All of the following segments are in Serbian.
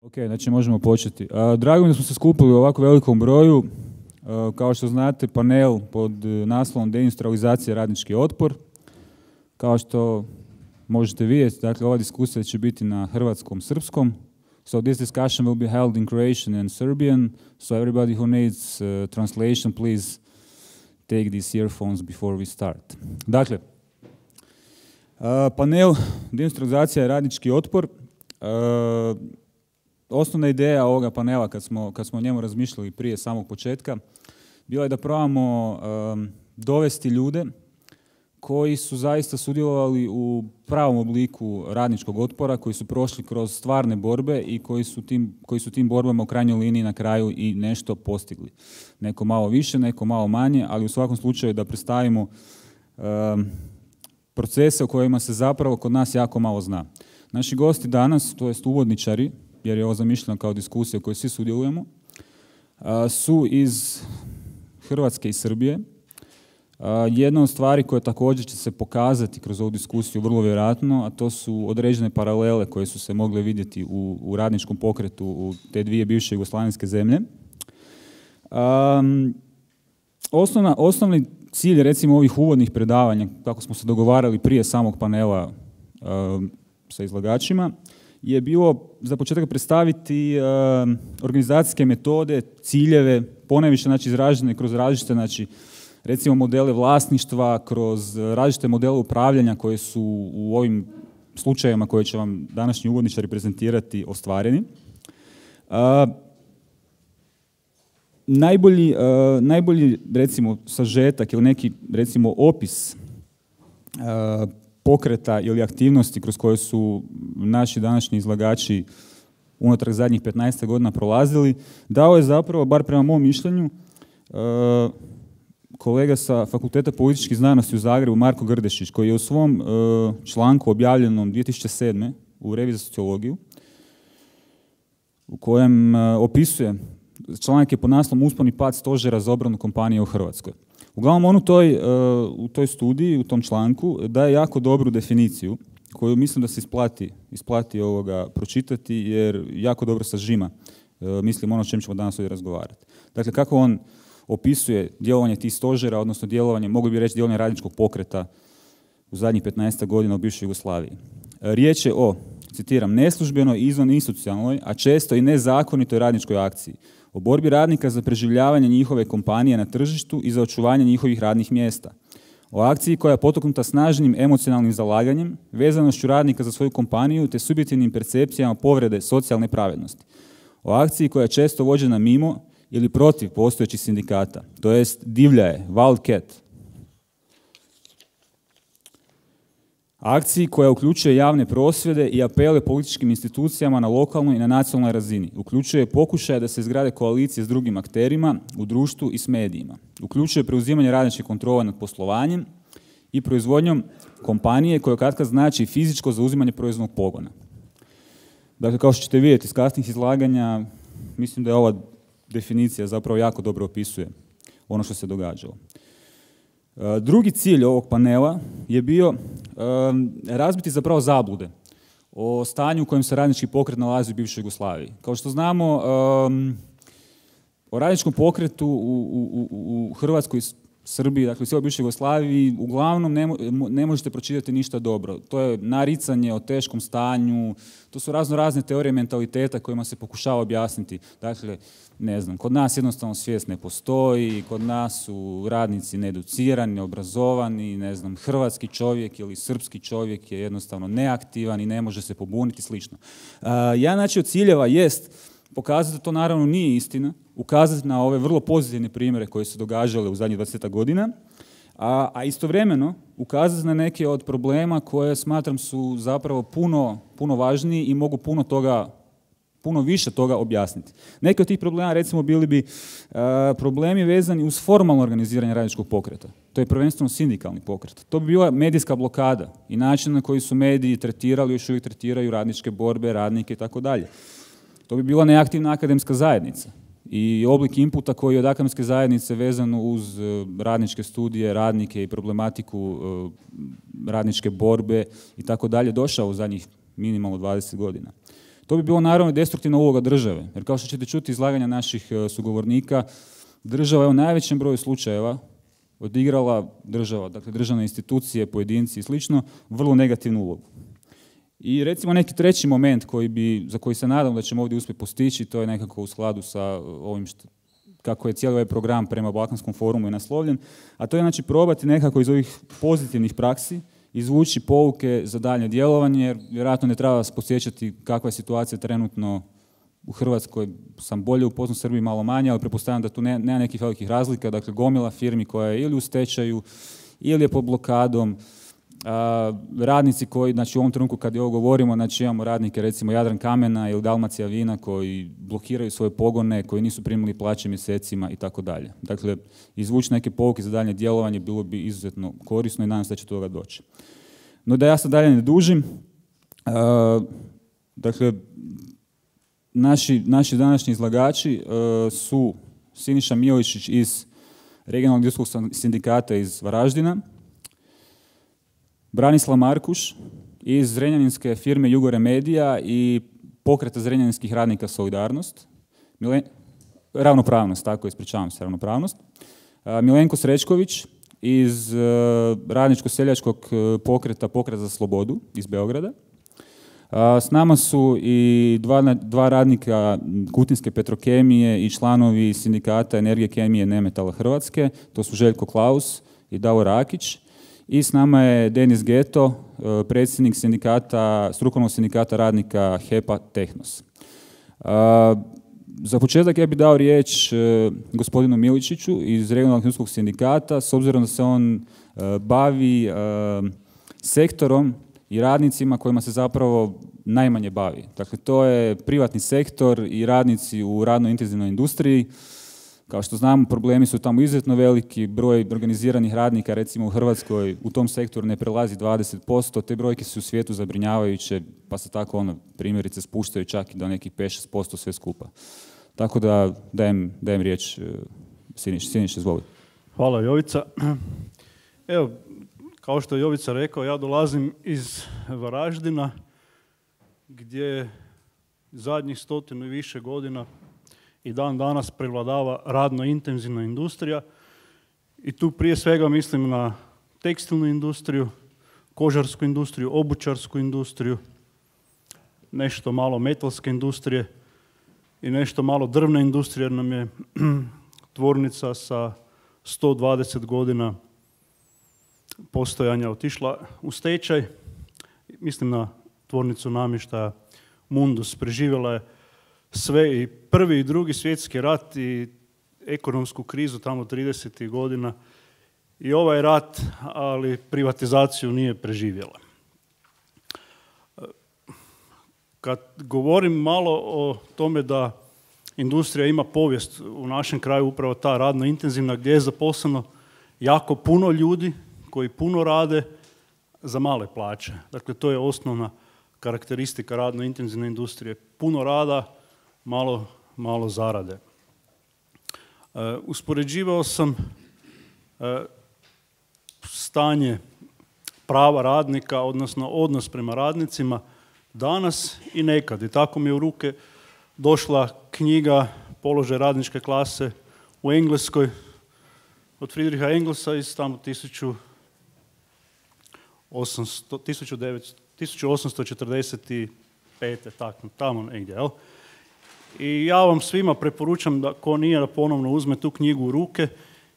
Ok, znači možemo početi. Drago mi da smo se skupili u ovako velikom broju. Kao što znate, panel pod naslovom Deindustrializacija radnički otpor. Kao što možete vidjeti, dakle, ova diskusija će biti na hrvatskom, srpskom. So this discussion will be held in Croatian and Serbian. So everybody who needs translation, please take these earphones before we start. Dakle, panel Deindustrializacija radnički otpor. Osnovna ideja ovoga panela, kad smo o njemu razmišljali prije samog početka, bila je da probamo dovesti ljude koji su zaista sudjelovali u pravom obliku radničkog otpora, koji su prošli kroz stvarne borbe i koji su tim borbama u krajnjoj liniji na kraju i nešto postigli. Neko malo više, neko malo manje, ali u svakom slučaju da predstavimo procese o kojima se zapravo kod nas jako malo zna. Naši gosti danas, to jest uvodničari, jer je ovo zamišljeno kao diskusija u kojoj svi sudjelujemo, su iz Hrvatske i Srbije. Jedna od stvari koja također će se pokazati kroz ovu diskusiju vrlo vjerojatno, a to su određene paralele koje su se mogle vidjeti u radničkom pokretu u te dvije bivše jugoslavenske zemlje. Osnovni cilj, recimo, ovih uvodnih predavanja, kako smo se dogovarali prije samog panela sa izlagačima, je bilo za početak predstaviti organizacijske metode, ciljeve, ponajviše znači izražene kroz različite, znači recimo modele vlasništva, kroz različite modele upravljanja koje su u ovim slučajevima koje će vam današnji uvodničari prezentirati ostvareni. Najbolji recimo sažetak ili neki recimo opis pokreta ili aktivnosti kroz koje su naši današnji izlagači unutar zadnjih 15 godina prolazili, dao je zapravo, bar prema mom mišljenju, kolega sa Fakulteta političkih znanosti u Zagrebu, Marko Grdešić, koji je u svom članku objavljenom 2007. u Reviji za sociologiju, u kojem opisuje, članak je pod naslovom Uspon i pad stožera za obranu kompanije u Hrvatskoj. Uglavnom, on u toj studiji, u tom članku, daje jako dobru definiciju, koju mislim da se isplati pročitati, jer jako dobro sažima, mislim, ono o čem ćemo danas ovdje razgovarati. Dakle, kako on opisuje djelovanje tih stožera, odnosno djelovanje, mogli bi reći djelovanje radničkog pokreta u zadnjih 15 godina u bivšoj Jugoslaviji. Riječ je o, citiram, neslužbenoj i izvaninstitucionalnoj, a često i nezakonitoj radničkoj akciji, o borbi radnika za preživljavanje njihove kompanije na tržištu i za očuvanje njihovih radnih mjesta. O akciji koja je potaknuta snažnim emocionalnim zalaganjem, vezanošću radnika za svoju kompaniju te subjektivnim percepcijama povrede socijalne pravednosti. O akciji koja je često vođena mimo ili protiv postojećih sindikata, to jest divlja je, wildcat. Akciji koja uključuje javne prosvjede i apele političkim institucijama na lokalnoj i na nacionalnoj razini. Uključuje pokušaje da se izgrade koalicije s drugim akterima u društvu i s medijima. Uključuje preuzimanje radničke kontrole nad poslovanjem i proizvodnjom kompanije koja katkad znači fizičko zauzimanje proizvodnog pogona. Dakle, kao što ćete vidjeti iz kasnih izlaganja, mislim da je ova definicija zapravo jako dobro opisuje ono što se događalo. Drugi cilj ovog panela je bio razbiti zapravo zablude o stanju u kojem se radnički pokret nalazi u bivšoj Jugoslaviji. Kao što znamo, o radničkom pokretu u Hrvatskoj i Srbiji, dakle u cijeloj bivšoj Jugoslaviji, uglavnom ne možete pročitati ništa dobro. To je naricanje o teškom stanju, to su razne teorije mentaliteta kojima se pokušava objasniti. Dakle, ne znam, kod nas jednostavno svijest ne postoji, kod nas su radnici needucirani, neobrazovani, ne znam, hrvatski čovjek ili srpski čovjek je jednostavno neaktivan i ne može se pobuniti, slično. Jedan znači od ciljeva jest pokazati da to naravno nije istina, ukazati na ove vrlo pozitivne primjere koje su događale u zadnjih 20 godina, a istovremeno ukazati na neke od problema koje smatram su zapravo puno važniji i mogu puno više toga objasniti. Neki od tih problema, recimo, bili bi problemi vezani uz formalno organiziranje radničkog pokreta. To je prvenstveno sindikalni pokret. To bi bila medijska blokada i način na koji su mediji tretirali, još uvijek tretiraju radničke borbe, radnike i tako dalje. To bi bila neaktivna akademska zajednica i oblik inputa koji je od akademske zajednice vezano uz radničke studije, radnike i problematiku radničke borbe i tako dalje došao u zadnjih minimalno 20 godina. To bi bilo naravno destruktivna uloga države, jer kao što ćete čuti izlaganja naših sugovornika, država je u najvećem broju slučajeva odigrala dakle državne institucije, pojedinci i slično, vrlo negativnu ulogu. I recimo neki treći moment za koji se nadam da ćemo ovdje uspjeti postići, to je nekako u skladu sa ovim kako je cijeli ovaj program prema Balkanskom forumu je naslovljen, a to je znači probati nekako iz ovih pozitivnih praksi izvući pouke za daljnje djelovanje, jer vjerojatno ne treba vas podsjećati kakva je situacija trenutno u Hrvatskoj, sam bolje upoznat, u Srbiji malo manje, ali pretpostavljam da tu nema nekih velikih razlika, dakle gomila firmi koja je ili u stečaju, ili je pod blokadom, radnici koji, znači u ovom trenutku kad je ovo govorimo, znači imamo radnike recimo Jadran Kamena ili Dalmacija Vina koji blokiraju svoje pogone, koji nisu primili plaće mjesecima i tako dalje. Dakle, izvući neke pouke za daljnje djelovanje bilo bi izuzetno korisno i nadam se da će do toga doći. No da ja sad dalje ne dužim, dakle, naši današnji izlagači su Siniša Miličić iz Regionalnog industrijskog sindikata iz Varaždina, Branislav Markuš iz zrenjaninske firme Jugoremedija i pokreta zrenjaninskih radnika Solidarnost, ravnopravnost, tako ispričavam se, ravnopravnost, Milenko Srećković iz radničko-seljačkog pokreta Pokret za slobodu iz Beograda. S nama su i dva radnika Kutinske Petrokemije i članovi sindikata Energije, kemije, nemetala Hrvatske, to su Željko Klaus i Davor Rakić. I s nama je Denis Geto, predsjednik strukovnog sindikata radnika HEP-a Tehnos. Za početak ja bih dao riječ gospodinu Miličiću iz Regionalnog industrijskog sindikata, s obzirom da se on bavi sektorom i radnicima kojima se zapravo najmanje bavi. Dakle, to je privatni sektor i radnici u radno intenzivnoj industriji. Kao što znamo, problemi su tamo izuzetno veliki, broj organiziranih radnika, recimo u Hrvatskoj, u tom sektoru ne prelazi 20%, te brojke su u svijetu zabrinjavajuće, pa se tako primjerice spuštaju čak i do nekih 5-6% sve skupa. Tako da dajem riječ Siniš, izvoli. Hvala Jovica. Evo, kao što je Jovica rekao, ja dolazim iz Varaždina, gdje zadnjih 100 i više godina i dan danas prevladava radno intenzivna industrija i tu prije svega mislim na tekstilnu industriju, kožarsku industriju, obućarsku industriju, nešto malo metalske industrije i nešto malo drvne industrije, jer nam je tvornica sa 120 godina postojanja otišla u stečaj. Mislim na tvornicu namještaja Mundus, preživjela je sve i prvi i drugi svjetski rat i ekonomsku krizu tamo 30. godina i ovaj rat, ali privatizaciju nije preživjela. Kad govorim malo o tome da industrija ima povijest u našem kraju, upravo ta radno intenzivna, gdje je zaposleno jako puno ljudi koji puno rade za male plaće. Dakle, to je osnovna karakteristika radno intenzivne industrije. Puno rada, malo zarade. Uspoređivao sam stanje prava radnika, odnosno odnos prema radnicima danas i nekad. I tako mi je u ruke došla knjiga Položaj radničke klase u Engleskoj od Friedricha Engelsa iz tamo 1845. Tamo negdje, jel? I ja vam svima preporučam da ko nije da ponovno uzme tu knjigu u ruke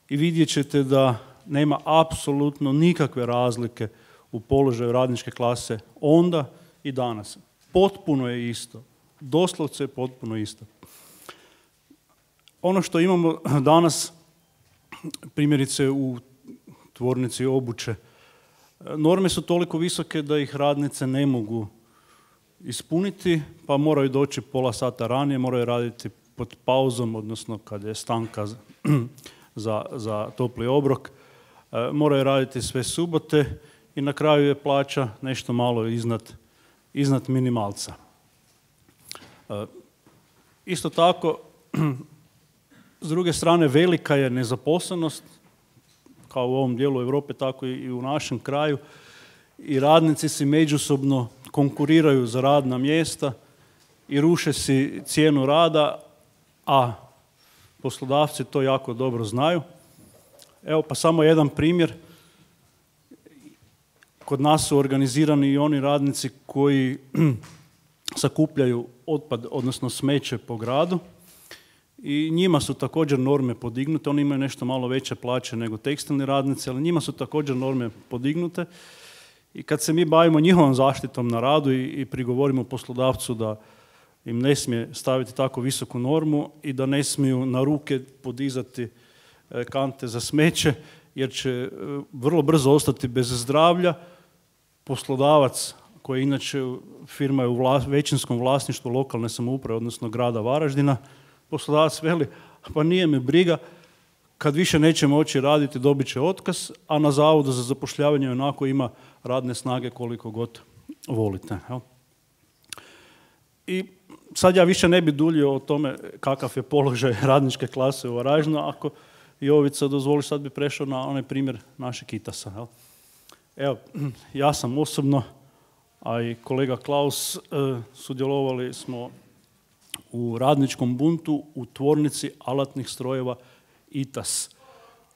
i vidjet ćete da nema apsolutno nikakve razlike u položaju radničke klase onda i danas. Potpuno je isto. Doslovce je potpuno isto. Ono što imamo danas, primjerice u tvornici obuće, norme su toliko visoke da ih radnice ne mogu ispuniti, pa moraju doći pola sata ranije, moraju raditi pod pauzom, odnosno kad je stanka za topli obrok, moraju raditi sve subote i na kraju je plaća nešto malo iznad minimalca. Isto tako, s druge strane, velika je nezaposlenost, kao u ovom dijelu Europe, tako i u našem kraju, i radnici si međusobno konkuriraju za radna mjesta i ruše si cijenu rada, a poslodavci to jako dobro znaju. Evo pa samo jedan primjer. Kod nas su organizirani i oni radnici koji sakupljaju otpad, odnosno smeće po gradu i njima su također norme podignute. Oni imaju nešto malo veće plaće nego tekstilni radnici, ali njima su također norme podignute. I kad se mi bavimo njihovom zaštitom na radu i prigovorimo poslodavcu da im ne smije staviti tako visoku normu i da ne smiju na ruke podizati kante za smeće, jer će vrlo brzo ostati bez zdravlja, poslodavac koji inače firma je u većinskom vlasništvu lokalne samouprave, odnosno grada Varaždina, poslodavac veli, pa nije me briga, kad više neće moći raditi dobit će otkaz, a na Zavodu za zapošljavanje onako ima radne snage koliko god volite. Jel? I sad ja više ne bi duljio o tome kakav je položaj radničke klase u Varaždinu. Ako Jovica dozvoli, sad bi prešao na onaj primjer našeg Itasa. Jel? Evo, ja sam osobno, a i kolega Klaus, sudjelovali smo u radničkom buntu u tvornici alatnih strojeva Itas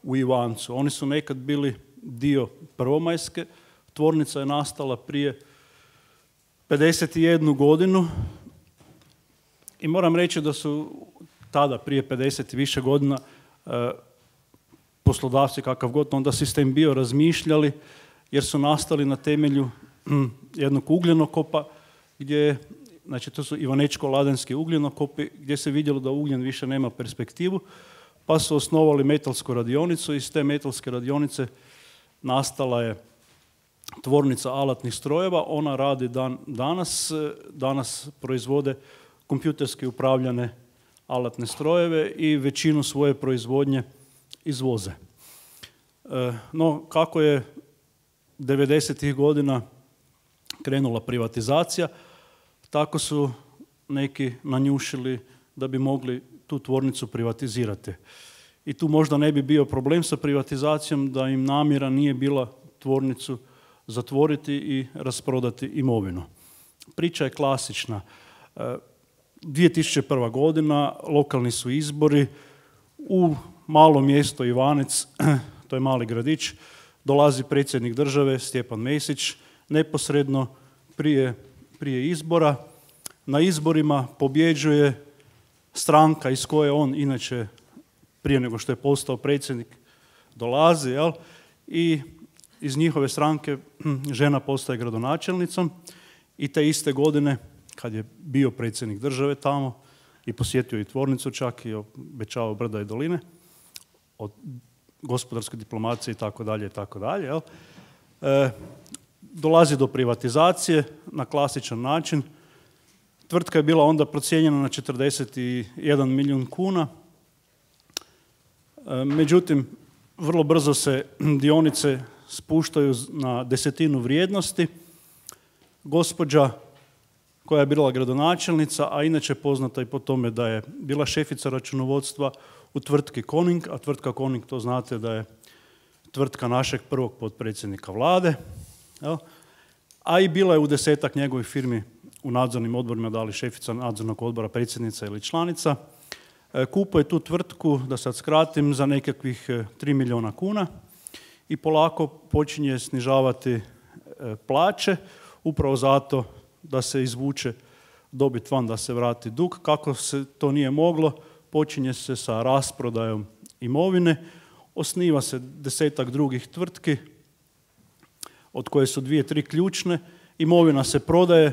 u Ivancu. Oni su nekad bili dio Prvomajske. Tvornica je nastala prije 51 godinu i moram reći da su tada, prije 50 i više godina, poslodavci, kakav god onda sistem bio, razmišljali, jer su nastali na temelju jednog ugljenokopa, gdje, znači to su ivanečko-ladenski ugljenokopi, gdje se vidjelo da ugljen više nema perspektivu, pa su osnovali metalsku radionicu i iz te metalske radionice nastala je tvornica alatnih strojeva. Ona radi danas proizvode kompjuterski upravljane alatne strojeve i većinu svoje proizvodnje izvoze. No, kako je 90-ih godina krenula privatizacija, tako su neki nanjušili da bi mogli tu tvornicu privatizirati. I tu možda ne bi bio problem sa privatizacijom da im namjera nije bila tvornicu zatvoriti i rasprodati imovinu. Priča je klasična. 2001. godina, lokalni su izbori, u malo mjesto Ivanec, to je mali gradić, dolazi predsjednik države Stjepan Mesić, neposredno prije izbora. Na izborima pobjeđuje stranka iz koje on inače prije nego što je postao predsjednik dolazi, jel? I iz njihove stranke žena postaje gradonačelnicom i te iste godine, kad je bio predsjednik države tamo i posjetio i tvornicu čak i obećavao brda i doline, od gospodarske diplomacije itd., jel? Dolazi do privatizacije na klasičan način. Tvrtka je bila onda procijenjena na 41 milijun kuna. Međutim, vrlo brzo se dionice spuštaju na 1/10 vrijednosti. Gospođa koja je bila gradonačelnica, a inače poznata i po tome da je bila šefica računovodstva u tvrtki Koning, a tvrtka Koning, to znate da je tvrtka našeg prvog potpredsjednika vlade, jel? A i bila je u 10-ak njegovih firmi u nadzornim odborima, da li šefica nadzornog odbora, predsjednica ili članica. Kupuje tu tvrtku, da sad skratim, za nekakvih 3 milijuna kuna i polako počinje snižavati plaće, upravo zato da se izvuče dobit van, da se vrati dug. Kako se to nije moglo, počinje se sa rasprodajom imovine, osniva se 10-ak drugih tvrtki, od koje su 2-3 ključne. Imovina se prodaje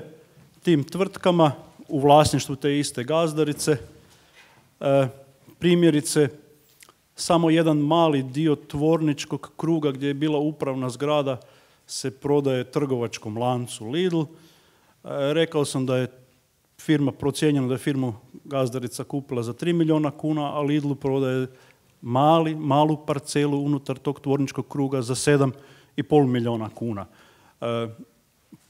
tim tvrtkama u vlasništvu te iste gazdarice. Primjerice, samo jedan mali dio tvorničkog kruga gdje je bila upravna zgrada se prodaje trgovačkom lancu Lidl. Rekao sam da je firma procijenjena, da je firmu gazdarica kupila za 3 milijuna kuna, a Lidlu prodaje malu parcelu unutar tog tvorničkog kruga za 7,5 milijuna kuna.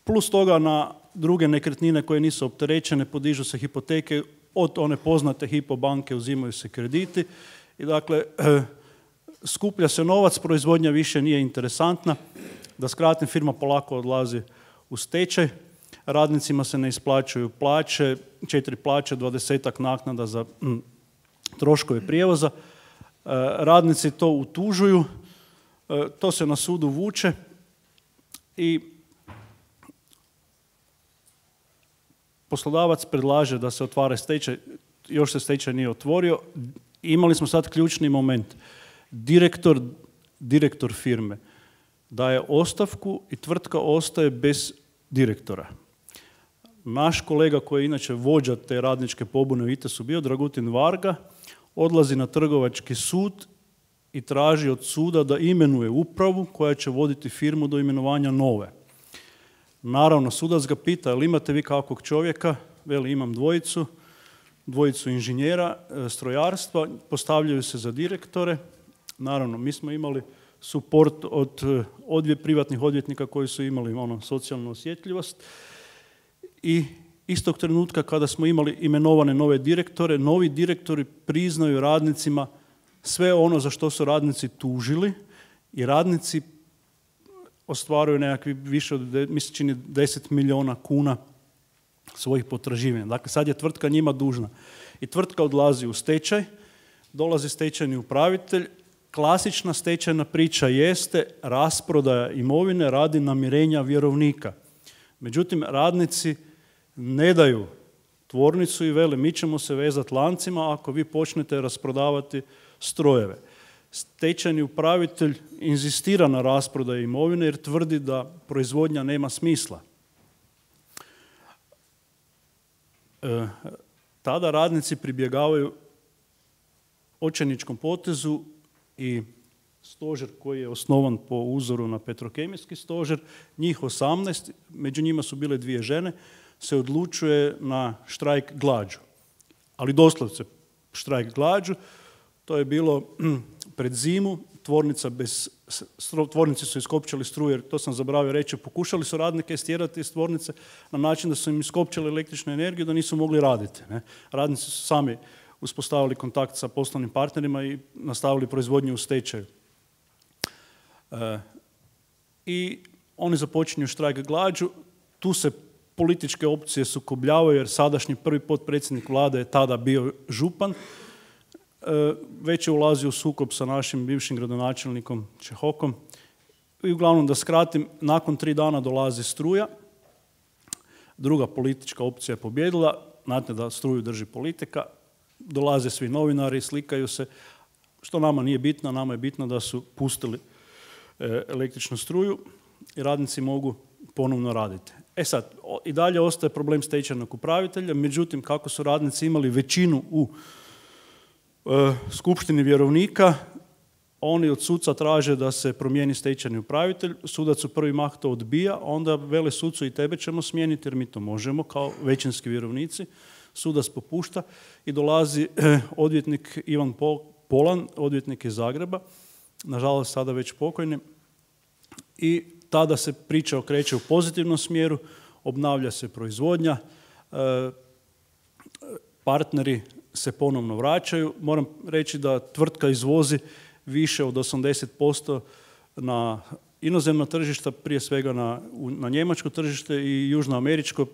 Plus toga na druge nekretnine koje nisu opterećene podižu se hipoteke, od one poznate Hypo banke uzimaju se krediti i dakle skuplja se novac, proizvodnja više nije interesantna. Da skratim, firma polako odlazi u stečaj. radnicima se ne isplaćuju plaće, 4 plaće, 20 naknada za troškove prijevoza. Radnici to utužuju, to se na sudu vuče i poslodavac predlaže da se otvara stečaj, još se stečaj nije otvorio. Imali smo sad ključni moment. Direktor firme daje ostavku i tvrtka ostaje bez direktora. Naš kolega koji je inače vođa te radničke pobune u ITES-u bio, Dragutin Varga, odlazi na trgovački sud i traži od suda da imenuje upravu koja će voditi firmu do imenovanja nove. Naravno, sudac ga pita, jel imate vi kakvog čovjeka? Veli, imam dvojicu inženjera strojarstva, postavljaju se za direktore. Naravno, mi smo imali suport od privatnih odvjetnika koji su imali socijalnu osjetljivost i istog trenutka kada smo imali imenovane nove direktore, novi direktori priznaju radnicima sve ono za što su radnici tužili i radnici ostvaruju nekakvi više od, mislim, čini 10 milijuna kuna svojih potraživanja. Dakle, sad je tvrtka njima dužna. I tvrtka odlazi u stečaj, dolazi stečajni upravitelj. Klasična stečajna priča jeste rasprodaja imovine radi namirenja vjerovnika. Međutim, radnici ne daju tvornicu i vele, mi ćemo se vezati lancima ako vi počnete rasprodavati strojeve. Stečajni upravitelj inzistira na rasprodaji imovine jer tvrdi da proizvodnja nema smisla. Tada radnici pribjegavaju očajničkom potezu i stožer koji je osnovan po uzoru na petrokemijski stožer, njih 18, među njima su bile 2 žene, se odlučuje na štrajk glađu. Ali doslovce štrajk glađu, to je bilo pred zimu, tvornici su iskopčali struju, jer to sam zaboravio reći, pokušali su radnike stjerati iz tvornice na način da su im iskopčali električnu energiju da nisu mogli raditi. Ne? Radnici su sami uspostavili kontakt sa poslovnim partnerima i nastavili proizvodnju u stečaju. I oni započinju štrajk glađu, tu se političke opcije sukobljavaju jer sadašnji prvi potpredsjednik vlade je tada bio župan, već je ulazio u sukob sa našim bivšim gradonačelnikom Čehokom. I uglavnom, da skratim, nakon 3 dana dolazi struja, druga politička opcija je pobjedila, znate da struju drži politika, dolaze svi novinari, slikaju se, što nama nije bitno, nama je bitno da su pustili električnu struju i radnici mogu ponovno raditi. Sad, i dalje ostaje problem stečajnog upravitelja, međutim, kako su radnici imali većinu u skupštini vjerovnika, oni od suca traže da se promijeni stečajni upravitelj, sudac u prvi mah to odbija, onda vele sucu i tebe ćemo smijeniti jer mi to možemo kao većinski vjerovnici. Sudac popušta i dolazi odvjetnik Ivan Polan, odvjetnik iz Zagreba, nažalost sada već pokojni, i tada se priča okreće u pozitivnom smjeru, obnavlja se proizvodnja, partneri se ponovno vraćaju. Moram reći da tvrtka izvozi više od 80% na inozemno tržište, prije svega na njemačko tržište i južnoameričko,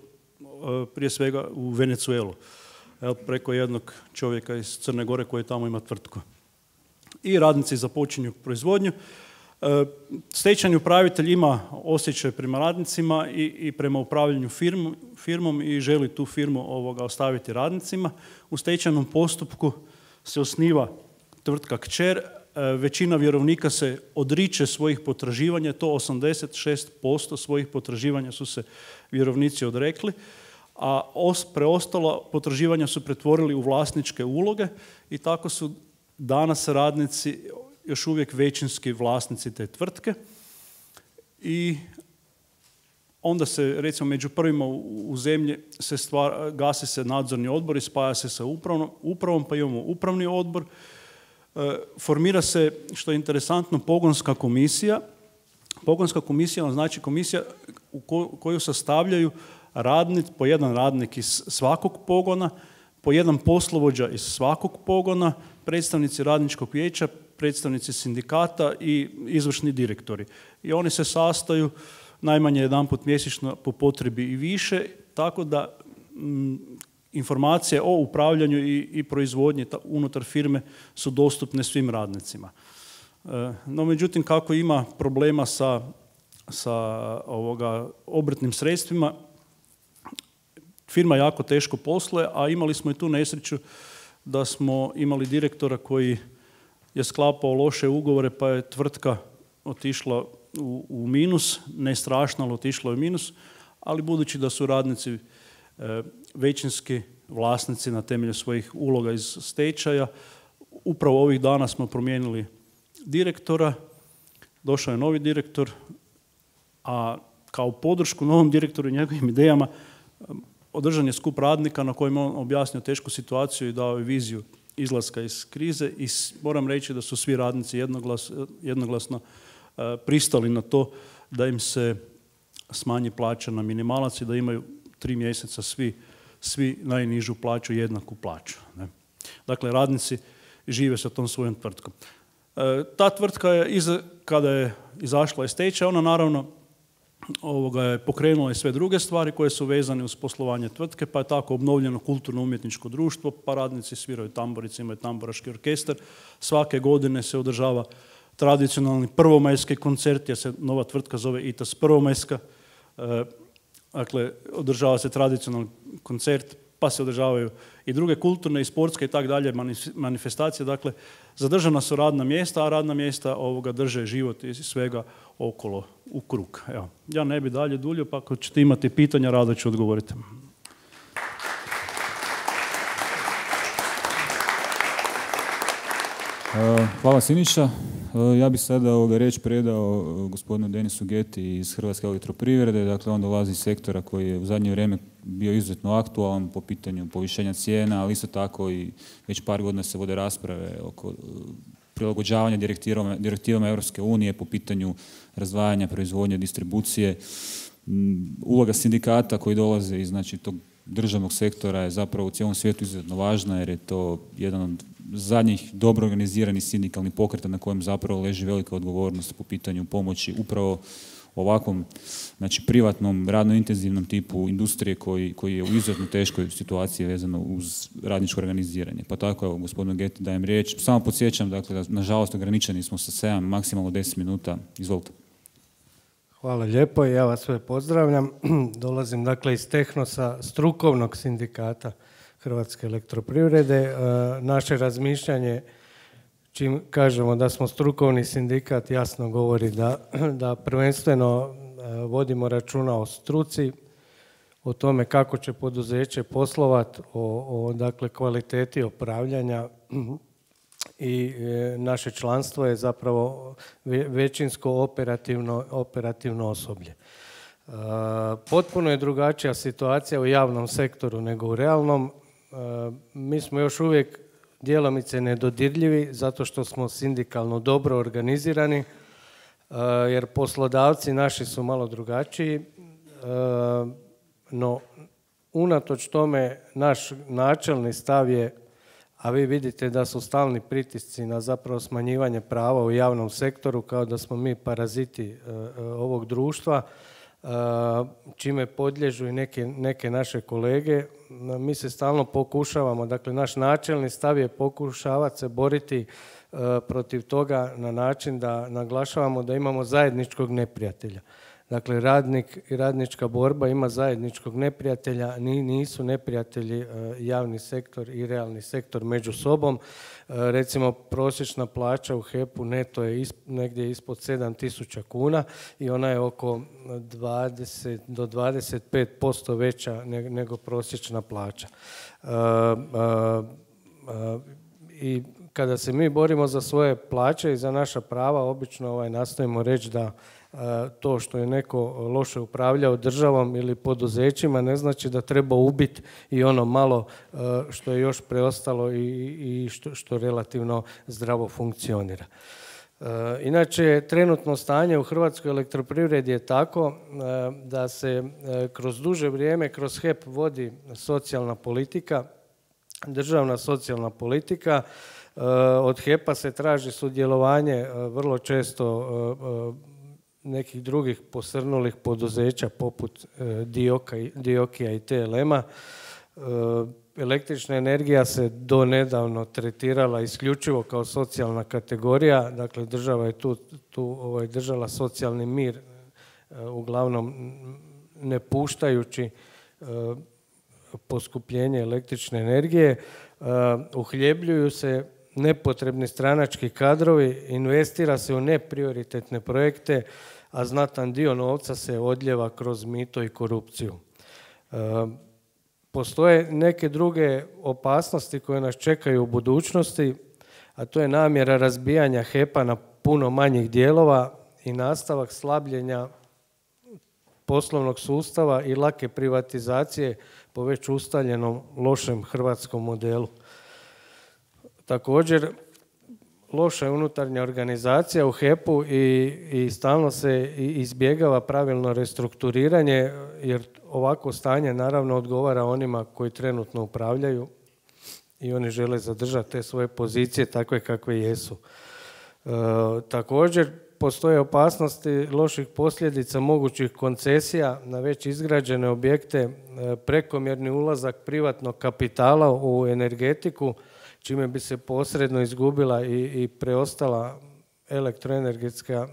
prije svega u Venezuelu, preko jednog čovjeka iz Crne Gore koji tamo ima tvrtku. I radnici započinju proizvodnju. Stečajni upravitelj ima osjećaj prema radnicima i prema upravljanju firmom i želi tu firmu ostaviti radnicima. U stečajnom postupku se osniva tvrtka kćer, većina vjerovnika se odriče svojih potraživanja, to 86% svojih potraživanja su se vjerovnici odrekli, a preostala potraživanja su pretvorili u vlasničke uloge i tako su danas radnici još uvijek većinski vlasnici te tvrtke. I onda se, recimo, među prvima u zemlji gasi se nadzorni odbor i spaja se sa upravom, pa imamo upravni odbor. Formira se, što je interesantno, pogonska komisija. Pogonska komisija znači komisija u koju sastavljaju po jedan radnik iz svakog pogona, po jedan poslovođa iz svakog pogona, predstavnici radničkog vijeća, predstavnici sindikata i izvršni direktori. I oni se sastaju najmanje jedanput mjesečno, po potrebi i više, tako da informacije o upravljanju i proizvodnji unutar firme su dostupne svim radnicima. No, međutim, kako ima problema sa obrtnim sredstvima, firma jako teško posluje, a imali smo i tu nesreću da smo imali direktora koji je sklapao loše ugovore, pa je tvrtka otišla u minus, ne strašno, ali otišla u minus, ali budući da su radnici većinski vlasnici na temelju svojih uloga iz stečaja, upravo ovih dana smo promijenili direktora, došao je novi direktor, a kao podršku novom direktoru i njegovim idejama održan je skup radnika na kojem on objasnio tešku situaciju i dao je viziju izlaska iz krize i moram reći da su svi radnici jednoglasno pristali na to da im se smanji plaća na minimalac i da imaju 3 mjeseca svi najnižu plaću, jednaku plaću. Ne? Dakle, radnici žive sa tom svojom tvrtkom. Ta tvrtka je, kada je izašla iz stečaja, ona naravno je pokrenula i sve druge stvari koje su vezane uz poslovanje tvrtke, pa je tako obnovljeno kulturno-umjetničko društvo, pa radnici sviraju tamburice, imaju tamburaški orkestar. Svake godine se održava tradicionalni prvomajski koncert, jer se nova tvrtka zove ITAS Prvomajska. Dakle, održava se tradicionalni koncert, pa se održavaju i druge kulturne i sportske i tak dalje manifestacije. Dakle, zadržana su radna mjesta, a radna mjesta drže život i svega okolo u krug. Evo, ja ne bi dalje duljio, pa ako ćete imati pitanja, rado ću odgovoriti. Hvala Siniša. Ja bih sada riječ predao gospodinu Denisu Geti iz Hrvatske elektroprivrede. Dakle, on dolazi iz sektora koji je u zadnje vrijeme bio izuzetno aktualan po pitanju povišenja cijena, ali isto tako i već par godina se vode rasprave oko prilagođavanja direktivama Europske unije po pitanju razdvajanja proizvodnje, distribucije. Uloga sindikata koji dolaze iz tog državnog sektora je zapravo u cijelom svijetu izuzetno važna, jer je to jedan od zadnjih dobro organiziranih sindikalnih pokreta na kojem zapravo leži velika odgovornost po pitanju pomoći upravo ovakvom privatnom, radno intenzivnom tipu industrije koji je u izuzetno teškoj situaciji vezano uz radničko organiziranje. Pa tako, evo, gospodinu Geti dajem riječ. Samo podsjećam, dakle, da nažalost ograničeni smo sa 7, maksimalno 10 minuta. Izvolite. Hvala lijepo i ja vas sve pozdravljam. Dolazim dakle iz Tehnosa, strukovnog sindikata Hrvatske elektroprivrede. Naše razmišljanje, čim kažemo da smo strukovni sindikat, jasno govori da prvenstveno vodimo računa o struci, o tome kako će poduzeće poslovati, o dakle, kvaliteti upravljanja i naše članstvo je zapravo većinsko operativno osoblje. Potpuno je drugačija situacija u javnom sektoru nego u realnom. Mi smo još uvijek djelomice nedodirljivi zato što smo sindikalno dobro organizirani, jer poslodavci naši su malo drugačiji, no unatoč tome naš načelni stav je, a vi vidite da su stalni pritisci na zapravo smanjivanje prava u javnom sektoru, kao da smo mi paraziti ovog društva, čime podliježu i neke naše kolege. Mi se stalno pokušavamo, dakle naš načelni stav je pokušavati se boriti protiv toga na način da naglašavamo da imamo zajedničkog neprijatelja. Dakle, radnik i radnička borba ima zajedničkog neprijatelja, nisu neprijatelji javni sektor i realni sektor među sobom. Recimo, prosječna plaća u HEP-u neto je negdje ispod 7.000 kuna i ona je oko 20 do 25% veća nego prosječna plaća. I kada se mi borimo za svoje plaće i za naša prava, obično nastojimo reći da to što je neko loše upravljao državom ili poduzećima ne znači da treba ubiti i ono malo što je još preostalo i što relativno zdravo funkcionira. Inače, trenutno stanje u Hrvatskoj elektroprivredi je tako da se kroz duže vrijeme kroz HEP vodi socijalna politika, državna socijalna politika. Od HEP-a se traži sudjelovanje vrlo često nekih drugih posrnulih poduzeća poput Diokija i TLM-a. Električna energija se donedavno tretirala isključivo kao socijalna kategorija, dakle država je tu držala socijalni mir, uglavnom ne puštajući poskupljenje električne energije. Uhljebljuju se nepotrebni stranački kadrovi, investira se u neprioritetne projekte, a znatan dio novca se odljeva kroz mito i korupciju. Postoje neke druge opasnosti koje nas čekaju u budućnosti, a to je namjera razbijanja HEP-a na puno manjih dijelova i nastavak slabljenja poslovnog sustava i lake privatizacije po već ustaljenom lošem hrvatskom modelu. Također, loša je unutarnja organizacija u HEP-u i stalno se izbjegava pravilno restrukturiranje, jer ovako stanje naravno odgovara onima koji trenutno upravljaju i oni žele zadržati te svoje pozicije takve kakve jesu. Također, postoje opasnosti loših posljedica mogućih koncesija na već izgrađene objekte, prekomjerni ulazak privatnog kapitala u energetiku, čime bi se posredno izgubila i preostala elektroenergetska.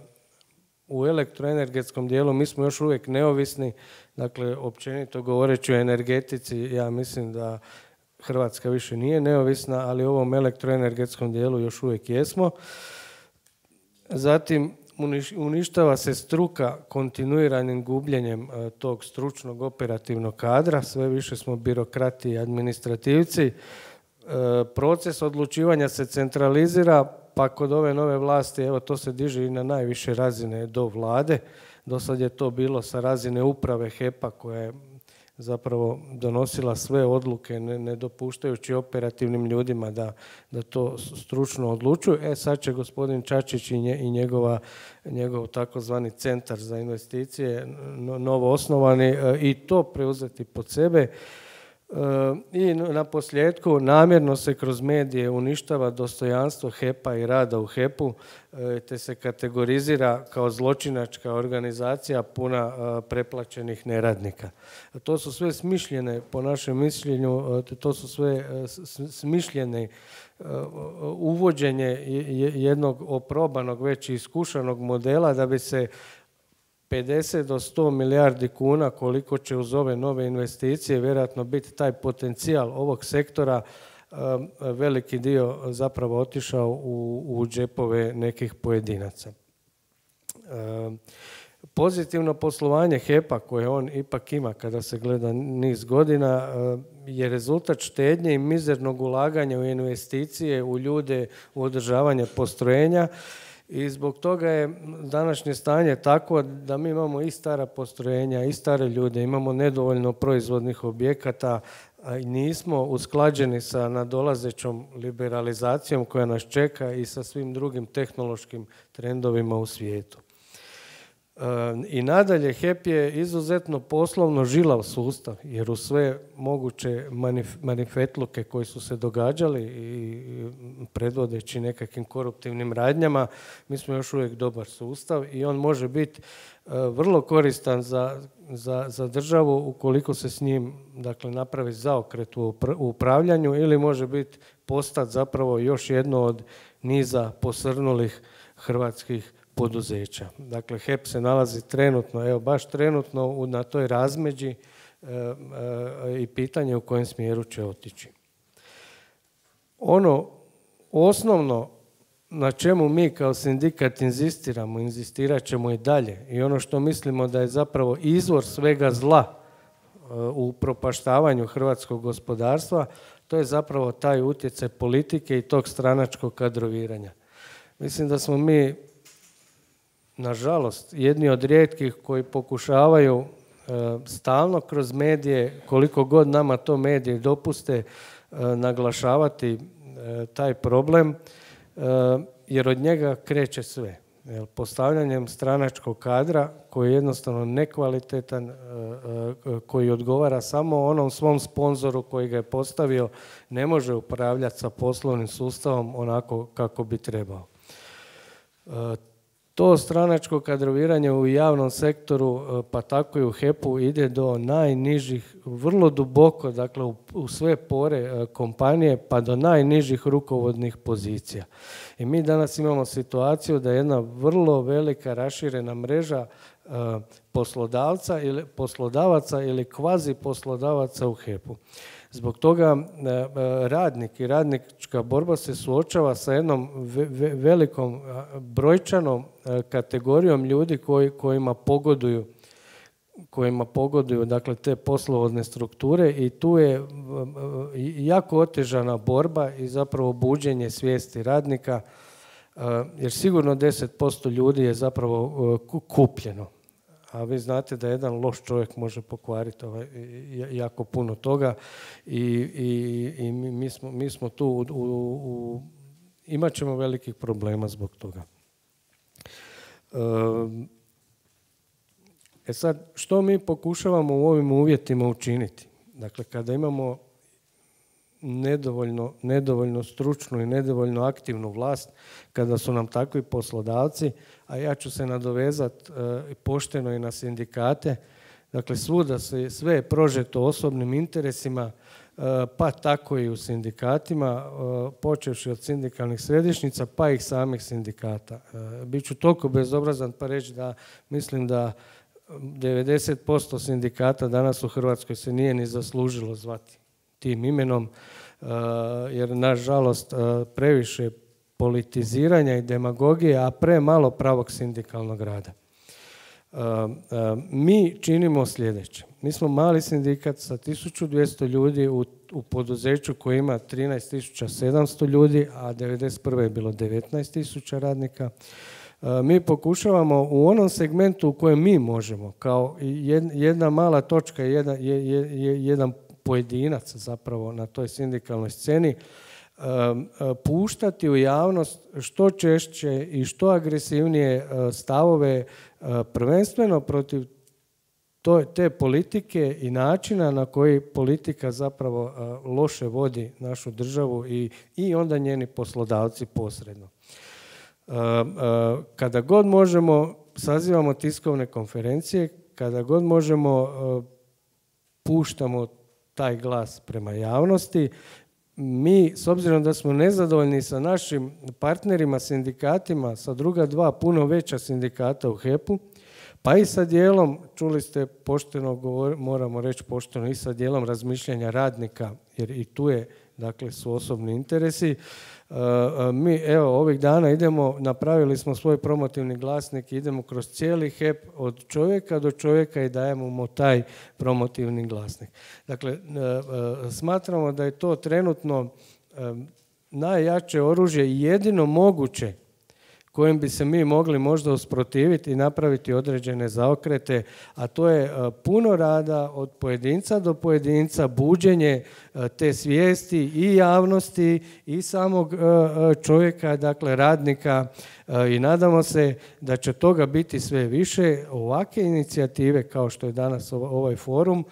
U elektroenergetskom dijelu mi smo još uvijek neovisni, dakle općenito govoreći o energetici, ja mislim da Hrvatska više nije neovisna, ali u ovom elektroenergetskom dijelu još uvijek jesmo. Zatim, uništava se struka kontinuiranim gubljenjem tog stručnog operativnog kadra, sve više smo birokrati i administrativci. Proces odlučivanja se centralizira, pa kod ove nove vlasti, evo to se diže i na najviše razine do vlade. Do sad je to bilo sa razine uprave HEP-a koja je zapravo donosila sve odluke, ne dopuštajući operativnim ljudima da to stručno odlučuju. Sad će gospodin Čačić i njegov takozvani centar za investicije, novo osnovani, i to preuzeti pod sebe. I na posljedku namjerno se kroz medije uništava dostojanstvo HEP-a i rada u HEP-u, te se kategorizira kao zločinačka organizacija puna preplaćenih neradnika. To su sve smišljene, po našem mišljenju, to su sve smišljene uvođenje jednog oprobanog, već iskušanog modela da bi se 50 do 100 milijardi kuna, koliko će uz ove nove investicije vjerojatno biti taj potencijal ovog sektora, veliki dio zapravo otišao u džepove nekih pojedinaca. Pozitivno poslovanje HEP-a koje on ipak ima kada se gleda niz godina je rezultat štednje i mizernog ulaganja u investicije, u ljude, u održavanje postrojenja. I zbog toga je današnje stanje tako da mi imamo i stara postrojenja i stare ljude, imamo nedovoljno proizvodnih objekata, a nismo usklađeni sa nadolazećom liberalizacijom koja nas čeka i sa svim drugim tehnološkim trendovima u svijetu. I nadalje, HEP je izuzetno poslovno žilav sustav, jer u sve moguće manifetluke koji su se događali i predvodeći nekakvim koruptivnim radnjama, mi smo još uvijek dobar sustav i on može biti vrlo koristan za državu ukoliko se s njim, dakle, napravi zaokret u upravljanju, ili može biti postati zapravo još jedno od niza posrnulih hrvatskih poduzeća. Dakle, HEP se nalazi trenutno, evo baš trenutno na toj razmeđi i pitanje u kojem smjeru će otići. Ono osnovno na čemu mi kao sindikat inzistirat ćemo i dalje, i ono što mislimo da je zapravo izvor svega zla u propaštavanju hrvatskog gospodarstva, to je zapravo taj utjecaj politike i tog stranačkog kadroviranja. Mislim da smo mi, nažalost, jedni od rijetkih koji pokušavaju stalno kroz medije, koliko god nama to medije dopuste, naglašavati taj problem, jer od njega kreće sve. Postavljanjem stranačkog kadra koji je jednostavno nekvalitetan, koji odgovara samo onom svom sponzoru koji ga je postavio, ne može upravljati sa poslovnim sustavom onako kako bi trebao. To stranačko kadroviranje u javnom sektoru, pa tako i u HEP-u, ide do najnižih, vrlo duboko, dakle u sve pore kompanije, pa do najnižih rukovodnih pozicija. I mi danas imamo situaciju da jedna vrlo velika raširena mreža poslodavaca ili kvazi poslodavaca u HEP-u. Zbog toga radnik i radnička borba se suočava sa jednom velikom brojčanom kategorijom ljudi kojima pogoduju dakle, te poslovodne strukture i tu je jako otežana borba i zapravo buđenje svijesti radnika, jer sigurno 10% ljudi je zapravo kupljeno. A vi znate da jedan loš čovjek može pokvariti jako puno toga i mi smo tu, imat ćemo velikih problema zbog toga. Sad, što mi pokušavamo u ovim uvjetima učiniti? Dakle, kada imamo nedovoljno stručnu i nedovoljno aktivnu vlast, kada su nam takvi poslodavci, a ja ću se nadovezati pošteno i na sindikate, dakle svuda sve je prožeto osobnim interesima, pa tako i u sindikatima, počevši od sindikalnih središnjica, pa i samih sindikata. Biću toliko bezobrazan pa reći da mislim da 90% sindikata danas u Hrvatskoj se nije ni zaslužilo zvati tim imenom, jer nažalost previše politiziranja i demagogije, a premalo pravog sindikalnog rada. Mi činimo sljedeće. Mi smo mali sindikat sa 1200 ljudi u poduzeću koji ima 13.700 ljudi, a 1991. je bilo 19.000 radnika. Mi pokušavamo u onom segmentu u kojem mi možemo, kao jedna mala točka, jedan pojedinac zapravo na toj sindikalnoj sceni, puštati u javnost što češće i što agresivnije stavove, prvenstveno protiv te politike i načina na koji politika zapravo loše vodi našu državu i onda njeni poslodavci posredno. Kada god možemo, sazivamo tiskovne konferencije, kada god možemo, puštamo taj glas prema javnosti. Mi, s obzirom da smo nezadovoljni sa našim partnerima, sindikatima, sa druga dva puno veća sindikata u HEP-u, pa i sa dijelom, čuli ste pošteno, moramo reći pošteno, i sa dijelom razmišljanja radnika, jer i tu je, dakle, su osobni interesi. Mi, evo, ovih dana napravili smo svoj promotivni glasnik, idemo kroz cijeli HEP od čovjeka do čovjeka i dajemo mu taj promotivni glasnik. Dakle, smatramo da je to trenutno najjače oružje i jedino moguće kojim bi se mi mogli možda usprotiviti i napraviti određene zaokrete, a to je puno rada od pojedinca do pojedinca, buđenje te svijesti i javnosti i samog čovjeka, dakle radnika, i nadamo se da će toga biti sve više. Ovakve inicijative kao što je danas ovaj forum,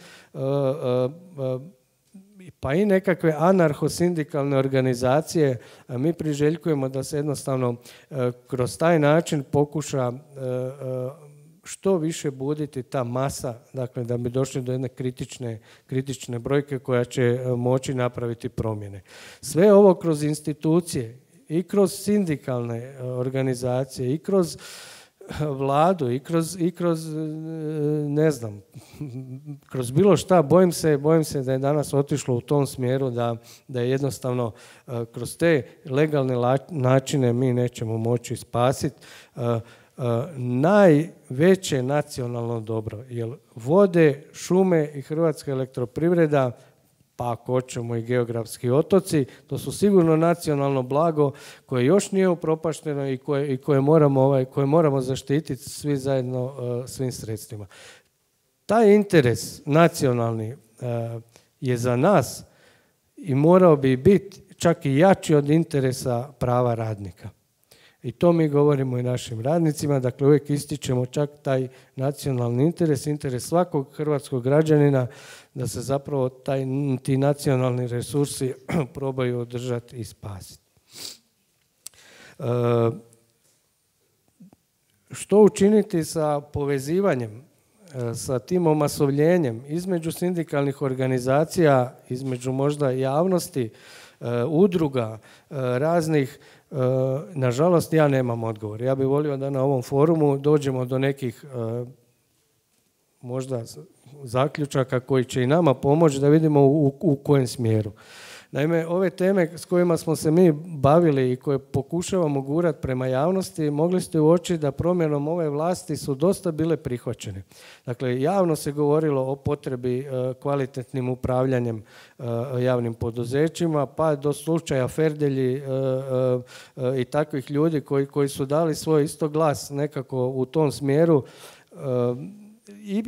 pa i nekakve anarcho-sindikalne organizacije, mi priželjkujemo da se jednostavno kroz taj način pokuša što više buditi ta masa, dakle da bi došli do jedne kritične brojke koja će moći napraviti promjene. Sve ovo kroz institucije i kroz sindikalne organizacije i kroz Vladu i kroz ne znam, kroz bilo šta, bojim se da je danas otišlo u tom smjeru da je jednostavno kroz te legalne načine mi nećemo moći spasiti najveće nacionalno dobro, jer vode, šume i Hrvatska elektroprivreda, pa ako hoćemo i geografski otoci, to su sigurno nacionalno blago koje još nije upropašteno i koje moramo zaštititi svi zajedno svim sredstvima. Taj interes nacionalni je za nas i morao bi biti čak i jači od interesa prava radnika. I to mi govorimo i našim radnicima, dakle uvijek ističemo čak taj nacionalni interes svakog hrvatskog građanina, da se zapravo ti nacionalni resursi probaju održati i spasiti. što učiniti sa povezivanjem, sa tim omasovljenjem između sindikalnih organizacija, između možda javnosti, udruga, raznih. Nažalost, ja nemam odgovor. Ja bih volio da na ovom forumu dođemo do nekih možda zaključaka koji će i nama pomoći da vidimo u kojem smjeru. Naime, ove teme s kojima smo se mi bavili i koje pokušavamo gurati prema javnosti, mogli ste uočiti da promjenom ove vlasti su dosta bile prihvaćene. Dakle, javno se govorilo o potrebi kvalitetnim upravljanjem javnim poduzećima, pa do slučaja Ferdelji i takvih ljudi koji su dali svoj isto glas nekako u tom smjeru.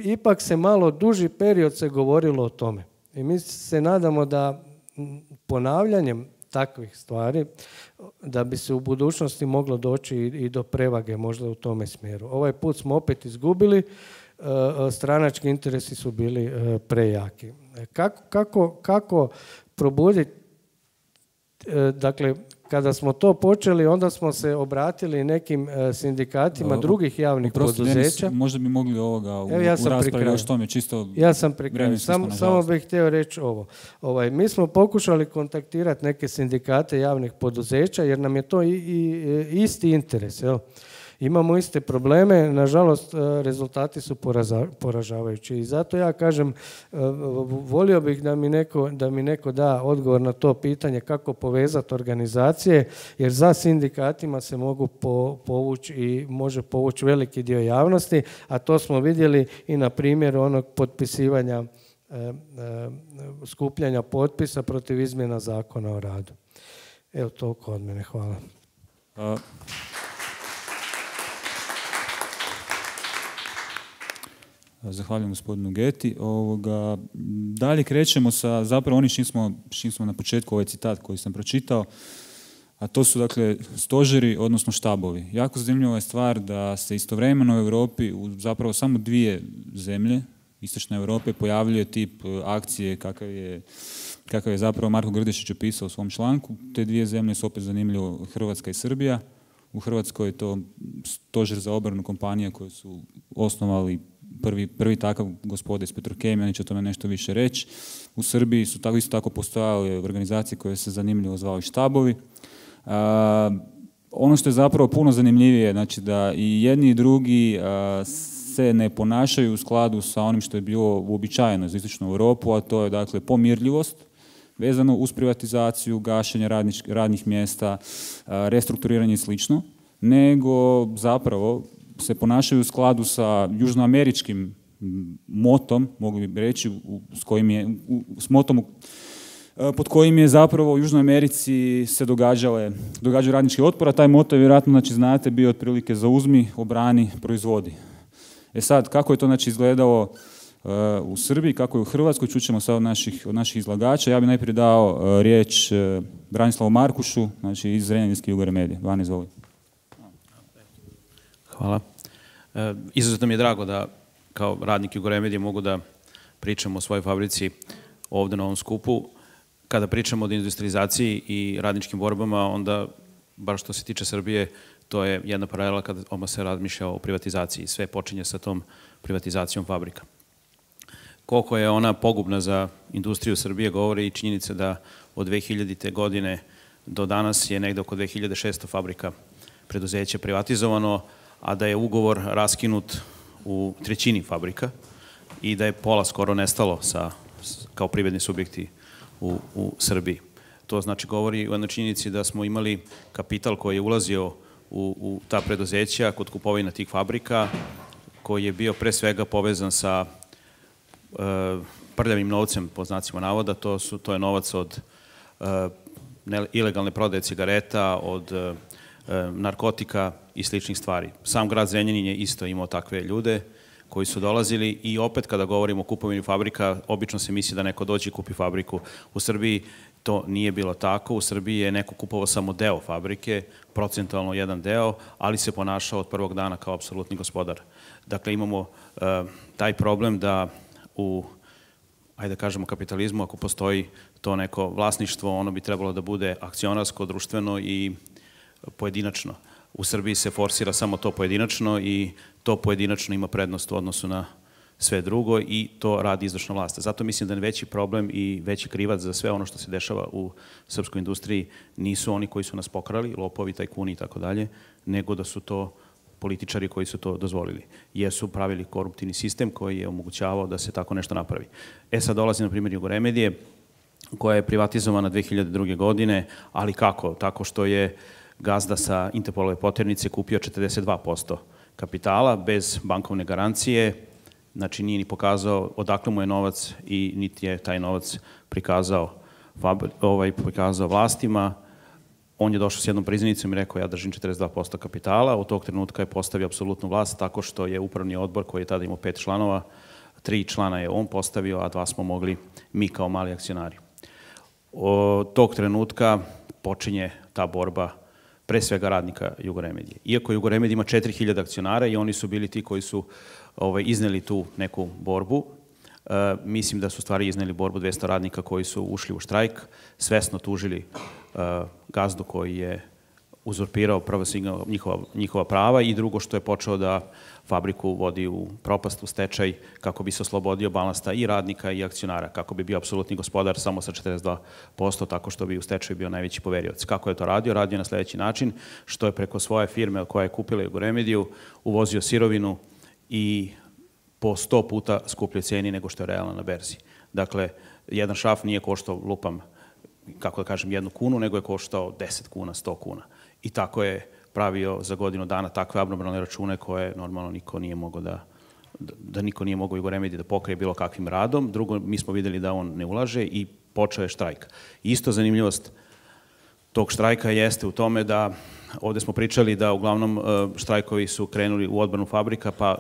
Ipak se malo duži period se govorilo o tome. I mi se nadamo da ponavljanjem takvih stvari da bi se u budućnosti moglo doći i do prevage možda u tome smjeru. Ovaj put smo opet izgubili, stranački interesi su bili prejaki. Kako probuditi, dakle, kada smo to počeli, onda smo se obratili nekim sindikatima drugih javnih poduzeća. Možda bi mogli ovoga u raspravi još tome čisto... Ja sam pri kraju. Samo bih htio reći ovo. Mi smo pokušali kontaktirati neke sindikate javnih poduzeća jer nam je to isti interes. Imamo iste probleme, nažalost rezultati su poražavajući i zato ja kažem, volio bih da mi neko da odgovor na to pitanje kako povezati organizacije, jer za sindikatima se mogu povući i može povući veliki dio javnosti, a to smo vidjeli i na primjeru onog potpisivanja skupljanja potpisa protiv izmjena Zakona o radu. Evo toliko od mene, hvala. Zahvaljujem gospodinu Geti. Dalje krećemo sa zapravo onim čim smo na početku ovaj citat koji sam pročitao, a to su dakle stožeri, odnosno štabovi. Jako zanimljiva je stvar da se istovremeno u Europi u zapravo samo 2 zemlje istočne Europe pojavljuje tip akcije kakav je zapravo Marko Grdešić opisao u svom članku. Te 2 zemlje su opet zanimljivo Hrvatska i Srbija. U Hrvatskoj je to stožer za obranu kompanija koje su osnovali prvi takav gospode iz Petrokemije, oni će o tome nešto više reći. U Srbiji su isto tako postojale organizacije koje se zanimljivo zvali štabovi. Ono što je zapravo puno zanimljivije, znači da i jedni i drugi se ne ponašaju u skladu sa onim što je bilo uobičajeno za istočnu Europu, a to je dakle pomirljivost vezano uz privatizaciju, gašenje radnih mjesta, restrukturiranje i slično, nego zapravo se ponašaju u skladu sa južnoameričkim motom, mogli bi reći, s motom pod kojim je zapravo u Južnoj Americi se događaju radnički otpor, a taj moto je vjerojatno, znači, znate, bio otprilike zauzmi, obrani, proizvodi. Sad, kako je to, znači, izgledalo u Srbiji, kako je u Hrvatskoj, čućemo sad od naših izlagača. Ja bih najprije dao riječ Branislavu Markušu, znači iz Zrenjaninske Jugore Medije. Van, izvoli. Hvala. Izuzetno mi je drago da kao radnik Jugore Medije mogu da pričam o svojoj fabrici ovdje na ovom skupu. Kada pričamo o industrializaciji i radničkim borbama, onda, bar što se tiče Srbije, to je jedna paralela kada se razmišlja o privatizaciji. Sve počinje sa tom privatizacijom fabrika. Koliko je ona pogubna za industriju Srbije govori i činjenica da od 2000. godine do danas je negde oko 2600 fabrika preduzeća privatizovano, a da je ugovor raskinut u 1/3 fabrika i da je pola skoro nestalo kao privredni subjekti u Srbiji. To znači govori o jednoj činjenici da smo imali kapital koji je ulazio u ta preduzeća kod kupovina tih fabrika, koji je bio pre svega povezan sa prljavim novcem, po znacima navoda. To je novac od ilegalne prodaje cigareta, od narkotika i sličnih stvari. Sam grad Zrenjanin je isto imao takve ljude koji su dolazili i opet kada govorimo o kupovini fabrika, obično se misli da neko dođe i kupi fabriku. U Srbiji to nije bilo tako. U Srbiji je neko kupovao samo deo fabrike, procentualno jedan deo, ali se ponašao od prvog dana kao apsolutni gospodar. Dakle, imamo taj problem da ajde da kažemo, kapitalizmu, ako postoji to neko vlasništvo, ono bi trebalo da bude akcionarsko, društveno i pojedinačno. U Srbiji se forsira samo to pojedinačno i to pojedinačno ima prednost u odnosu na sve drugo i to radi izvršna vlast. Zato mislim da je veći problem i veći krivac za sve ono što se dešava u srpskoj industriji nisu oni koji su nas pokrali, lopovi, tajkuni i tako dalje, nego da su to političari koji su to dozvolili, jer su pravili koruptivni sistem koji je omogućavao da se tako nešto napravi. Sad dolazi na primjer Jugoremedije, koja je privatizovana 2002. godine, ali kako? Tako što je gazda sa Interpolove poternice kupio 42% kapitala bez bankovne garancije, znači nije ni pokazao odakle mu je novac i niti je taj novac prikazao vlastima. On je došao s jednom priznanicom i rekao ja držim 42% kapitala, od tog trenutka je postavio apsolutnu vlast tako što je upravni odbor koji je tada imao 5 članova, 3 člana je on postavio, a 2 smo mogli mi kao mali akcionari. Od tog trenutka počinje ta borba pre svega radnika Jugoremedije. Iako Jugoremedija ima 4000 akcionara i oni su bili ti koji su izneli tu neku borbu, mislim da su stvari izneli borbu 200 radnika koji su ušli u štrajk, svesno tužili gazdu koji je uzurpirao prvo njihova prava i drugo što je počeo da fabriku vodi u propast, u stečaj, kako bi se oslobodio balasta i radnika i akcionara, kako bi bio apsolutni gospodar samo sa 42%, tako što bi u stečaju bio najveći poverioc. Kako je to radio? Radio je na sledeći način, što je preko svoje firme koja je kupila Jugoremediju uvozio sirovinu i po 100 puta skupljoj ceni nego što je realno na berzi. Dakle, jedan šraf nije koštao, lupam, kako da kažem, 1 kunu, nego je koštao 10 kuna, 100 kuna. I tako je pravio za godinu dana takve abnormalne račune koje normalno niko nije mogao da niko nije mogao Jugoremediji da pokrije bilo kakvim radom. Drugo, mi smo videli da on ne ulaže i počeo je štrajk. Isto zanimljivost tog štrajka jeste u tome da ovde smo pričali da uglavnom štrajkovi su krenuli u odbranu fabrika, pa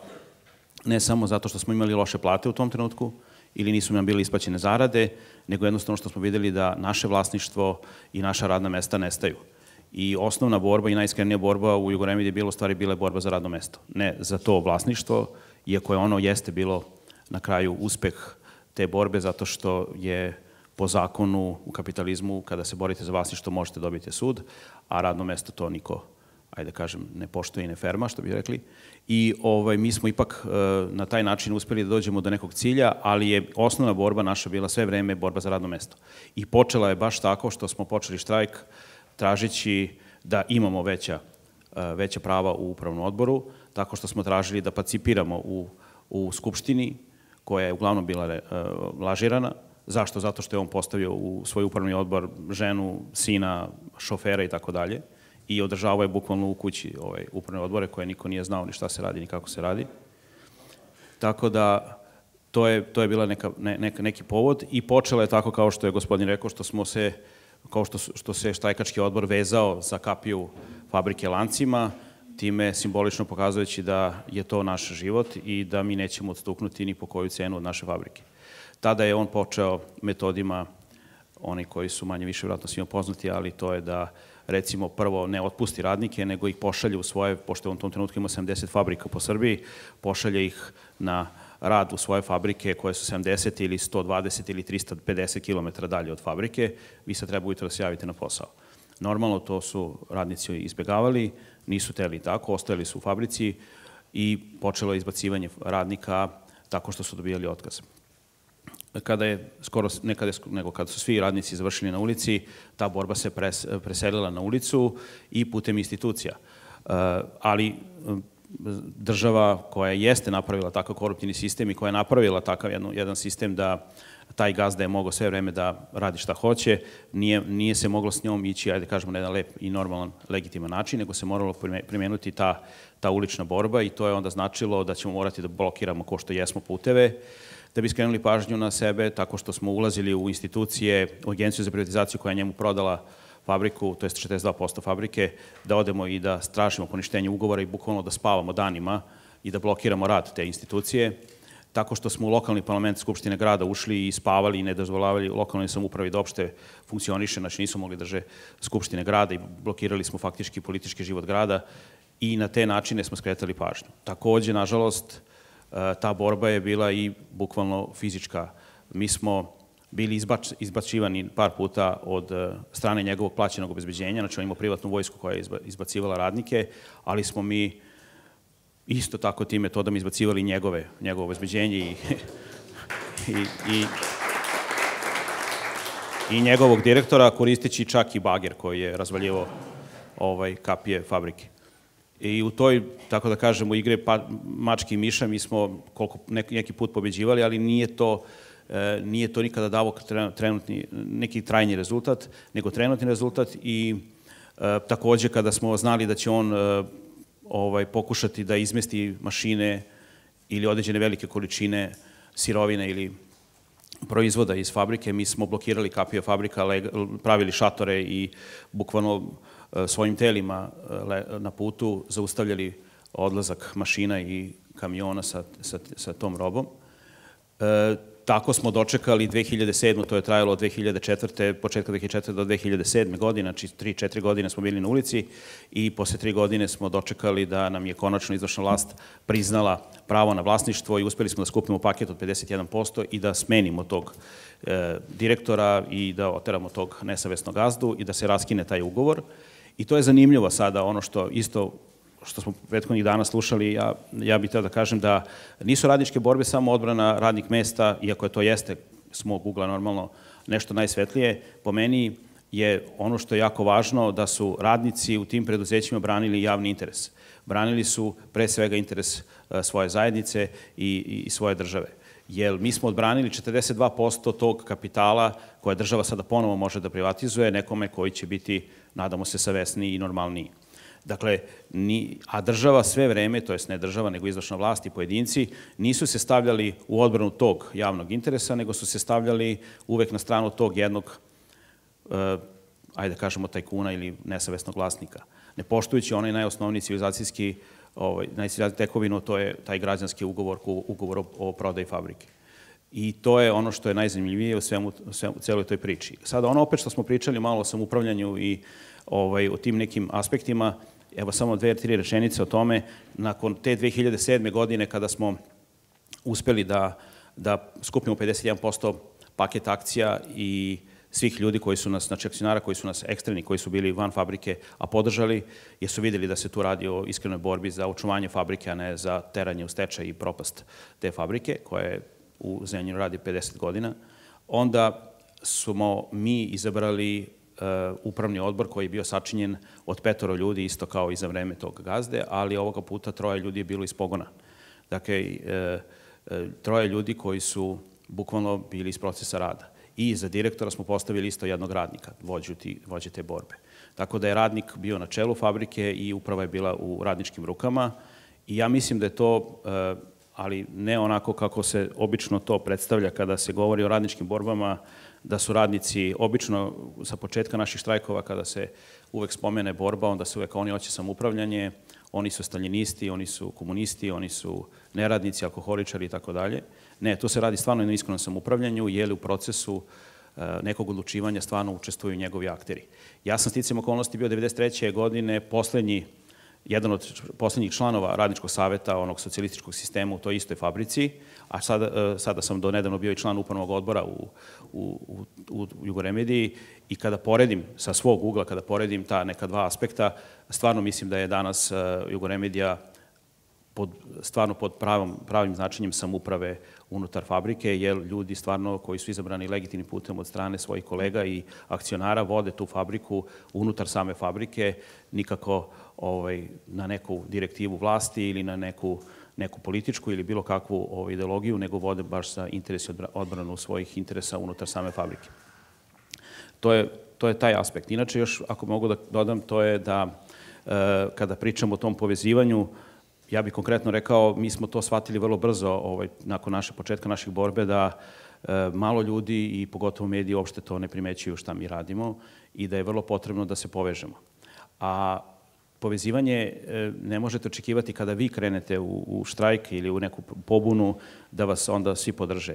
ne samo zato što smo imali loše plate u tom trenutku ili nisu nam bile isplaćene zarade, nego jednostavno što smo videli da naše vlasništvo i naša radna mesta nestaju. I osnovna borba i najiskrenija borba u Jugoremediji je bila u stvari borba za radno mesto. Ne za to vlasništvo, iako je ono jeste bilo na kraju uspeh te borbe, zato što je po zakonu u kapitalizmu, kada se borite za vlasništvo, možete dobiti sud, a radno mesto to niko, ajde kažem, ne poštuje i ne ferma, što bi rekli. I mi smo ipak na taj način uspeli da dođemo do nekog cilja, ali je osnovna borba naša bila sve vreme borba za radno mesto. I počela je baš tako što smo počeli štrajk tražeći da imamo veća prava u upravnom odboru, tako što smo tražili da participiramo u Skupštini, koja je uglavnom bila lažirana. Zašto? Zato što je on postavio u svoj upravni odbor ženu, sina, šofera i tako dalje i održavao je bukvalno u kući upravne odbore koje niko nije znao ni šta se radi, ni kako se radi. Tako da to je bila neki povod i počelo je tako kao što je gospodin rekao, što se štrajkački odbor vezao za kapiju fabrike lancima, time simbolično pokazujući da je to naš život i da mi nećemo odstuknuti ni po koju cenu od naše fabrike. Tada je on počeo metodima, oni koji su manje više vjerojatno svima poznati, ali to je da recimo prvo ne otpusti radnike, nego ih pošalje u svoje, pošto je on u tom trenutku ima 70 fabrika po Srbiji, pošalje ih na rad u svoje fabrike koje su 70 ili 120 ili 350 km dalje od fabrike, vi sad treba ujutro da se javite na posao. Normalno to su radnici izbjegavali, nisu teli tako, ostajali su u fabrici i počelo je izbacivanje radnika tako što su dobijali otkaz. Kada su svi radnici završili na ulici, ta borba se preselila na ulicu i putem institucija. Ali država koja jeste napravila takav koruptivni sistem i koja je napravila takav jedan sistem da taj gazda je mogao sve vreme da radi šta hoće, nije se moglo s njom ići, ajde kažemo, na jedan lep i normalan, legitiman način, nego se moralo primenuti ta ulična borba i to je onda značilo da ćemo morati da blokiramo ko što jesmo puteve, da bi skrenuli pažnju na sebe tako što smo ulazili u institucije, u agenciju za privatizaciju koja je njemu prodala fabriku, to je 42% fabrike, da odemo i da stražimo poništenje ugovora i bukvalno da spavamo danima i da blokiramo rad te institucije, tako što smo u lokalni parlament Skupštine grada ušli i spavali i ne dozvoljavali lokalnoj samoupravi da opšte funkcioniše, znači nisu mogli drže Skupštine grada i blokirali smo faktički politički život grada i na te načine smo skretali pažnju. Takođe, nažalost, ta borba je bila i bukvalno fizička. Mi smo bili izbacivani par puta od strane njegovog plaćenog obezbeđenja, znači on imao privatnu vojsku koja je izbacivala radnike, ali smo mi isto tako tim metodama izbacivali njegovo obezbeđenje i njegovog direktora, koristeći čak i bager koji je razvaljivao kapije fabrike. I u toj, tako da kažemo, igre mačke i miša mi smo neki put pobeđivali, ali nije to nikada davo neki trajni rezultat, nego trenutni rezultat i takođe kada smo znali da će on pokušati da izmesti mašine ili određene velike količine sirovine ili proizvoda iz fabrike, mi smo blokirali kapije fabrika, pravili šatore i bukvalno svojim telima na putu zaustavljali odlazak mašina i kamiona sa tom robom. Tako smo dočekali 2007. To je trajalo od 2004. početka 2004. do 2007. godine, znači 3-4 godine smo bili na ulici i posle 3 godine smo dočekali da nam je konačno izvršna vlast priznala pravo na vlasništvo i uspeli smo da skupimo paket od 51% i da smenimo tog direktora i da oteramo tog nesavesnog gazdu i da se raskine taj ugovor. I to je zanimljivo sada, ono što smo prethodnih dana slušali, ja bih hteo da kažem da nisu radničke borbe samo odbrana radnih mesta, iako to jeste s mog ugla normalno nešto najsvetlije, po meni je ono što je jako važno da su radnici u tim preduzećima branili javni interes. Branili su pre svega interes svoje zajednice i svoje države. Jer mi smo odbranili 42% tog kapitala koje država sada ponovo može da privatizuje nekome koji će biti, nadamo se, savesniji i normalniji. Dakle, a država sve vreme, to jest ne država, nego izvršna vlast i pojedinci, nisu se stavljali u odbranu tog javnog interesa, nego su se stavljali uvek na stranu tog jednog, ajde da kažemo, tajkuna ili nesavesnog vlasnika. Ne poštujući onaj najosnovniji civilizacijski tekovinu, to je taj građanski ugovor o prodaji fabrike. I to je ono što je najzanimljivije u celoj toj priči. Sada, ono opet što smo pričali malo o samoupravljanju i o tim nekim aspektima, evo samo 2-3 rečenice o tome. Nakon te 2007. godine kada smo uspeli da skupimo 51% paket akcija i svih ljudi koji su nas, znači akcionara koji su nas ekstremni, koji su bili van fabrike, a podržali, jer su videli da se tu radi o iskrenoj borbi za očuvanje fabrike, a ne za teranje u stečaj i propast te fabrike, koja je u Zrenjaninu radi 50 godina, onda smo mi izabrali upravni odbor koji je bio sačinjen od 5 ljudi, isto kao i za vreme tog gazde, ali ovoga puta 3 ljudi je bilo iz pogona. Dakle, 3 ljudi koji su bukvalno bili iz procesa rada. I za direktora smo postavili isto jednog radnika, vođe te borbe. Tako da je radnik bio na čelu fabrike i uprava je bila u radničkim rukama. I ja mislim da je to, ali ne onako kako se obično to predstavlja kada se govori o radničkim borbama, da su radnici obično sa početka naših štrajkova, kada se uvek spomene borba, onda se uvek oni hoće samoupravljanje, oni su staljinisti, oni su komunisti, oni su neradnici, alkoholičari i tako dalje. Ne, to se radi stvarno na iskrenom samoupravljanju, jer u procesu nekog odlučivanja stvarno učestvuju njegovi akteri. Ja sam sticajem okolnosti bio 1993. godine jedan od poslednjih članova radničkog saveta onog socijalističkog sistema u toj istoj fabrici, a sada sam do nedavno bio i član upravnog odbora u Jugoremediji i kada poredim sa svog ugla, kada poredim ta neka dva aspekta, stvarno mislim da je danas Jugoremedija stvarno pod pravim značenjem samouprave unutar fabrike, jer ljudi stvarno koji su izabrani legitimnim putem od strane svojih kolega i akcionara vode tu fabriku unutar same fabrike, nikako na neku direktivu vlasti ili na neku političku ili bilo kakvu ideologiju, nego vode baš za interes i odbranu svojih interesa unutar same fabrike. To je taj aspekt. Inače, još ako mogu da dodam, to je da kada pričamo o tom povezivanju, ja bih konkretno rekao, mi smo to shvatili vrlo brzo nakon početka naših borbe, da malo ljudi i pogotovo mediji uopšte to ne primećuju šta mi radimo i da je vrlo potrebno da se povežemo. A povezivanje ne možete očekivati kada vi krenete u štrajk ili u neku pobunu da vas onda svi podrže.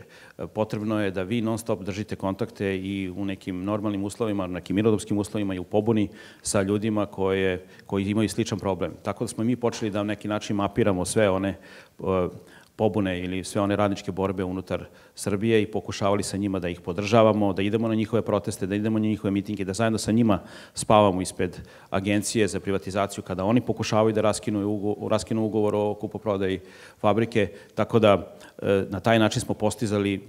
Potrebno je da vi non stop držite kontakte i u nekim normalnim uslovima, u nekim mirnodopskim uslovima i u pobuni sa ljudima koji imaju sličan problem. Tako da smo mi počeli da na neki način mapiramo sve one pobune ili sve one radničke borbe unutar Srbije i pokušavali sa njima da ih podržavamo, da idemo na njihove proteste, da idemo na njihove mitinge, da zajedno sa njima spavamo ispred agencije za privatizaciju kada oni pokušavaju da raskinu ugovor o kupoprodaji fabrike, tako da na taj način smo postizali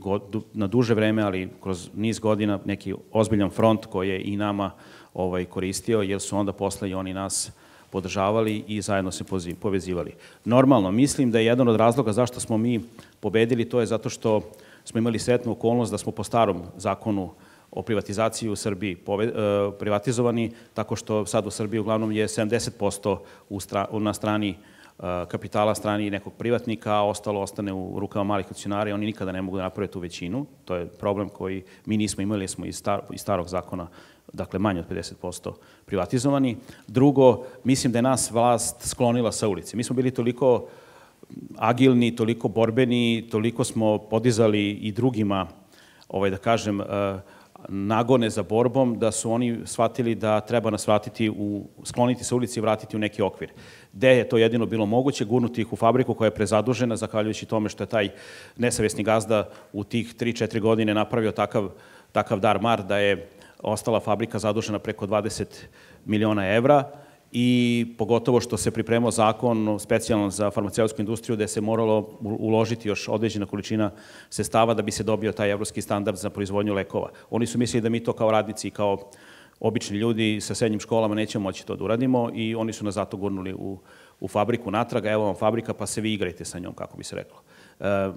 na duže vreme, ali kroz niz godina neki ozbiljan front koji je i nama koristio, jer su onda posle i oni nas podržavali i zajedno se povezivali. Normalno, mislim da je jedan od razloga zašto smo mi pobedili, to je zato što smo imali sretnu okolnost da smo po starom zakonu o privatizaciji u Srbiji privatizovani, tako što sad u Srbiji uglavnom je 70% na strani kapitala, strani nekog privatnika, a ostalo ostane u rukama malih akcionara i oni nikada ne mogu da naprave tu većinu. To je problem koji mi nismo imali, smo iz starog zakona, dakle manje od 50% privatizovani. Drugo, mislim da je nas vlast sklonila sa ulice. Mi smo bili toliko agilni, toliko borbeni, toliko smo podizali i drugima, da kažem, nagone za borbom, da su oni shvatili da treba nas skloniti sa ulici i vratiti u neki okvir. Gde je to jedino bilo moguće, gurnuti ih u fabriku koja je prezadužena, zahvaljujući tome što je taj nesavesni gazda u tih 3-4 godine napravio takav dar-mar da je ostala fabrika zadužena preko 20 miliona evra i pogotovo što se pripremao zakon specijalno za farmaceutsku industriju gde se moralo uložiti još određena količina sredstava da bi se dobio taj evropski standard za proizvodnju lekova. Oni su mislili da mi to kao radnici i kao obični ljudi sa srednjim školama nećemo moći to da uradimo i oni su nas zato gurnuli u fabriku natrag, evo vam fabrika pa se vi igrajte sa njom, kako bi se reklo.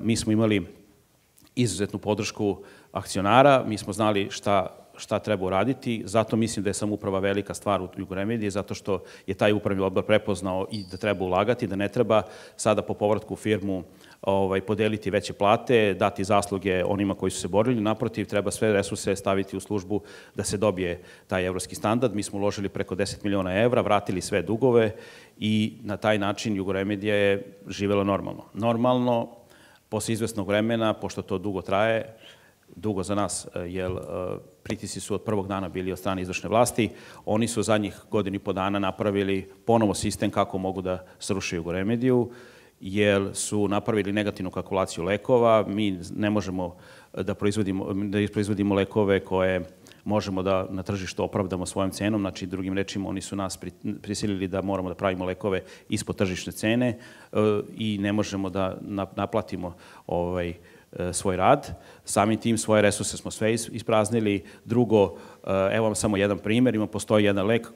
Mi smo imali izuzetnu podršku akcionara, mi smo znali šta treba uraditi, zato mislim da je samouprava velika stvar u Jugoremediji, zato što je taj upravni odbor prepoznao i da treba ulagati, da ne treba sada po povratku u firmu podeliti veće plate, dati zasluge onima koji su se borili, naprotiv, treba sve resurse staviti u službu da se dobije taj evropski standard. Mi smo uložili preko 10 miliona evra, vratili sve dugove i na taj način Jugoremedija je živela normalno. Normalno, posle izvesnog vremena, pošto to dugo traje, dugo za nas, jer pritisci su od prvog dana bili od strane izvršne vlasti. Oni su zadnjih godinu i po dana napravili ponovo sistem kako mogu da sruše Jugoremediju, jer su napravili negativnu kalkulaciju lekova. Mi ne možemo da proizvodimo lekove koje možemo da na tržištu opravdamo svojom cenom. Znači, drugim rečima, oni su nas prisilili da moramo da pravimo lekove ispod tržišne cene i ne možemo da naplatimo svoj rad. Samim tim svoje resurse smo sve ispraznili. Drugo, evo vam samo jedan primer, postoji jedan lek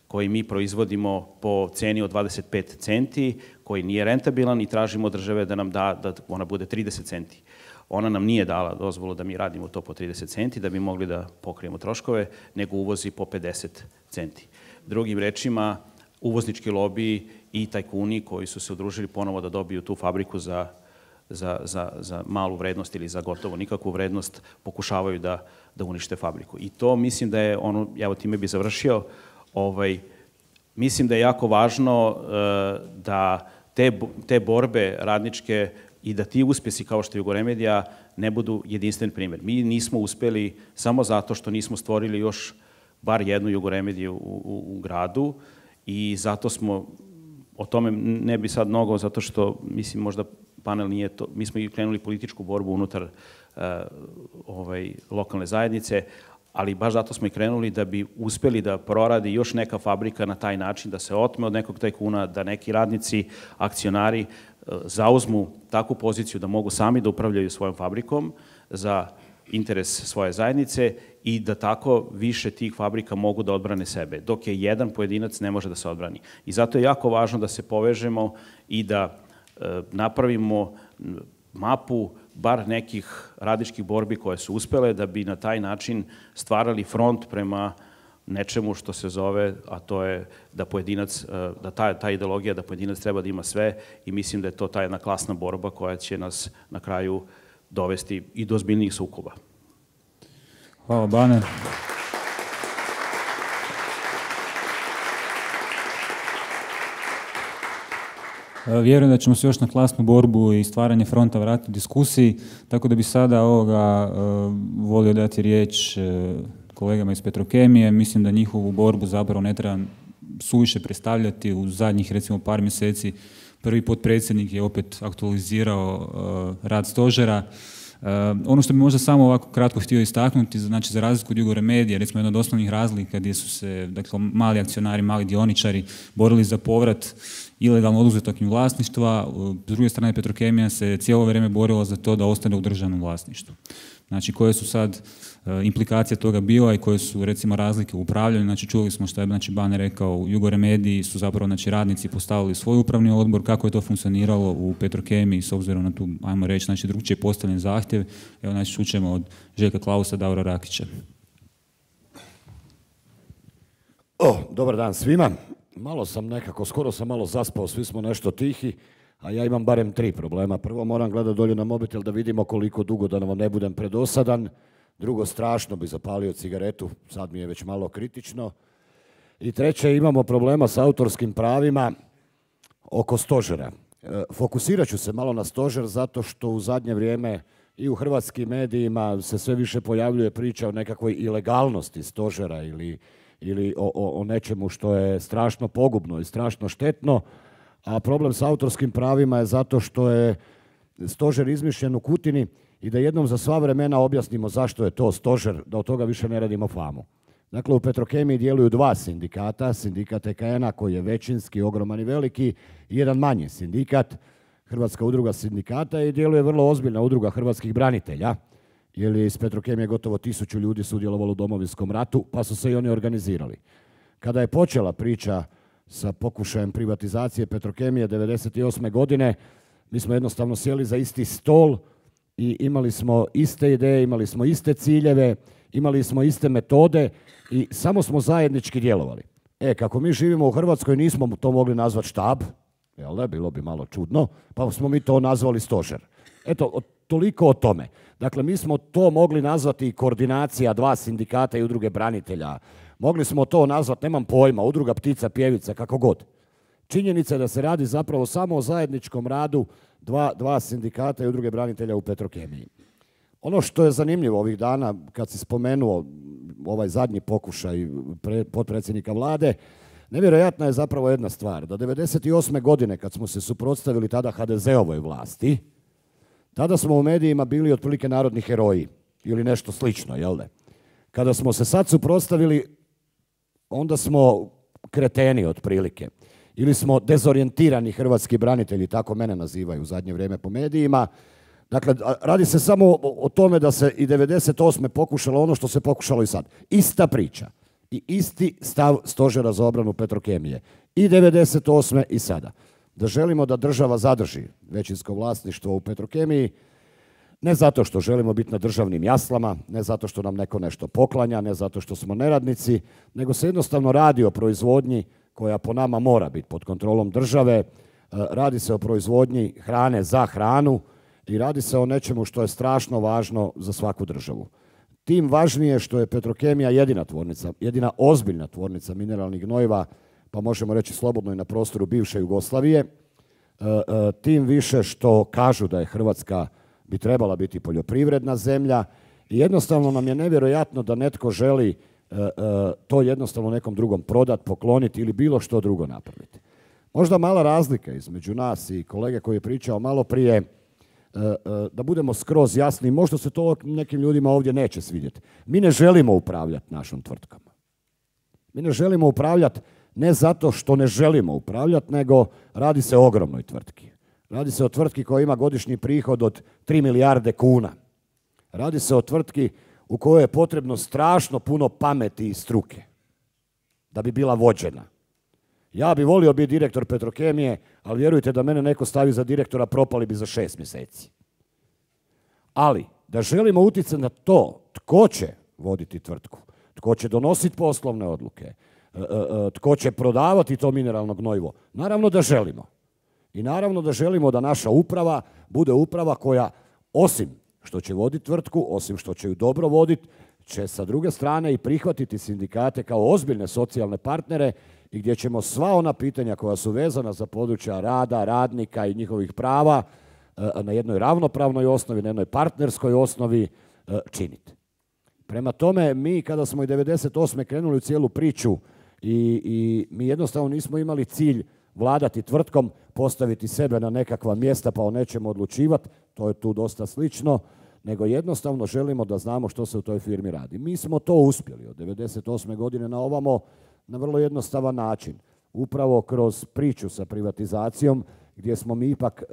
koji mi proizvodimo po ceni od 25 centi, koji nije rentabilan i tražimo od države da nam da ona bude 30 centi. Ona nam nije dala dozvolu da mi radimo to po 30 centi, da bi mogli da pokrijemo troškove, nego uvozi po 50 centi. Drugim rečima, uvoznički lobiji i tajkuni koji su se udružili ponovo da dobiju tu fabriku za malu vrednost ili za gotovo nikakvu vrednost, pokušavaju da unište fabriku. I to mislim da je ono, evo time bi završio, mislim da je jako važno da te borbe radničke i da ti uspesi kao što je Jugoremedija ne budu jedinstven primer. Mi nismo uspeli samo zato što nismo stvorili još bar jednu Jugoremediju u gradu i zato smo, o tome ne bi sad mnogo, zato što mislim možda panel nije to, mi smo i krenuli političku borbu unutar lokalne zajednice, ali baš zato smo i krenuli da bi uspeli da proradi još neka fabrika na taj način, da se otme od nekog tajkuna, da neki radnici, akcionari zauzmu takvu poziciju da mogu sami da upravljaju svojom fabrikom za interes svoje zajednice i da tako više tih fabrika mogu da odbrane sebe, dok je jedan pojedinac ne može da se odbrani. I zato je jako važno da se povežemo i da napravimo mapu bar nekih radničkih borbi koje su uspele da bi na taj način stvarali front prema nečemu što se zove, a to je da pojedinac, da ta ideologija da pojedinac treba da ima sve i mislim da je to ta jedna klasna borba koja će nas na kraju dovesti i do ozbiljnijih sukoba. Hvala, Bane. Vjerujem da ćemo se još na klasnu borbu i stvaranje fronta vratiti u diskusiji, tako da bi sada volio dati riječ kolegama iz Petrokemije. Mislim da njihovu borbu zapravo ne treba suviše predstavljati. U zadnjih recimo par mjeseci prvi potpredsjednik je opet aktualizirao rad stožera. Ono što bi možda samo ovako kratko htio istaknuti, znači za razliku od Jugoremedije, recimo jedna od osnovnih razlika gdje su se, dakle, mali akcionari, mali dioničari borili za povrat ilegalno oduzetog im vlasništva, s druge strane Petrokemija se cijelo vrijeme borila za to da ostane u državnom vlasništvu. Znači, koje su sad implikacije toga bila i koje su, recimo, razlike u upravljanju. Znači, čuli smo što je, znači, Bane rekao, u Jugoremediji su zapravo, znači, radnici postavili svoj upravni odbor, kako je to funkcioniralo u Petrokemiji s obzirom na tu, ajmo reći, znači, drugčije postavljen zahtjev. Evo, znači, čućemo od Željka Klausa, Davora Rakića. Dobar dan svima. Malo sam nekako, skoro sam malo zaspao, svi smo nešto tihi, a ja imam barem 3 problema. Prvo, moram gledati dolje na mobitel da vidimo koliko dugo, da vam ne budem predosadan. Drugo, strašno bi zapalio cigaretu, sad mi je već malo kritično. I treće, imamo problema s autorskim pravima oko stožera. Fokusirat ću se malo na stožer zato što u zadnje vrijeme i u hrvatskim medijima se sve više pojavljuje priča o nekakvoj ilegalnosti stožera ili o nečemu što je strašno pogubno i strašno štetno, a problem s autorskim pravima je zato što je stožer izmišljen u Kutini i da jednom za sva vremena objasnimo zašto je to stožer, da od toga više ne radimo famu. Dakle, u Petrokemiji djeluju 2 sindikata, sindikat EKN-a koji je većinski, ogroman i veliki, i jedan manji sindikat, Hrvatska udruga sindikata, i djeluje vrlo ozbiljna udruga hrvatskih branitelja, jer je iz Petrokemije gotovo 1000 ljudi sudjelovalo u Domovinskom ratu, pa su se i oni organizirali. Kada je počela priča sa pokušajem privatizacije Petrokemije 1998. godine, mi smo jednostavno sjeli za isti stol i imali smo iste ideje, imali smo iste ciljeve, imali smo iste metode i samo smo zajednički djelovali. Kako mi živimo u Hrvatskoj, nismo to mogli nazvati štab, jel da, bilo bi malo čudno, pa smo mi to nazvali stožer. Eto, toliko o tome. Dakle, mi smo to mogli nazvati koordinacija 2 sindikata i udruge branitelja. Mogli smo to nazvati, nemam pojma, udruga ptica pjevica, kako god. Činjenica je da se radi zapravo samo o zajedničkom radu 2 sindikata i udruge branitelja u Petrokemiji. Ono što je zanimljivo ovih dana, kad si spomenuo ovaj zadnji pokušaj potpredsjednika vlade, nevjerojatna je zapravo jedna stvar, da 1998. godine, kad smo se suprotstavili tada HDZ-ovoj vlasti, tada smo u medijima bili otprilike narodni heroji ili nešto slično, jel da? Kada smo se sad suprotstavili, onda smo kreteni otprilike. Ili smo dezorijentirani hrvatski branitelji, tako mene nazivaju u zadnje vrijeme po medijima. Dakle, radi se samo o tome da se i 1998. pokušalo ono što se pokušalo i sad. Ista priča i isti stav stožera za obranu Petrokemije. I 1998. i sada. Da želimo da država zadrži većinsko vlasništvo u Petrokemiji, ne zato što želimo biti na državnim jaslama, ne zato što nam neko nešto poklanja, ne zato što smo neradnici, nego se jednostavno radi o proizvodnji koja po nama mora biti pod kontrolom države. Radi se o proizvodnji hrane za hranu i radi se o nečemu što je strašno važno za svaku državu. Tim važnije što je Petrokemija jedina tvornica, jedina ozbiljna tvornica mineralnih gnojiva, pa možemo reći slobodno i na prostoru bivše Jugoslavije, tim više što kažu da je Hrvatska bi trebala biti poljoprivredna zemlja i jednostavno nam je nevjerojatno da netko želi to jednostavno nekom drugom prodati, pokloniti ili bilo što drugo napraviti. Možda mala razlika između nas i kolege koji je pričao malo prije, da budemo skroz jasni, možda se to nekim ljudima ovdje neće svidjeti. Mi ne želimo upravljati našom tvrtkom. Mi ne želimo upravljati ne zato što ne želimo upravljati, nego radi se o ogromnoj tvrtki. Radi se o tvrtki koja ima godišnji prihod od 3 milijarde kuna. Radi se o tvrtki u kojoj je potrebno strašno puno pameti i struke da bi bila vođena. Ja bi volio biti direktor Petrokemije, ali vjerujte da mene neko stavi za direktora, propali bi za 6 mjeseci. Ali, da želimo utjecati na to tko će voditi tvrtku, tko će donositi poslovne odluke, tko će prodavati to mineralno gnojivo, naravno da želimo. I naravno da želimo da naša uprava bude uprava koja, osim što će voditi tvrtku, osim što će ju dobro voditi, će sa druge strane i prihvatiti sindikate kao ozbiljne socijalne partnere i gdje ćemo sva ona pitanja koja su vezana za područja rada, radnika i njihovih prava na jednoj ravnopravnoj osnovi, na jednoj partnerskoj osnovi činiti. Prema tome, mi kada smo i 1998. krenuli u cijelu priču I mi jednostavno nismo imali cilj vladati tvrtkom, postaviti sebe na nekakva mjesta pa o nečemu odlučivati, to je tu dosta slično, nego jednostavno želimo da znamo što se u toj firmi radi. Mi smo to uspjeli od 1998. godine na ovamo na vrlo jednostavan način. Upravo kroz priču sa privatizacijom, gdje smo mi ipak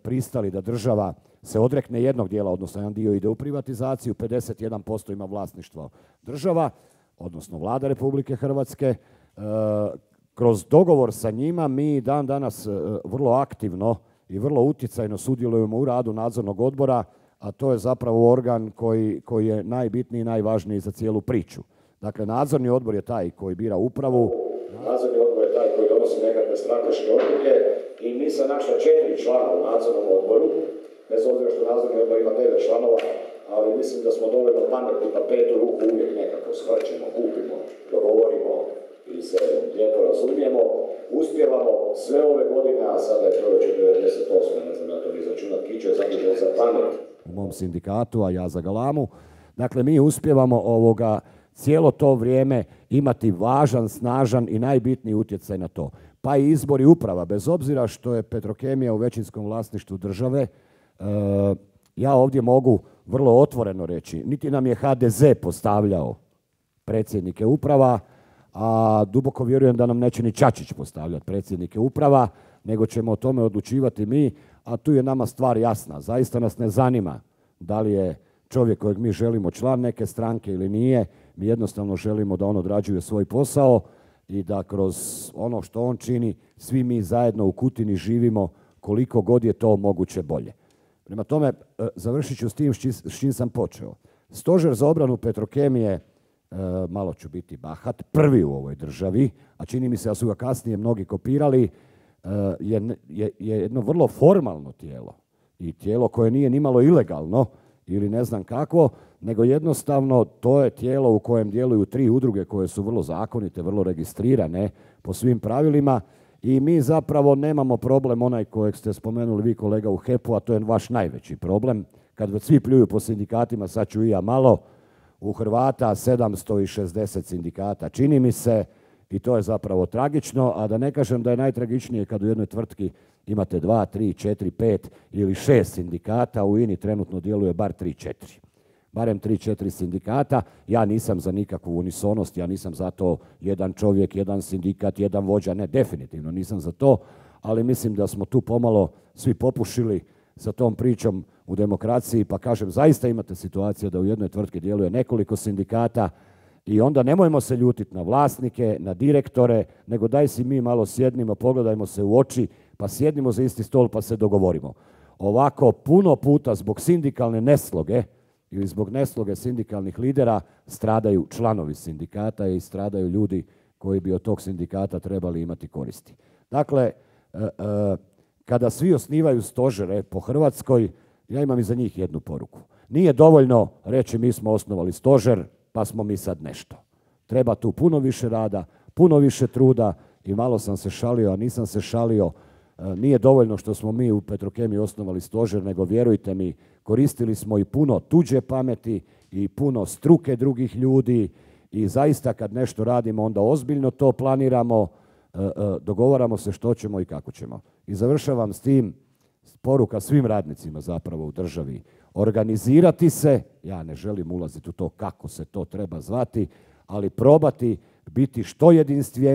pristali da država se odrekne jednog dijela, odnosno jedan dio ide u privatizaciju, 51% ima vlasništvo država, odnosno Vlada Republike Hrvatske. Kroz dogovor sa njima mi dan danas vrlo aktivno i vrlo utjecajno sudjelujemo u radu nadzornog odbora, a to je zapravo organ koji je najbitniji i najvažniji za cijelu priču. Dakle, nadzorni odbor je taj koji bira upravu. Nadzorni odbor je taj koji donosi nekakve strateške odluke i mi sa naša 4 člana u nadzornom odboru, bez obzira što nadzorni odbor ima 9 članova, ali mislim da smo dovoljno pametni pa 5. ruku uvijek nekako shvaćemo, kupimo, dogovorimo ili se lijepo razumijemo, uspjevamo sve ove godine, a sada je čovječe 98. ne znam ja to ni izračunat, Kićo je zadužen za pamet u mom sindikatu, a ja za galamu. Dakle, mi uspjevamo cijelo to vrijeme imati važan, snažan i najbitniji utjecaj na to. Pa i izbori uprava, bez obzira što je Petrokemija u većinskom vlasništvu države, ja ovdje mogu vrlo otvoreno reći, niti nam je HDZ postavljao predsjednike uprava, a duboko vjerujem da nam neće ni Čačić postavljati predsjednike uprava, nego ćemo o tome odlučivati mi, a tu je nama stvar jasna. Zaista nas ne zanima da li je čovjek kojeg mi želimo član neke stranke ili nije. Mi jednostavno želimo da on odrađuje svoj posao i da kroz ono što on čini svi mi zajedno u Kutini živimo koliko god je to moguće bolje. Prema tome, završit ću s tim s čim sam počeo. Stožer za obranu Petrokemije, malo ću biti bahat, prvi u ovoj državi, a čini mi se da su ga kasnije mnogi kopirali, je jedno vrlo formalno tijelo i tijelo koje nije nimalo ilegalno ili ne znam kako, nego jednostavno to je tijelo u kojem djeluju 3 udruge koje su vrlo zakonite, vrlo registrirane po svim pravilima i mi zapravo nemamo problem onaj kojeg ste spomenuli vi kolega u HEP-u, a to je vaš najveći problem. Kad već svi pljuju po sindikatima, sad ću i ja malo, u Hrvata 760 sindikata čini mi se i to je zapravo tragično, a da ne kažem da je najtragičnije kad u jednoj tvrtki imate 2, 3, 4, 5 ili 6 sindikata, u INI trenutno djeluje bar 3, 4. Barem 3, 4 sindikata. Ja nisam za nikakvu unisonost, ja nisam za to jedan čovjek, jedan sindikat, jedan vođa, ne, definitivno nisam za to, ali mislim da smo tu pomalo svi popušili sa tom pričom u demokraciji, pa kažem, zaista imate situacije da u jednoj tvrtki djeluje nekoliko sindikata i onda nemojmo se ljutiti na vlasnike, na direktore, nego daj si mi malo sjednimo, pogledajmo se u oči, pa sjednimo za isti stol pa se dogovorimo. Ovako puno puta zbog sindikalne nesloge ili zbog nesloge sindikalnih lidera stradaju članovi sindikata i stradaju ljudi koji bi od tog sindikata trebali imati koristi. Dakle, kada svi osnivaju stožere po Hrvatskoj, ja imam i za njih jednu poruku. Nije dovoljno reći mi smo osnovali stožer, pa smo mi sad nešto. Treba tu puno više rada, puno više truda i malo sam se šalio, a nisam se šalio. Nije dovoljno što smo mi u Petrokemiji osnovali stožer, nego vjerujte mi, koristili smo i puno tuđe pameti i puno struke drugih ljudi i zaista kad nešto radimo onda ozbiljno to planiramo, dogovaramo se što ćemo i kako ćemo. I završavam s tim, poruka svim radnicima zapravo u državi. Organizirati se, ja ne želim ulaziti u to kako se to treba zvati, ali probati biti što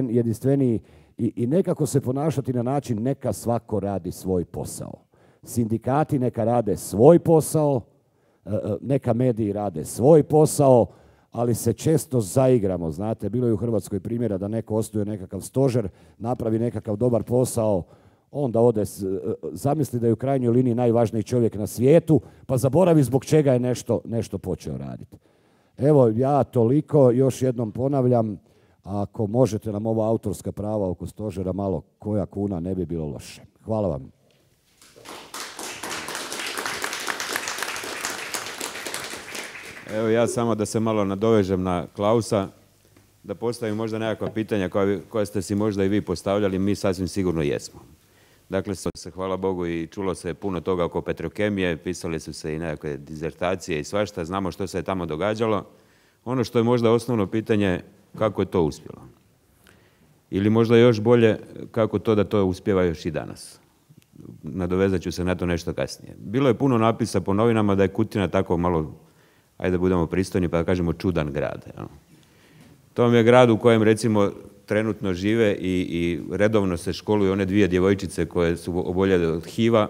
jedinstveniji i nekako se ponašati na način neka svako radi svoj posao. Sindikati neka rade svoj posao, neka mediji rade svoj posao, ali se često zaigramo. Znate, bilo je u Hrvatskoj primjera da neko osnuje nekakav stožer, napravi nekakav dobar posao, onda ode, zamisli da je u krajnjoj liniji najvažniji čovjek na svijetu, pa zaboravi zbog čega je nešto počeo raditi. Evo, ja toliko, još jednom ponavljam, ako možete nam ova autorska prava oko stožera malo koja kuna, ne bi bilo loše. Hvala vam. Evo ja samo da se malo nadovežem na Klausa, da postavim možda nekakva pitanja koja ste si možda i vi postavljali, mi sasvim sigurno jesmo. Dakle, se hvala Bogu i čulo se puno toga oko Petrokemije, pisali su se i nekakve dizertacije i svašta, znamo što se je tamo događalo. Ono što je možda osnovno pitanje, kako je to uspjelo. Ili možda još bolje, kako to da to uspijeva još i danas. Nadovezat ću se na to nešto kasnije. Bilo je puno napisa po novinama da je Kutina tako malo, ajde da budemo pristojni pa da kažemo čudan grad. Ja. To vam je grad u kojem recimo trenutno žive i redovno se školuju one 2 djevojčice koje su oboljele od HIV-a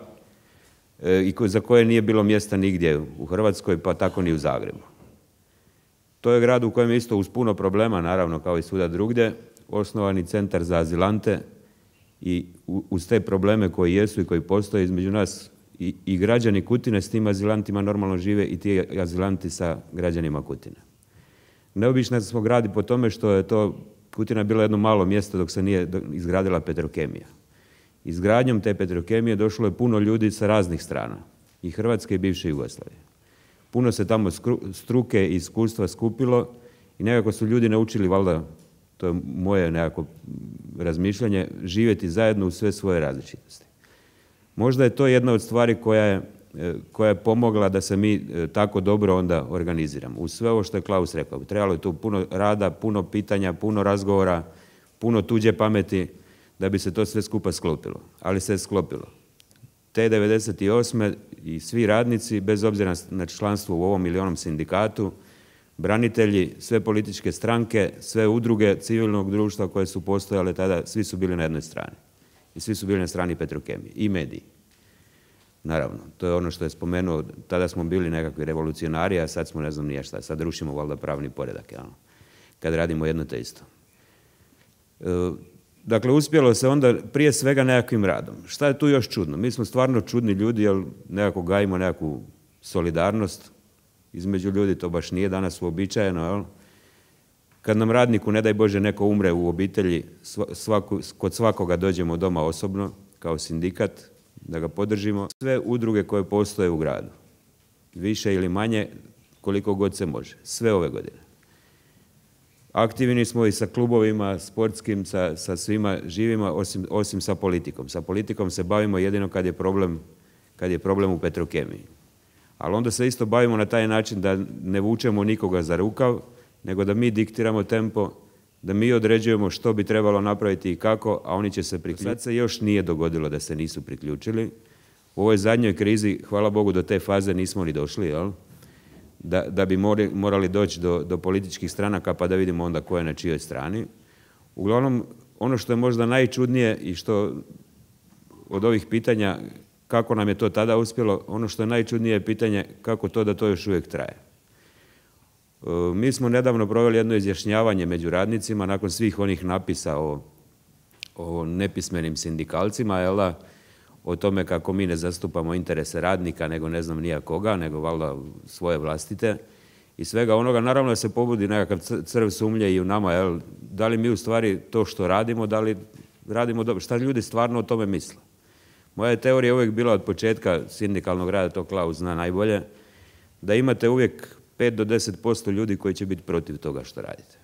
i za koje nije bilo mjesta nigdje u Hrvatskoj, pa tako ni u Zagrebu. To je grad u kojem je isto uz puno problema, naravno kao i svuda drugdje, osnovani centar za azilante i uz te probleme koji jesu i koji postoje između nas i građani Kutine s tim azilantima normalno žive i ti azilanti sa građanima Kutine. Neobično smo gradi po tome što je to Kutina bila jedno malo mjesto dok se nije izgradila Petrokemija. Izgradnjom te Petrokemije došlo je puno ljudi sa raznih strana, i Hrvatske i bivše Jugoslavije. Puno se tamo struke i iskustva skupilo i nekako su ljudi naučili, valjda, to je moje nekako razmišljanje, živjeti zajedno u sve svoje različitosti. Možda je to jedna od stvari koja je pomogla da se mi tako dobro onda organiziramo. Uz sve ovo što je Klaus rekao, trebalo je tu puno rada, puno pitanja, puno razgovora, puno tuđe pameti da bi se to sve skupa sklopilo. Ali se je sklopilo. Te 98. i svi radnici, bez obzira na članstvo u ovom ili onom sindikatu, branitelji, sve političke stranke, sve udruge civilnog društva koje su postojale tada, svi su bili na jednoj strani. I svi su bili na strani Petrokemije i mediji. Naravno, to je ono što je spomenuo, tada smo bili nekakvi revolucionari, a sad smo ne znam nije šta, sad rušimo valjda pravni poredak, kad radimo jedno te isto. Dakle, uspjelo se onda prije svega nekakvim radom. Šta je tu još čudno? Mi smo stvarno čudni ljudi, jer nekako gajimo nekakvu solidarnost između ljudi, to baš nije danas uobičajeno, jel? Kad nam radniku, ne daj Bože, neko umre u obitelji, kod svakoga dođemo doma osobno, kao sindikat, da ga podržimo. Sve udruge koje postoje u gradu, više ili manje, koliko god se može, sve ove godine. Aktivni smo i sa klubovima, sportskim, sa svima živima, osim sa politikom. Sa politikom se bavimo jedino kad je problem u Petrokemiji. Ali onda se isto bavimo na taj način da ne vučemo nikoga za rukav, nego da mi diktiramo tempo, da mi određujemo što bi trebalo napraviti i kako, a oni će se priključiti. Sad se još nije dogodilo da se nisu priključili. U ovoj zadnjoj krizi, hvala Bogu, do te faze nismo ni došli, jel? Da bi morali doći do političkih stranaka pa da vidimo onda ko je na čijoj strani. Uglavnom, ono što je možda najčudnije i što od ovih pitanja kako nam je to tada uspjelo, ono što je najčudnije je pitanje kako to da to još uvijek traje. Mi smo nedavno proveli jedno izjašnjavanje među radnicima nakon svih onih napisa o nepismenim sindikalcima, jel da, o tome kako mi ne zastupamo interese radnika, nego ne znam nija koga, nego valjda svoje vlastite. I svega onoga, naravno da se pobudi nekakav crv sumnje i u nama, jel, da li mi u stvari to što radimo, da li radimo dobro, šta ljudi stvarno o tome misle. Moja je teorija uvijek bila od početka sindikalnog rada, to Klaus zna najbolje, da imate uvijek 5 do 10% ljudi koji će biti protiv toga što radite.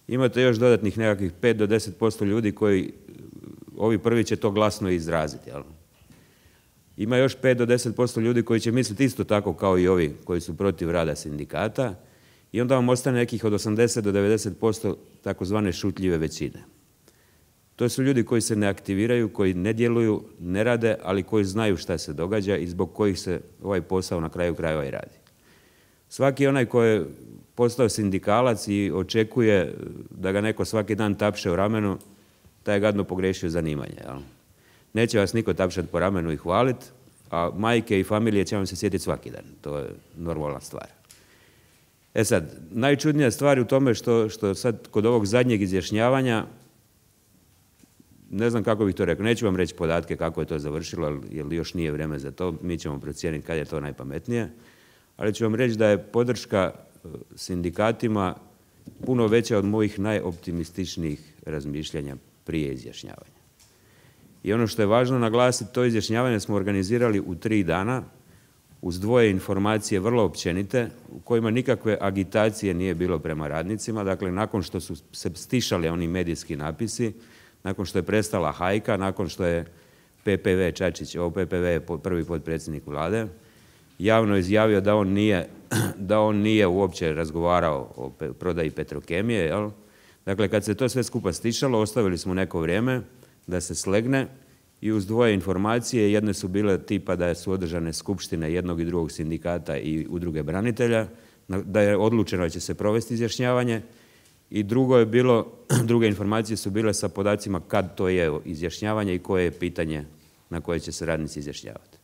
Imate još dodatnih nekakvih 5 do 10% ljudi koji, ovi prvi će to glasno izraziti. Jel? Ima još 5 do 10% ljudi koji će misliti isto tako kao i ovi koji su protiv rada sindikata i onda vam ostane nekih od 80 do 90% takozvane šutljive većine. To su ljudi koji se ne aktiviraju, koji ne djeluju, ne rade, ali koji znaju šta se događa i zbog kojih se ovaj posao na kraju krajeva i radi. Svaki onaj koji je postao sindikalac i očekuje da ga neko svaki dan tapše u ramenu, taj je gadno pogriješio zanimanje. Jel? Neće vas niko tapšati po ramenu i hvaliti, a majke i familije će vam se sjetiti svaki dan. To je normalna stvar. E sad, najčudnija stvar u tome što sad kod ovog zadnjeg izjašnjavanja, ne znam kako bih to rekao, neću vam reći podatke kako je to završilo, jer još nije vrijeme za to, mi ćemo procijeniti kad je to najpametnije, ali ću vam reći da je podrška sindikatima puno veća od mojih najoptimističnijih razmišljanja prije izjašnjavanja. I ono što je važno naglasiti, to izjašnjavanje smo organizirali u 3 dana, uz 2 informacije vrlo općenite, u kojima nikakve agitacije nije bilo prema radnicima. Dakle, nakon što su se stišali oni medijski napisi, nakon što je prestala hajka, nakon što je PPV Čačić, PPV je prvi potpredsjednik vlade, javno izjavio da on nije uopće razgovarao o prodaji Petrokemije, jel? Dakle, kad se to sve skupa stišalo, ostavili smo neko vrijeme da se slegne i uz dvoje informacije, jedne su bile tipa da su održane skupštine jednog i drugog sindikata i udruge branitelja, da je odlučeno da će se provesti izjašnjavanje, i druge informacije su bile sa podacima kad to je izjašnjavanje i koje je pitanje na koje će se radnici izjašnjavati.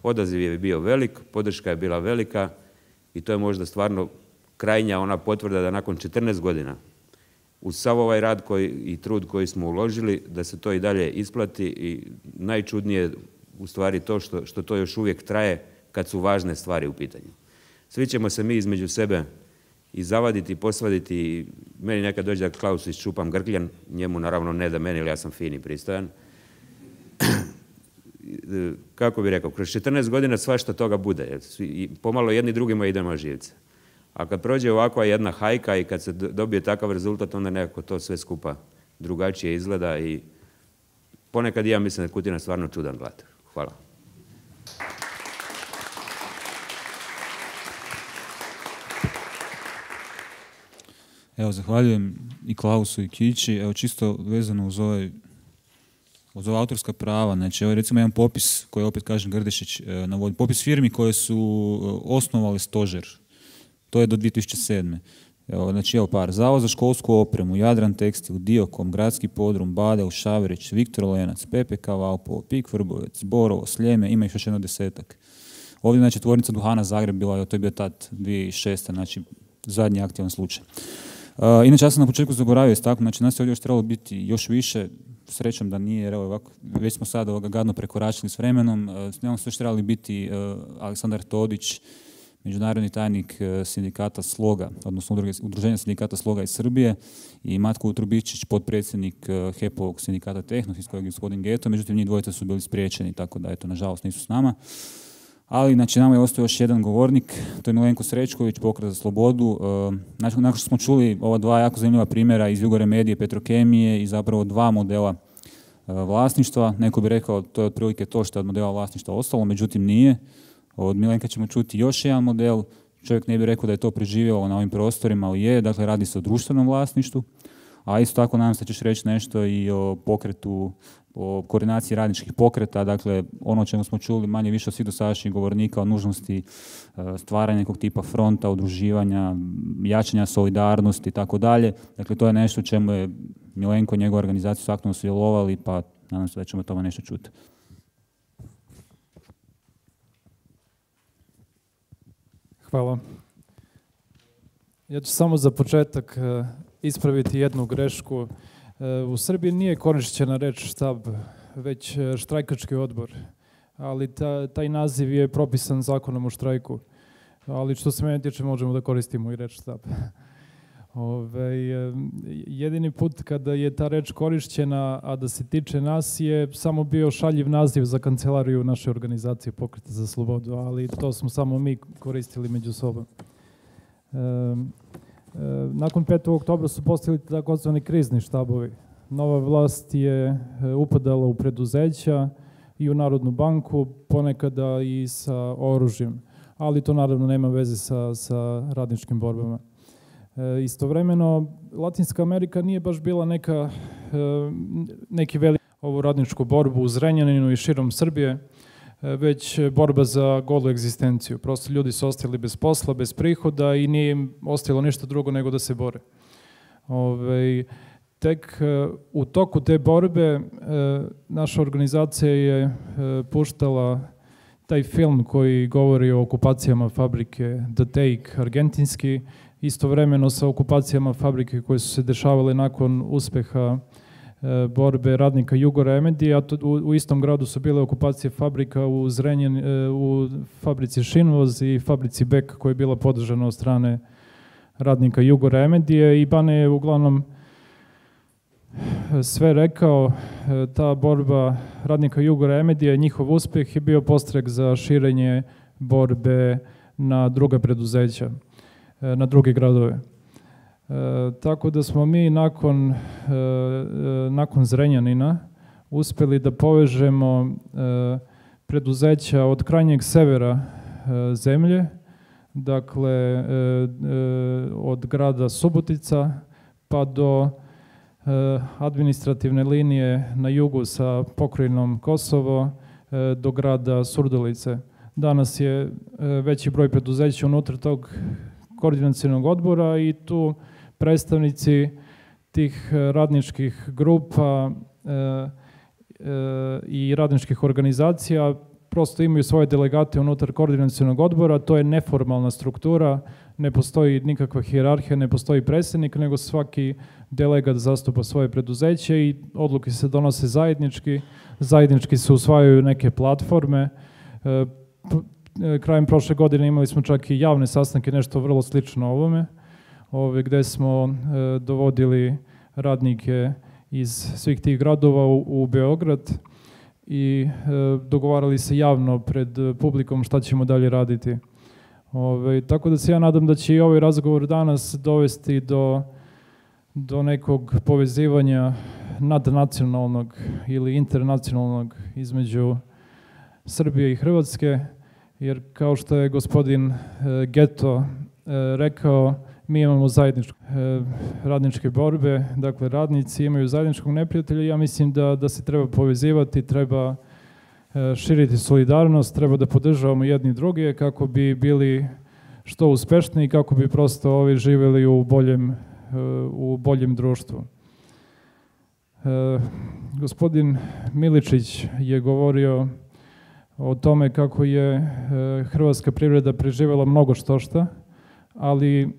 Odaziv je bio velik, podrška je bila velika i to je možda stvarno krajnja ona potvrda da nakon 14 godina uz sav ovaj rad i trud koji smo uložili, da se to i dalje isplati, i najčudnije u stvari to što to još uvijek traje kad su važne stvari u pitanju. Svi ćemo se mi između sebe i zavaditi, posvaditi, i meni nekad dođe da Klausu iščupam grkljan, njemu naravno ne da meni, jer ja sam fin i pristojan. Kako bi rekao, kroz 14 godina svašta toga bude, i pomalo jedni drugima idemo živce. A kad prođe ovakva jedna hajka i kad se dobije takav rezultat, onda nekako to sve skupa drugačije izgleda, i ponekad ja mislim da je Kutina stvarno čudan grad. Hvala. Evo, zahvaljujem i Klausu i Kići. Evo, čisto vezano uz ova autorska prava. Znači, evo recimo jedan popis koji opet kažem Grdešić navodi. Popis firmi koje su osnovali stožer. To je do 2007. Evo, znači, evo par. Zavod za školsku opremu, Jadran tekstil, Diokom, Gradski podrum, Badel, Šavrić, Viktor Lenac, PPK Valpovo, Pik Vrbovec, Borovo, Sljeme, ima ih još jedno 10-ak. Ovdje, znači, tvornica duhana Zagreb bila, to je bio tad 2006. Znači, zadnji aktivan slučaj. Inače, ja sam na početku zaboravio istaknuti, znači nas je ovdje još trebalo biti još više, srećom da nije, jer evo ovako, već smo sad gadno prekoračili s vremenom, s njom su još trebali biti Aleksandar Todić, međunarodni tajnik sindikata Sloga, odnosno udruženja sindikata Sloga iz Srbije, i Matko Utrubičić, potpredsjednik HEP-ovog sindikata Tehnos, iz kojeg je gospodin Geto, međutim njih dvojica su bili spriječeni, tako da eto, nažalost nisu s nama. Ali, znači, nama je ostao još jedan govornik, to je Milenko Srećković, Pokret za slobodu. Nakon što smo čuli ova dva jako zanimljiva primjera iz Jugoremedije, Petrokemije i zapravo dva modela vlasništva, neko bi rekao to je otprilike to što je od modela vlasništva ostalo, međutim nije. Od Milenka ćemo čuti još jedan model, čovjek ne bi rekao da je to preživjelo na ovim prostorima, ali je, dakle radi se o društvenom vlasništvu, a isto tako nadam se da ćeš reći nešto i o pokretu, o koordinaciji radničkih pokreta, dakle ono o čemu smo čuli manje više od svih dosadašnjih govornika, o nužnosti stvaranja nekog tipa fronta, udruživanja, jačanja solidarnosti i tako dalje. Dakle, to je nešto u čemu je Milenko i njegova organizacija su aktivno sudjelovali, pa nadam se da ćemo o tome nešto čuti. Hvala. Ja ću samo za početak ispraviti jednu grešku. U Srbiji nije korišćena reč štab, već štrajkački odbor, ali taj naziv je propisan zakonom o štrajku. Ali što se mene tiče možemo da koristimo i reč štab. Jedini put kada je ta reč korišćena, a da se tiče nas, je samo bio šaljiv naziv za kancelariju naše organizacije Pokreta za slobodu, ali to smo samo mi koristili među sobom. Nakon 5. oktobra su postavili takozvani krizni štabovi. Nova vlast je upadala u preduzeća i u Narodnu banku, ponekada i sa oružjem, ali to naravno nema veze sa radničkim borbama. Istovremeno, Latinska Amerika nije baš bila neki veliki ovu radničku borbu u Zrenjaninu i širom Srbije, već borba za golu egzistenciju. Prosto ljudi su ostali bez posla, bez prihoda i nije im ostalo ništa drugo nego da se bore. Tek u toku te borbe naša organizacija je puštala taj film koji govori o okupacijama fabrike The Take, argentinski, istovremeno sa okupacijama fabrike koje su se dešavale nakon uspeha borbe radnika Jugoremedije, a u istom gradu su bile okupacije fabrika u fabrici Šinvoz i fabrici Bek koja je bila podržana od strane radnika Jugoremedije, i Bane je uglavnom sve rekao. Ta borba radnika Jugoremedije, njihov uspjeh je bio podstrek za širenje borbe na druga preduzeća, na druge gradove. Tako da smo mi nakon Zrenjanina uspjeli da povežemo preduzeća od krajnjeg severa zemlje, dakle od grada Subotica pa do administrativne linije na jugu sa pokrajinom Kosovo do grada Surdulice. Danas je veći broj preduzeća unutar tog koordinacionog odbora i tu predstavnici tih radničkih grupa i radničkih organizacija prosto imaju svoje delegate unutar koordinacionog odbora. To je neformalna struktura, ne postoji nikakva hijerarhija, ne postoji predsjednik, nego svaki delegat zastupa svoje preduzeće i odluke se donose zajednički se usvajaju neke platforme. Krajem prošle godine imali smo čak i javne sastanke, nešto vrlo slično ovome, gdje smo dovodili radnike iz svih tih gradova u Beograd i dogovarali se javno pred publikom šta ćemo dalje raditi. Tako da se ja nadam da će i ovaj razgovor danas dovesti do nekog povezivanja nadnacionalnog ili internacionalnog između Srbije i Hrvatske, jer kao što je gospodin Geto rekao, mi imamo radničke borbe, dakle radnici imaju zajedničkog neprijatelja i ja mislim da se treba povezivati, treba širiti solidarnost, treba da podržavamo jedni druge kako bi bili što uspešniji, kako bi prosto ovi živjeli u boljem društvu. Gospodin Miličić je govorio o tome kako je hrvatska privreda preživjela mnogo štošta, ali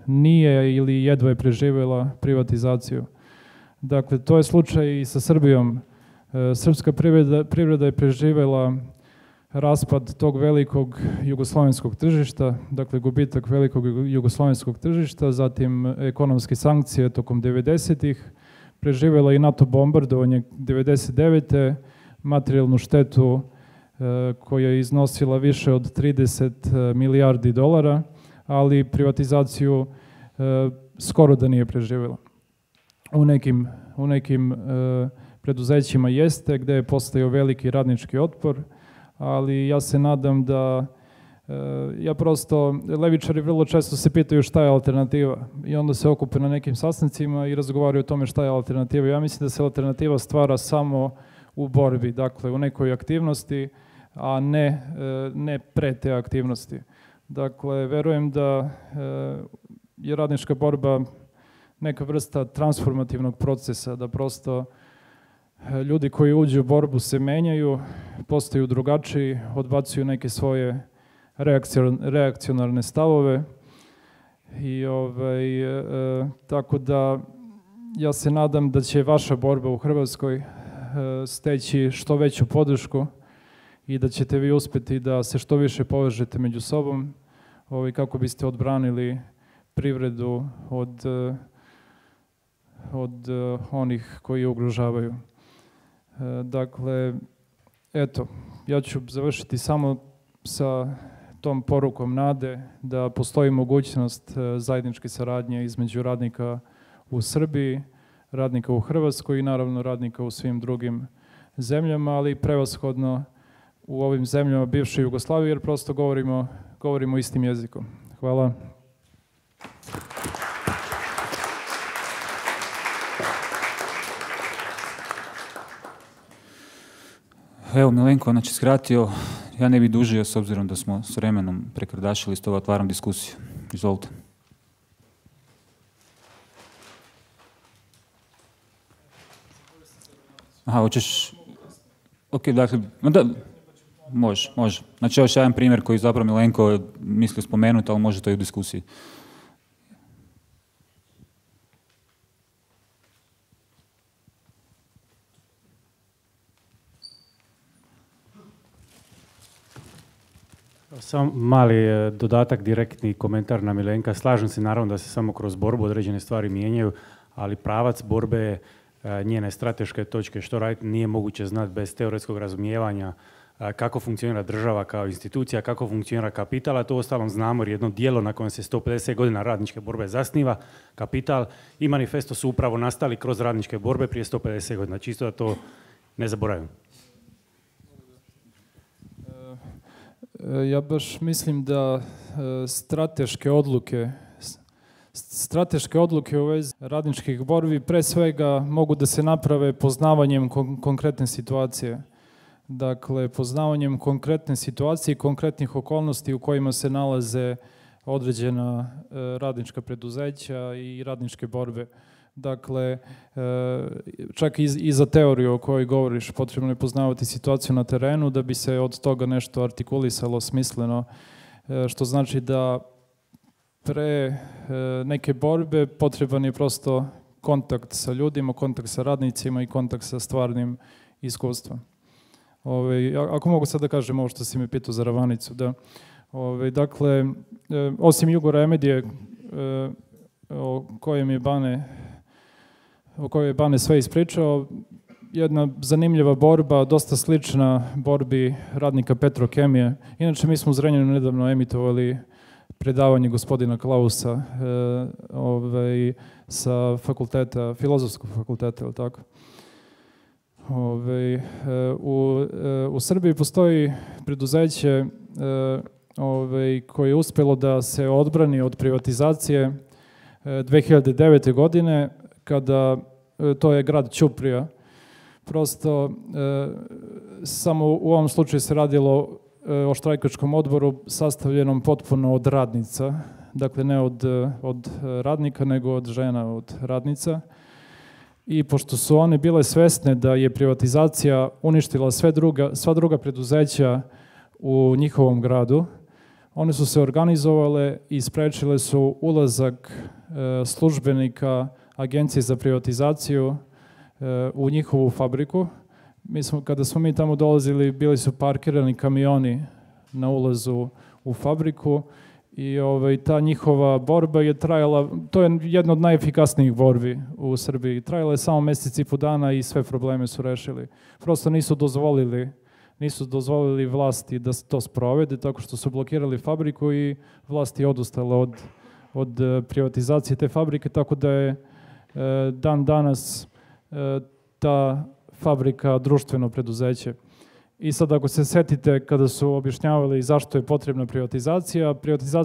nije ili jedva je preživjela privatizaciju. Dakle, to je slučaj i sa Srbijom. Srpska privreda je preživjela raspad tog velikog jugoslovenskog tržišta, dakle gubitak velikog jugoslovenskog tržišta, zatim ekonomske sankcije tokom 90-ih, preživjela i NATO bombardovanje 99. materijalnu štetu koja je iznosila više od 30 milijardi dolara, ali privatizaciju skoro da nije preživjela. U nekim preduzećima jeste, gdje je postojao veliki radnički otpor, ali ja se nadam da levičari vrlo često se pitaju šta je alternativa i onda se okupe na nekim sastancima i razgovaraju o tome šta je alternativa. Ja mislim da se alternativa stvara samo u borbi, dakle u nekoj aktivnosti, a ne pre te aktivnosti. Dakle, verujem da je radnička borba neka vrsta transformativnog procesa, da prosto ljudi koji uđu u borbu se menjaju, postaju drugačiji, odbacuju neke svoje reakcionarne stavove i tako da ja se nadam da će vaša borba u Hrvatskoj steći što veću podršku i da ćete vi uspjeti da se što više povežete među sobom kako biste odbranili privredu od onih koji je ugrožavaju. Dakle, eto, ja ću završiti samo sa tom porukom nade da postoji mogućnost zajedničke saradnje između radnika u Srbiji, radnika u Hrvatskoj i naravno radnika u svim drugim zemljama, ali prevashodno u ovim zemljama bivše Jugoslavije, jer prosto govorimo istim jezikom. Hvala. Evo, Milenko nas je skratio, ja ne bih dužio s obzirom da smo s vremenom prekrdašili, stoga otvaram diskusiju. Izvolite. Aha, hoćeš... Ok, dakle, može. Znači, još jedan primjer koji zapravo Milenko mislio spomenuti, ali može to i u diskusiji. Samo mali dodatak, direktni komentar na Milenka. Slažem se naravno da se samo kroz borbu određene stvari mijenjaju, ali pravac borbe, njene strateške točke, što raditi, nije moguće znati bez teoretskog razumijevanja kako funkcionira država kao institucija, kako funkcionira kapital, a to uostalom znamo jer jedno djelo na kojem se 150 godina radničke borbe zasniva, Kapital i Manifesto su upravo nastali kroz radničke borbe prije 150 godina. Čisto da to ne zaboravim. Ja baš mislim da strateške odluke Strateške odluke u vezi radničkih borbi pre svega mogu da se naprave poznavanjem konkretne situacije. Dakle, poznavanjem konkretne situacije i konkretnih okolnosti u kojima se nalaze određena radnička preduzeća i radničke borbe. Dakle, čak i za teoriju o kojoj govoriš, potrebno je poznavati situaciju na terenu da bi se od toga nešto artikulisalo smisleno, što znači da pre neke borbe potreban je prosto kontakt sa ljudima, kontakt sa radnicima i kontakt sa stvarnim iskustvom. Ako mogu sad da kažem ovo što si me pitao za Ravanicu, da, dakle, osim Jugoremedije o kojoj je Bane sve ispričao, jedna zanimljiva borba, dosta slična borbi radnika Petrokemije. Inače, mi smo u Zrenjaninu nedavno emitovali predavanje gospodina Klausa sa fakulteta, filozofskog fakulteta, ili tako? U Srbiji postoji preduzeće koje je uspjelo da se odbrani od privatizacije 2009. godine, kada, to je grad Ćuprija. Prosto, samo u ovom slučaju se radilo o štrajkačkom odboru sastavljenom potpuno od radnica, dakle ne od radnika, nego od žena, od radnica. I pošto su one bile svesne da je privatizacija uništila sva druga preduzeća u njihovom gradu, one su se organizovale i sprečile su ulazak službenika Agencije za privatizaciju u njihovu fabriku. Kada smo mi tamo dolazili, bili su parkirani kamioni na ulazu u fabriku i ta njihova borba je trajala, to je jedna od najefikasnijih borbi u Srbiji. Trajala je samo mjesec i po dana i sve probleme su rešili. Prosto nisu dozvolili vlasti da to sprovede, tako što su blokirali fabriku i vlasti je odustala od privatizacije te fabrike, tako da je dan danas ta fabrika društveno preduzeće. I sad ako se setite kada su objašnjavali zašto je potrebna privatizacija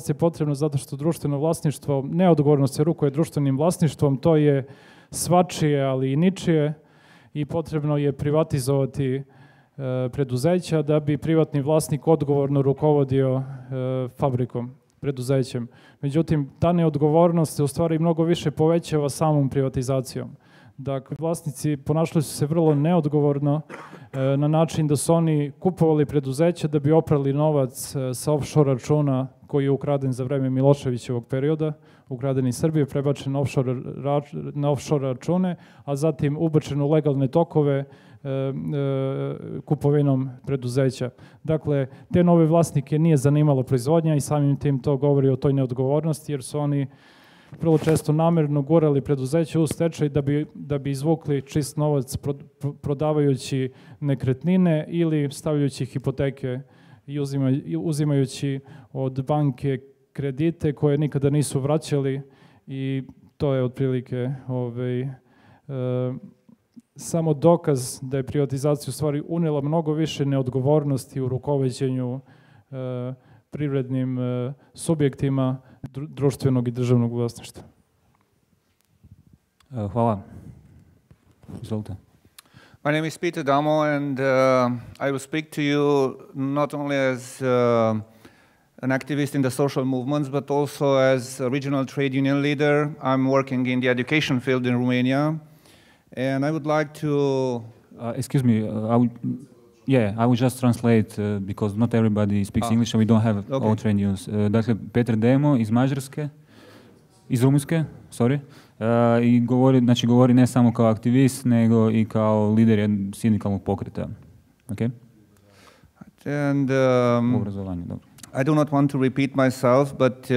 je potrebna zato što društveno vlasništvo neodgovorno se rukuje društvenim vlasništvom, to je svačije, ali i ničije i potrebno je privatizovati preduzeća da bi privatni vlasnik odgovorno rukovodio fabrikom, preduzećem. Međutim, ta neodgovornost se u stvari mnogo više povećava samom privatizacijom. Dakle, vlasnici ponašali su se vrlo neodgovorno na način da su oni kupovali preduzeća da bi oprali novac sa offshore računa koji je ukraden za vreme Miloševićevog perioda, ukraden iz Srbije, prebačen na offshore račune, a zatim ubačen u legalne tokove kupovinom preduzeća. Dakle, te nove vlasnike nije zanimalo proizvodnja i samim tim to govori o toj neodgovornosti, jer su oni vrlo često namerno gurali preduzeće u stečaj da bi izvukli čist novac prodavajući nekretnine ili stavljajući hipoteke i uzimajući od banke kredite koje nikada nisu vraćali i to je otprilike samo dokaz da je privatizacija u stvari unijela mnogo više neodgovornosti u rukovođenju privrednim subjektima društvenog i državnog vlasništva. Hvala. Izvolite. My name is Peter Damo, and I will speak to you not only as an activist in the social movements, but also as a regional trade union leader. I'm working in the education field in Romania, and I would like to... excuse me, I will just translate because not everybody speaks English and we don't have all trade unions. Dakle, Petar Demo iz Rumunjske, sorry, i govori ne samo kao aktivist, nego i kao lider sindikalnog pokreta. Okay? And I do not want to repeat myself, but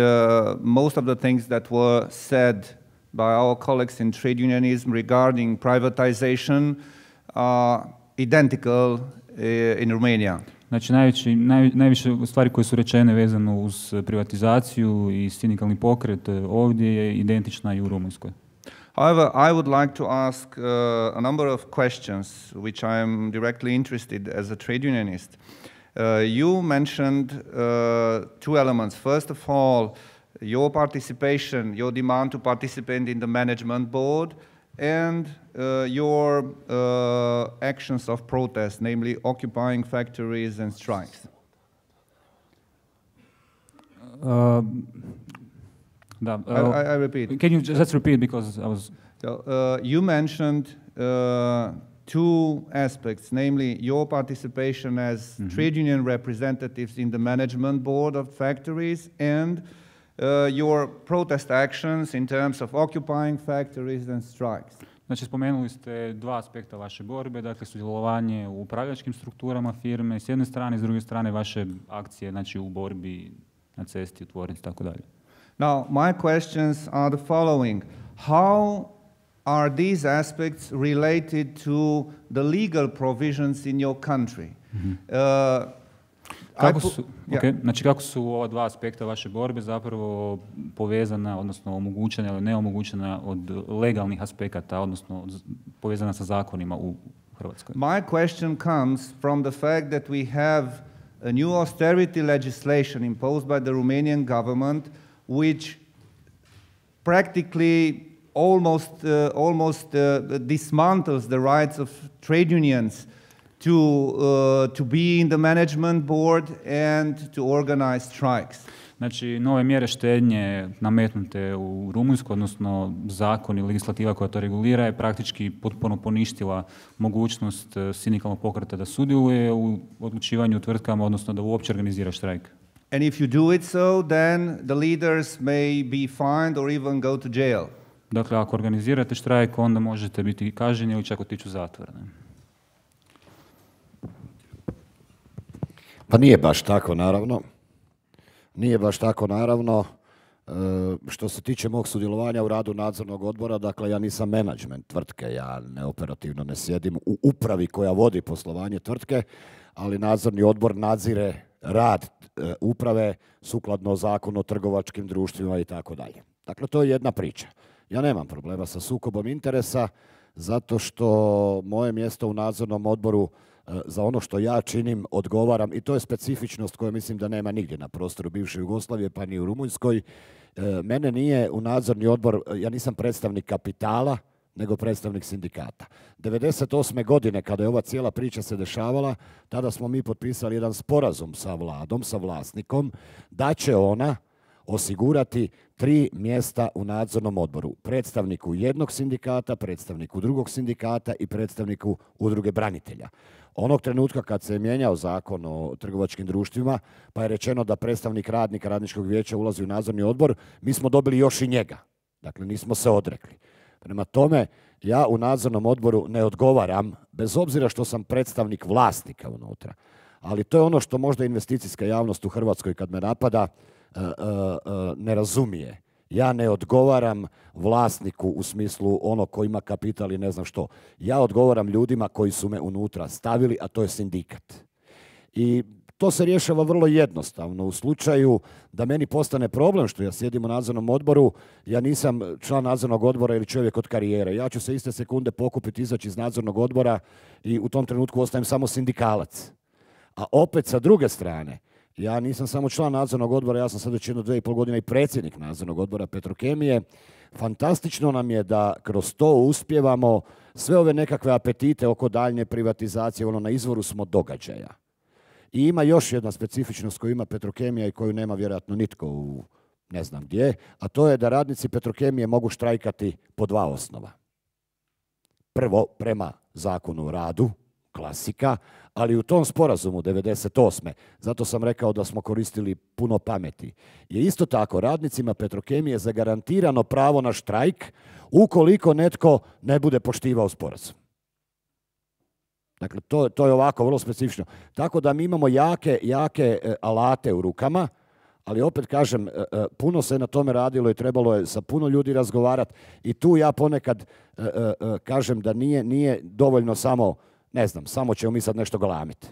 most of the things that were said by our colleagues in trade unionism regarding privatization are identical in Romania. Znači, najviše stvari koje su rečene vezano uz privatizaciju i sindikalni pokret ovdje je identična i u Rumunjskoj. However, I would like to ask a number of questions which I am directly interested as a trade unionist. You mentioned two elements. First of all, your participation, your demand to participate in the management board, and your actions of protest, namely occupying factories and strikes. I repeat. Can you just repeat, because I was... You mentioned two aspects, namely your participation as trade union representatives in the management board of factories and your protest actions in terms of occupying factories and strikes. Znači, spomenuli ste dva aspekta vaše borbe, dakle sudjelovanje u upravljačkim strukturama firme s jedne strane, s druge strane vaše akcije, znači u borbi na cesti, u tvornici, tako dalje. Now, my questions are the following. How are these aspects related to the legal provisions in your country? Znači, kako su ova dva aspekta vaše borbe zapravo povezana, odnosno omogućena ili neomogućena od legalnih aspekata, odnosno povezana sa zakonima u Hrvatskoj? My question comes from the fact that we have a new austerity legislation imposed by the Romanian government, which practically almost dismantles the rights of trade unions to be in the management board and to organize strikes. Znači, nove mjere štednje nametnute u Rumunjskoj, odnosno zakon i legislativa koja to regulira, je praktički potpuno poništila mogućnost sindikalnog pokreta da sudjeluje u odlučivanju u tvrtkama, odnosno da uopće organizira štrajk. And if you do it so, then the leaders may be fined or even go to jail. Dakle, ako organizirate štrajk, onda možete biti kažnjeni ili čak otići u zatvor. Pa nije baš tako, naravno. Nije baš tako, naravno. Što se tiče mog sudjelovanja u radu nadzornog odbora, dakle, ja nisam menadžment tvrtke, ja operativno ne sjedim u upravi koja vodi poslovanje tvrtke, ali nadzorni odbor nadzire rad uprave sukladno zakonu o trgovačkim društvima i tako dalje. Dakle, to je jedna priča. Ja nemam problema sa sukobom interesa, zato što moje mjesto u nadzornom odboru za ono što ja činim odgovaram, i to je specifičnost koju mislim da nema nigdje na prostoru bivše Jugoslavije, pa ni u Rumunjskoj. Mene nije u nadzorni odbor, ja nisam predstavnik kapitala, nego predstavnik sindikata. 1998. godine, kada je ova cijela priča se dešavala, tada smo mi potpisali jedan sporazum sa vladom, sa vlasnikom, da će ona osigurati 3 mjesta u nadzornom odboru. Predstavniku jednog sindikata, predstavniku drugog sindikata i predstavniku udruge branitelja. Onog trenutka kad se je mijenjao zakon o trgovačkim društvima, pa je rečeno da predstavnik radnika radničkog vijeća ulazi u nadzorni odbor, mi smo dobili još i njega. Dakle, nismo se odrekli. Prema tome, ja u nadzornom odboru ne odgovaram, bez obzira što sam predstavnik vlasnika unutra. Ali to je ono što možda investicijska javnost u Hrvatskoj, kad me napada, ne razumije. Ja ne odgovaram vlasniku u smislu ono ko ima kapital i ne znam što. Ja odgovaram ljudima koji su me unutra stavili, a to je sindikat. I to se rješava vrlo jednostavno. U slučaju da meni postane problem što ja sjedim u nadzornom odboru, ja nisam član nadzornog odbora ili čovjek od karijere. Ja ću se iste sekunde pokupiti, izaći iz nadzornog odbora i u tom trenutku ostajem samo sindikalac. A opet sa druge strane, ja nisam samo član nadzornog odbora, ja sam sad već 1-2,5 godine i predsjednik nadzornog odbora Petrokemije. Fantastično nam je da kroz to uspijevamo sve ove nekakve apetite oko daljnje privatizacije, na izvoru smo događaja. I ima još jedna specifičnost koju ima Petrokemija i koju nema vjerojatno nitko u ne znam gdje, a to je da radnici Petrokemije mogu štrajkati po 2 osnova. Prvo, prema zakonu o radu, klasika, ali u tom sporazumu 98. zato sam rekao da smo koristili puno pameti, je isto tako radnicima Petrokemije zagarantirano pravo na štrajk ukoliko netko ne bude poštivao sporazum. Dakle, to je ovako vrlo specifično. Tako da mi imamo jake alate u rukama, ali opet kažem, puno se na tome radilo i trebalo je sa puno ljudi razgovarati i tu ja ponekad kažem da nije dovoljno samo ćemo mi sad nešto galamiti.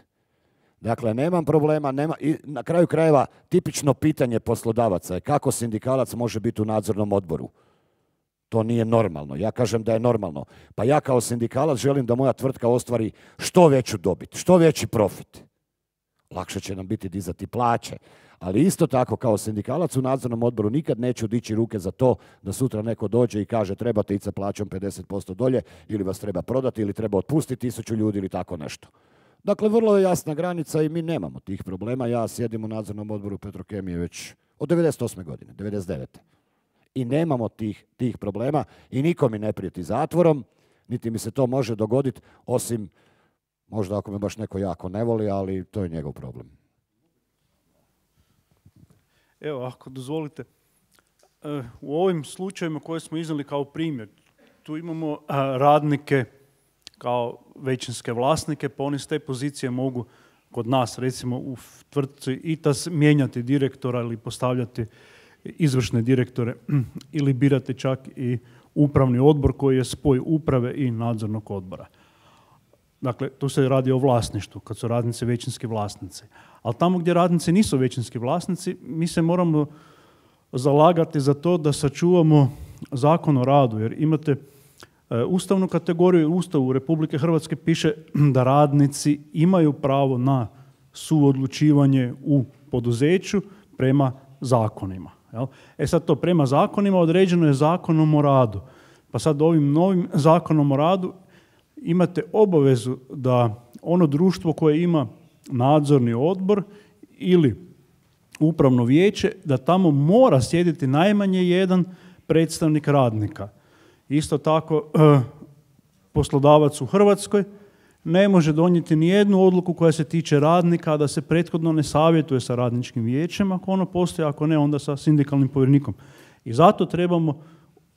Dakle, nemam problema, i na kraju krajeva tipično pitanje poslodavaca je kako sindikalac može biti u nadzornom odboru. To nije normalno. Ja kažem da je normalno. Pa ja kao sindikalac želim da moja tvrtka ostvari što veću dobit, što veći profit. Lakše će nam biti dizati plaće. Ali isto tako, kao sindikalac u nadzornom odboru nikad neću dići ruke za to da sutra neko dođe i kaže trebate ići sa plaćom 50% dolje ili vas treba prodati ili treba otpustiti 1000 ljudi ili tako nešto. Dakle, vrlo je jasna granica i mi nemamo tih problema. Ja sjedim u nadzornom odboru Petrokemije već od 98. godine, 99. I nemamo tih problema i niko mi ne prijeti zatvorom, niti mi se to može dogoditi, osim možda ako me baš neko jako ne voli, ali to je njegov problem. Evo, ako dozvolite, u ovim slučajevima koje smo iznali kao primjer, tu imamo radnike kao većinske vlasnike, pa oni s te pozicije mogu kod nas, recimo u tvrtci ITAS, mijenjati direktora ili postavljati izvršne direktore ili birati čak i upravni odbor koji je spoj uprave i nadzornog odbora. Dakle, tu se radi o vlasništvu, kad su radnici većinski vlasnici. Ali tamo gdje radnici nisu većinski vlasnici, mi se moramo zalagati za to da sačuvamo Zakon o radu, jer imate ustavnu kategoriju, u Ustavu Republike Hrvatske piše da radnici imaju pravo na suodlučivanje u poduzeću prema zakonima. Jel? Sad to prema zakonima određeno je Zakonom o radu. Pa sad ovim novim Zakonom o radu imate obavezu da ono društvo koje ima nadzorni odbor ili upravno vijeće, da tamo mora sjediti najmanje jedan predstavnik radnika. Isto tako, poslodavac u Hrvatskoj ne može donijeti ni jednu odluku koja se tiče radnika, a da se prethodno ne savjetuje sa radničkim vijećem, ako ono postoji, ako ne, onda sa sindikalnim povjerenikom. I zato trebamo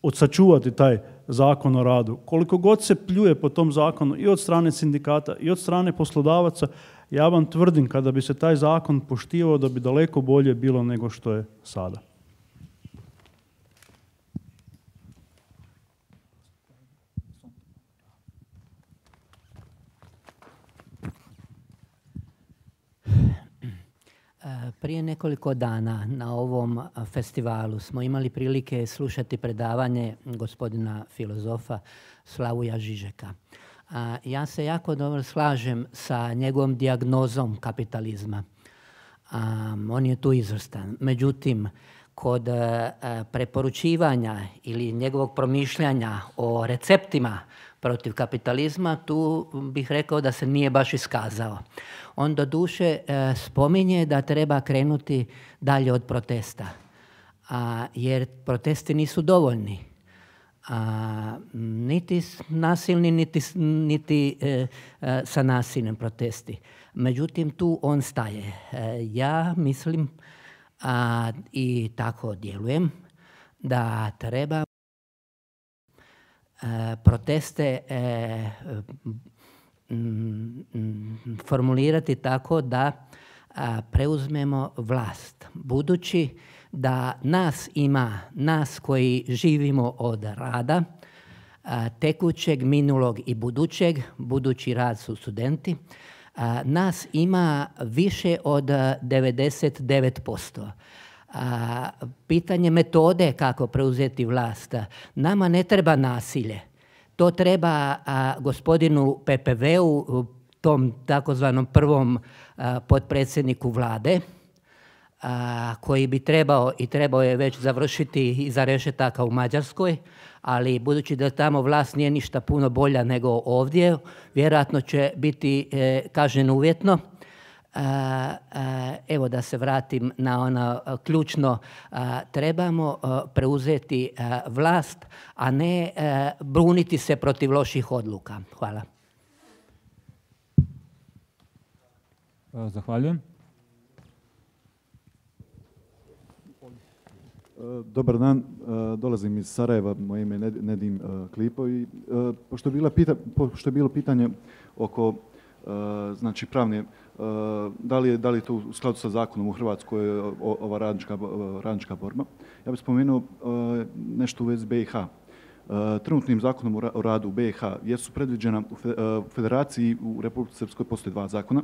odsačuvati taj Zakon o radu. Koliko god se pljuje po tom zakonu i od strane sindikata i od strane poslodavaca, ja vam tvrdim kada bi se taj zakon poštivao da bi daleko bolje bilo nego što je sada. Prije nekoliko dana na ovom festivalu smo imali prilike slušati predavanje gospodina filozofa Slavuja Žižeka. Ja se jako dobro slažem sa njegovom dijagnozom kapitalizma. On je tu izvrstan. Međutim, kod preporučivanja ili njegovog promišljanja o receptima protiv kapitalizma, tu bih rekao da se nije baš iskazao. On doduše spominje da treba krenuti dalje od protesta, jer protesti nisu dovoljni. Niti nasilni, niti sa nasilnim protesti. Međutim, tu on staje. Ja mislim i tako djelujem da treba proteste formulirati tako da preuzmemo vlast. Budući da nas ima, nas koji živimo od rada, tekućeg, minulog i budućeg, budući rad su studenti, nas ima više od 99%. Pitanje metode kako preuzeti vlast. Nama ne treba nasilje. To treba gospodinu PPV-u, tom takozvanom prvom potpredsjedniku vlade, koji bi trebao je već završiti iza rešetaka u Mađarskoj, ali budući da tamo vlast nije ništa puno bolja nego ovdje, vjerojatno će biti kažnjen uvjetno. Evo da se vratim na ono ključno, trebamo preuzeti vlast, a ne buniti se protiv loših odluka. Hvala. Zahvaljujem. Dobar dan, dolazim iz Sarajeva, moje ime je Nedim Klipo i pošto je bilo pitanje oko znači pravne, da li je to u skladu sa zakonom u Hrvatskoj ova radnička borba. Ja bih spomenuo nešto u vezi BiH. Trenutnim zakonom o radu u BiH jesu predviđena u Federaciji u Republici Srpskoj postoje 2 zakona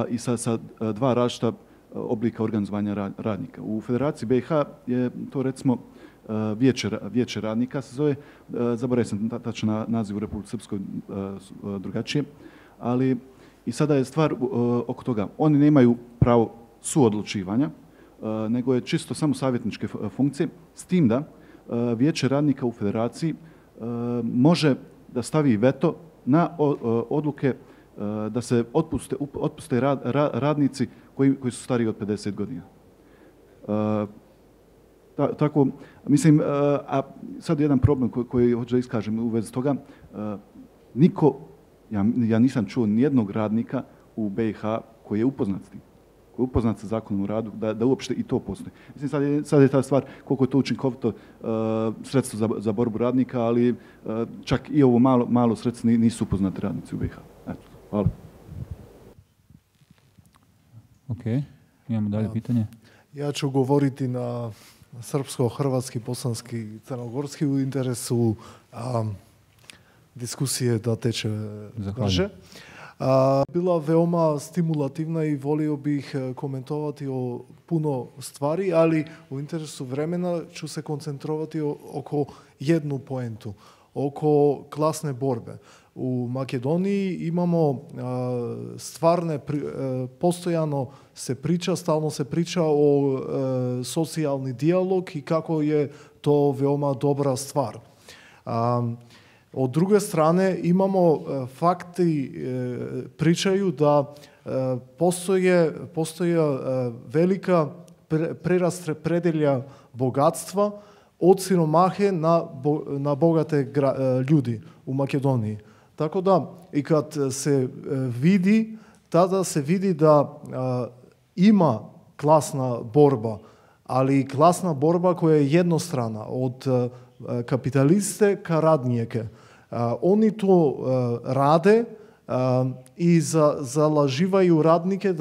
i sa 2 različita oblika organizovanja radnika. U Federaciji BiH je to recimo vijeće radnika se zove, zaboravio sam tačan naziv u Republici Srpskoj drugačije, ali i sada je stvar oko toga. Oni nemaju pravo suodlučivanja, nego je čisto samo savjetničke funkcije, s tim da Vijeće radnika u federaciji može da stavi veto na odluke da se otpuste radnici koji su stariji od 50 godina. Tako, mislim, a sad jedan problem koji hoću da iskažem u vezi toga, niko, ja nisam čuo nijednog radnika u BiH koji je upoznat s tim, koji je upoznat sa zakonom o radu, da uopšte i to postoji. Mislim, sad je ta stvar koliko je to učinkovito sredstvo za borbu radnika, ali čak i ovo malo sredstvo nisu upoznati radnici u BiH. Eto, hvala. Ok, imamo dalje pitanje. Ja ću govoriti na srpsko-hrvatski, bosanski i crnogorski u interesu diskusije da teče brže. Bila veoma stimulativna i volio bih komentovati o puno stvari, ali u interesu vremena ću se koncentrovati oko jednu poentu, oko klasne borbe. U Makedoniji imamo stvarne, postojano se priča, stalno se priča o socijalni dijalog i kako je to veoma dobra stvar. Od druge strane imamo fakti pričaju da postoje velika preraspodjelja bogatstva od siromahe na bogate ljudi u Makedoniji. Tako da i kad se vidi, tada se vidi da ima klasna borba, ali klasna borba koja je jednostrana od kapitaliste ka radnike. Oni to rade i zalaživaju radnike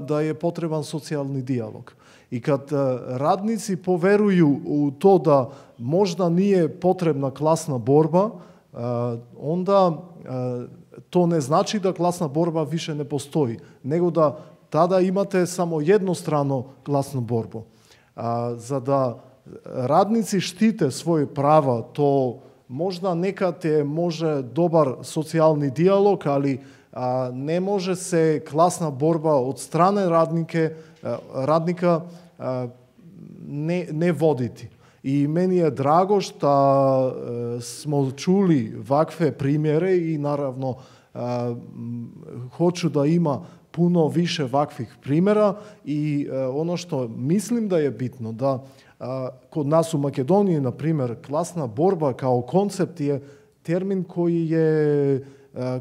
da je potreban socijalni dijalog. I kad radnici poveruju u to da možda nije potrebna klasna borba, onda to ne znači da klasna borba više ne postoji, nego da tada imate samo jednostrano klasnu borbu. Za da radnici štite svoje prava, to možda nekad je dobar socijalni dijalog, ali ne može se klasna borba od strane radnika ne voditi. I meni je drago što smo čuli ovakve primjere i naravno hoću da ima puno više ovakvih primjera i ono što mislim da je bitno da kod nas u Makedoniji, na primjer, klasna borba kao koncept je termin koji je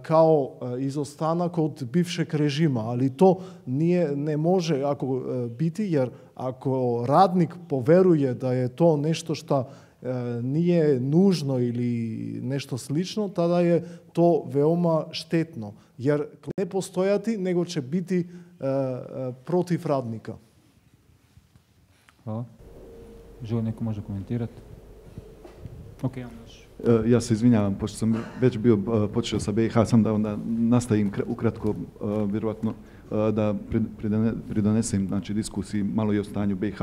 kao izostanak od bivšeg režima, ali to ne može biti, jer ako radnik poveruje da je to nešto što nije nužno ili nešto slično, tada je to veoma štetno, jer ne postojati, nego će biti protiv radnika. Hvala. Želi neko može komentirati? Ok, ja se izvinjavam, pošto sam već bio počeo sa BiH, sam da onda nastavim ukratko, vjerovatno da pridonesem diskusiji malo i o stanju BiH,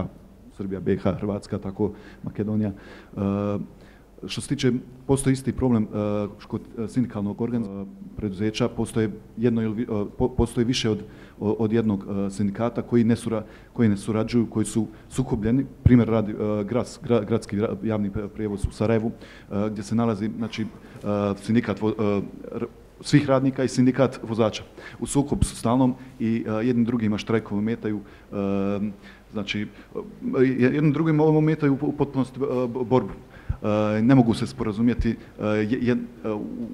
Srbija, BiH, Hrvatska, tako Makedonija. Što se tiče, postoji isti problem kod sindikalnog preduzeća, postoji više od jednog sindikata koji ne surađuju, koji su sukobljeni. Primjer radi gradski javni prijevoz u Sarajevu, gdje se nalazi sindikat svih radnika i sindikat vozača. U sukobu su stalnom i jednim drugima štrajkom ometaju, znači jednim drugim ometaju u potpunosti borbu. Ne mogu se sporazumjeti,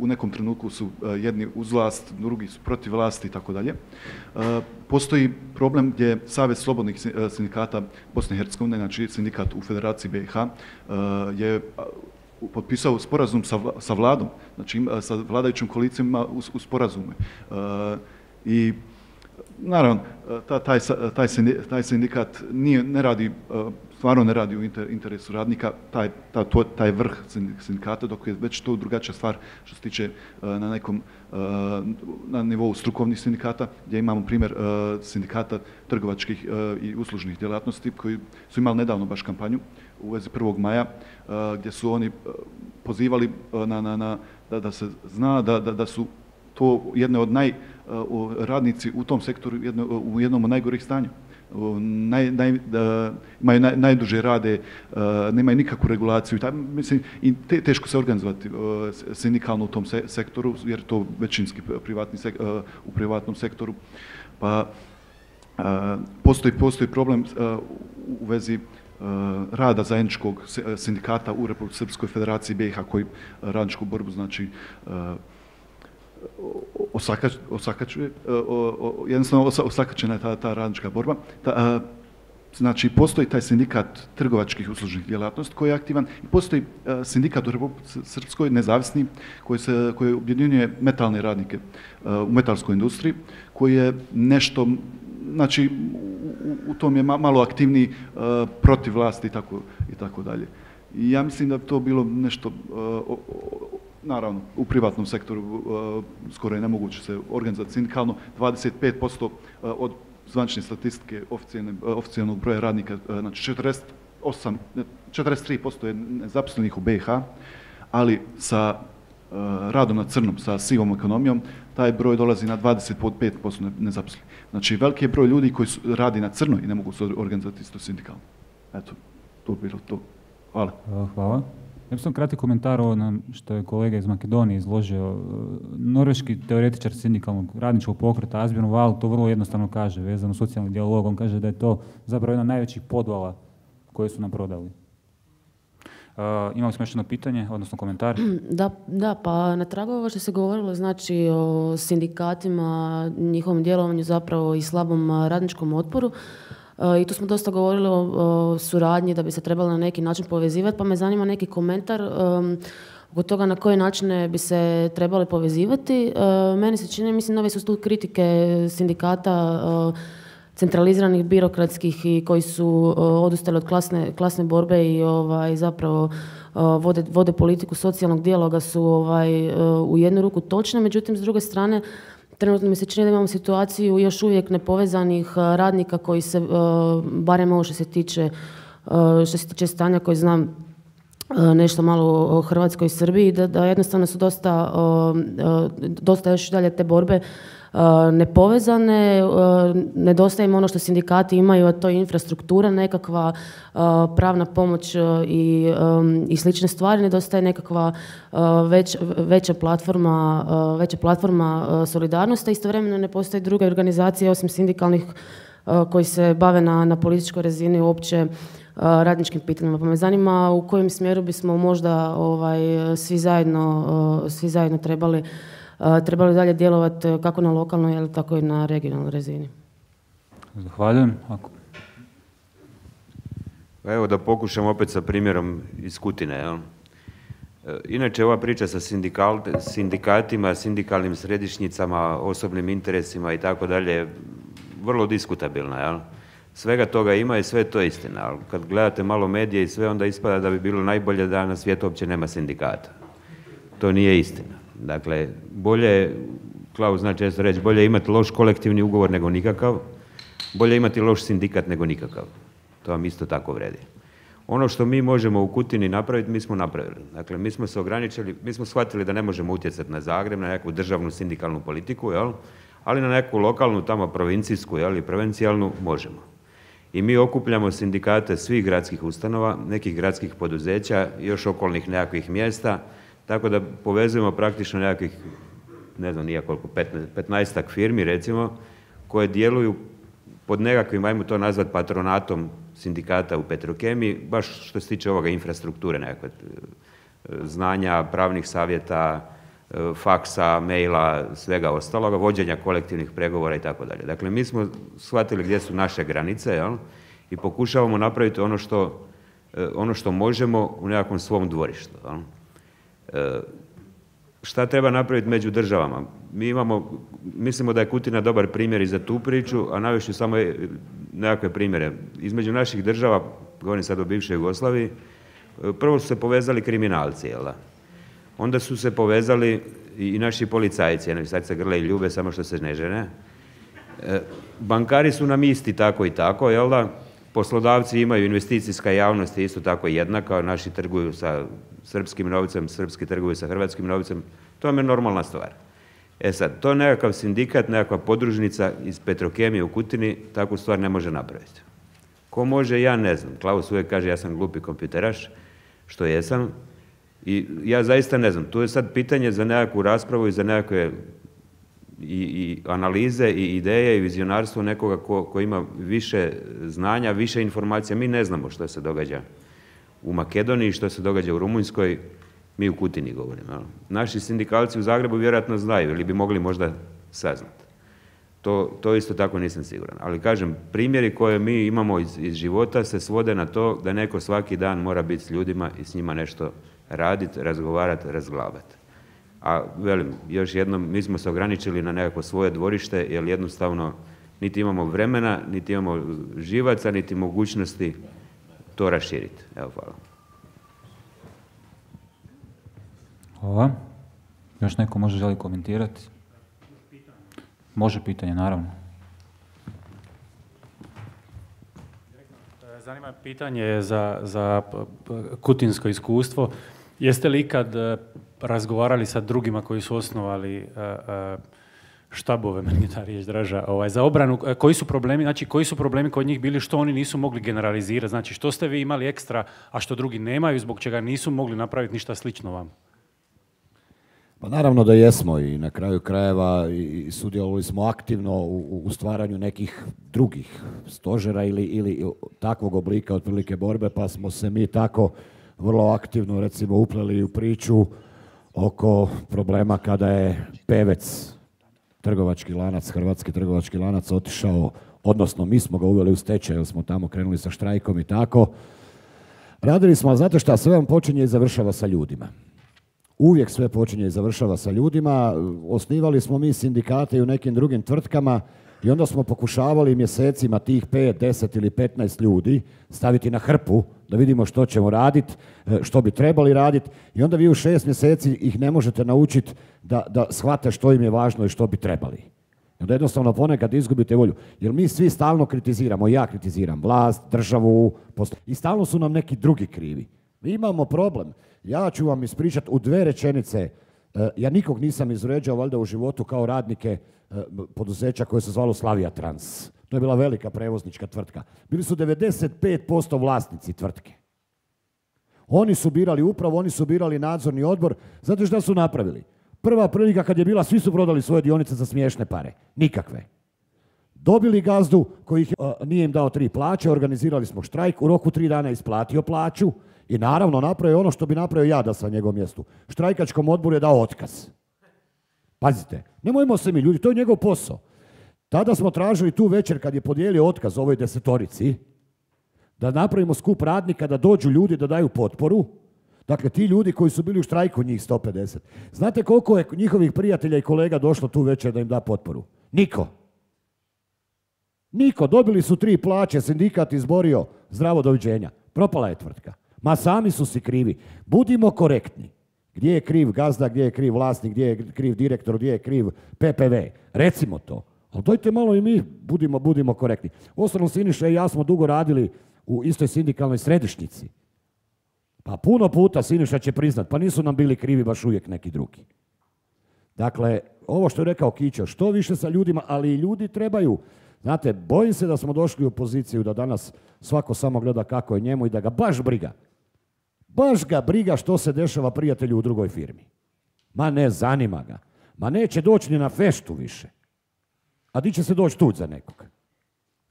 u nekom trenutku su jedni uz vlast, drugi su protiv vlasti i tako dalje. Postoji problem gdje Savez slobodnih sindikata Bosne i Hercegovine, znači sindikat u Federaciji BiH, je potpisao sporazum sa vladom, znači sa vladajućim koalicijama u sporazume. I naravno, taj sindikat stvarno ne radi u interesu radnika, taj vrh sindikata, dok je već to drugačija stvar što se tiče na nivou strukovnih sindikata, gdje imamo primjer sindikata trgovačkih i uslužnih djelatnosti koji su imali nedavno baš kampanju u vezi 1. maja, gdje su oni pozivali da se zna da su to jedne od radnici u tom sektoru u jednom od najgorih stanja. imaju najduže rade, nemaju nikakvu regulaciju. Mislim, i teško se organizovati sindikalno u tom sektoru, jer to većinski u privatnom sektoru. Pa postoji problem u vezi rada zajedničkog sindikata u Republici Srpskoj Federaciji BiH koji radničku borbu znači osakačuje, jednostavno osakačena je ta radnička borba. Znači, postoji taj sindikat trgovačkih uslužnih djelatnosti koji je aktivan i postoji sindikat u Republici Srpskoj, nezavisni, koji objedinjuje metalne radnike u metalskoj industriji, koji je nešto, znači, u tom je malo aktivniji protiv vlasti i tako dalje. I ja mislim da bi to bilo nešto, naravno, u privatnom sektoru skoro je nemoguće se organizati sindikalno. 25% od zvanične statistike oficijalnog broja radnika, znači 43% je nezaposlenih u BiH, ali sa radom na crnom, sa sivom ekonomijom, taj broj dolazi na 25% nezaposlenih. Znači, veliki je broj ljudi koji radi na crno i ne mogu se organizati isto sindikalno. Eto, to bi bilo to. Hvala. Hvala. Ja bih sam kratki komentar ovo što je kolega iz Makedonije izložio. Norveški teoretičar sindikalnog radničkog pokreta Asbjørn Wahl to vrlo jednostavno kaže, vezano socijalni dijalog. On kaže da je to zapravo jedna od najvećih podvala koje su nam prodali. Imali smo još jedno pitanje, odnosno komentar? Da, pa na tragu ovo što se govorilo, znači o sindikatima, njihovom djelovanju zapravo i slabom radničkom otporu. I tu smo dosta govorili o suradnji da bi se trebalo na neki način povezivati, pa me zanima neki komentar oko toga na koje načine bi se trebali povezivati. Meni se čini, mislim, nove su tu kritike sindikata centraliziranih, birokratskih i koji su odustali od klasne borbe i zapravo vode politiku socijalnog dijaloga su u jednu ruku točne, međutim s druge strane trenutno mi se čini da imamo situaciju još uvijek nepovezanih radnika koji se, barem ovo što se tiče stanja koji znam nešto malo o Hrvatskoj i Srbiji, da jednostavno su dosta još dalje te borbe nepovezane, nedostaje im ono što sindikati imaju, a to je infrastruktura, nekakva pravna pomoć i slične stvari, nedostaje nekakva veća platforma solidarnosti, istovremeno ne postoje druge organizacije osim sindikalnih koji se bave na političkoj razini uopće radničkim pitanjima. Pa me zanima u kojem smjeru bismo možda svi zajedno trebali dalje djelovati kako na lokalnoj, tako i na regionalnoj razini. Zahvaljujem. Pa evo da pokušam opet sa primjerom iz Kutine. Inače, ova priča sa sindikatima, sindikalnim središnjicama, osobnim interesima i tako dalje, vrlo diskutabilna. Svega toga ima i sve to je istina. Kad gledate malo medije i sve, onda ispada da bi bilo najbolje da na svijetu uopće nema sindikata. To nije istina. Dakle, bolje, Klaus zna često reći, bolje imati loš kolektivni ugovor nego nikakav, bolje imati loš sindikat nego nikakav. To vam isto tako vredi. Ono što mi možemo u Kutini napraviti, mi smo napravili. Dakle, mi smo se ograničili, mi smo shvatili da ne možemo utjecati na Zagreb, na nekakvu državnu sindikalnu politiku, ali na neku lokalnu, tamo provincijsku i provincijalnu možemo. I mi okupljamo sindikate svih gradskih ustanova, nekih gradskih poduzeća i još okolnih nekakvih mjesta, tako da povezujemo praktično nekakvih, ne znam nija koliko, 15-ak firmi recimo, koje djeluju pod nekakvim, ajmo to nazvati patronatom sindikata u Petrokemiji, baš što se tiče ovoga infrastrukture, nekakve znanja, pravnih savjeta, faksa, maila, svega ostaloga, vođenja kolektivnih pregovora i tako dalje. Dakle, mi smo shvatili gdje su naše granice i pokušavamo napraviti ono što možemo u nekakvom svom dvorištu. Šta treba napraviti među državama? Mi mislimo da je Kutina dobar primjer i za tu priču, a navešću samo nekakve primjere. Između naših država, govorim sad o bivšoj Jugoslaviji, prvo su se povezali kriminalci, onda su se povezali i naši policajci, sad se grle i ljube, samo što se ne žene. Bankari su nam isti tako i tako, poslodavci imaju, investicijska javnost je isto tako jednaka, naši trguju sa srpskim novcem, srpski trguju sa hrvatskim novcem, to vam je normalna stvar. E sad, to nekakav sindikat, nekakva podružnica iz Petrokemije u Kutini takvu stvar ne može napraviti. Ko može, ja ne znam. Klaus uvijek kaže ja sam glupi kompjuteraš, što jesam. I ja zaista ne znam. Tu je sad pitanje za nekakvu raspravu i za nekakve i analize i ideje i vizionarstvo nekoga ko ima više znanja, više informacija. Mi ne znamo što se događa u Makedoniji, što se događa u Rumunjskoj, mi u Kutini govorimo. Naši sindikalci u Zagrebu vjerojatno znaju ili bi mogli možda saznati. To isto tako nisam siguran. Ali kažem, primjeri koje mi imamo iz života se svode na to da neko svaki dan mora biti s ljudima i s njima nešto raditi, razgovarati, razglabati. A velim, još jednom, mi smo se ograničili na nekako svoje dvorište, jer jednostavno niti imamo vremena, niti imamo živaca, niti mogućnosti to raširiti. Evo, hvala. Hvala. Još neko može želi komentirati? Može pitanje, naravno. Zanima pitanje za kutinsko iskustvo. Jeste li ikad razgovarali sa drugima koji su osnovali štabove, meni je ta riječ draža, za obranu, koji su problemi kod njih bili, što oni nisu mogli generalizirati, znači što ste vi imali ekstra, a što drugi nemaju, zbog čega nisu mogli napraviti ništa slično vam? Pa naravno da jesmo i na kraju krajeva i sudjelovali smo aktivno u stvaranju nekih drugih stožera ili takvog oblika otprilike borbe, pa smo se mi tako vrlo aktivno recimo upleli u priču oko problema kada je Pevec, trgovački lanac, hrvatski trgovački lanac otišao, odnosno mi smo ga uveli u stečaj jer smo tamo krenuli sa štrajkom i tako. Radili smo, a znate šta, sve vam počinje i završava sa ljudima. Uvijek sve počinje i završava sa ljudima. Osnivali smo mi sindikate i u nekim drugim tvrtkama i onda smo pokušavali mjesecima tih 5, 10 ili 15 ljudi staviti na hrpu da vidimo što ćemo raditi, što bi trebali raditi i onda vi u 6 mjeseci ih ne možete naučiti da shvate što im je važno i što bi trebali. I onda jednostavno ponekad izgubite volju. Jer mi svi stalno kritiziramo, ja kritiziram vlast, državu, i stalno su nam neki drugi krivi. Mi imamo problem. Ja ću vam ispričati u 2 rečenice. Ja nikog nisam izvređao valjda u životu kao radnike poduzeća koje se zvalo Slavija Trans. To je bila velika prevoznička tvrtka. Bili su 95% vlasnici tvrtke. Oni su birali upravu, oni su birali nadzorni odbor. Znate šta su napravili? Prva prilika kad je bila, svi su prodali svoje dionice za smiješne pare. Nikakve. Dobili gazdu koji nije im dao 3 plaće, organizirali smo štrajk, u roku 3 dana isplatio plaću i naravno napravio ono što bi napravio ja da sam na njegovom mjestu. Štrajkačkom odboru je dao otkaz. Pazite, nemojmo se mi ljudi, to je njegov posao. Tada smo tražili tu večer kad je podijelio otkaz ovoj 10-torici da napravimo skup radnika, da dođu ljudi da daju potporu. Dakle, ti ljudi koji su bili u štrajku, njih 150. Znate koliko je njihovih prijatelja i kolega došlo tu večer da im da potporu? Niko. Niko. Dobili su 3 plaće, sindikat izborio, zdravo, doviđenja. Propala je tvrtka. Ma sami su si krivi. Budimo korektni. Gdje je kriv gazda, gdje je kriv vlasnik, gdje je kriv direktor, gdje je kriv PPV. Recimo to. Ali dojte malo i mi budimo korektni. Uostalom, Siniša i ja smo dugo radili u istoj sindikalnoj središnjici. Pa puno puta Siniša će priznat, pa nisu nam bili krivi baš uvijek neki drugi. Dakle, ovo što je rekao Kićo, što više sa ljudima, ali i ljudi trebaju. Znate, bojim se da smo došli u poziciju da danas svako samo gleda kako je njemu i da ga baš briga. Baš ga briga što se dešava prijatelju u drugoj firmi. Ma ne zanima ga. Ma neće doći ni na feštu više. A di će se doći tuđ za nekog?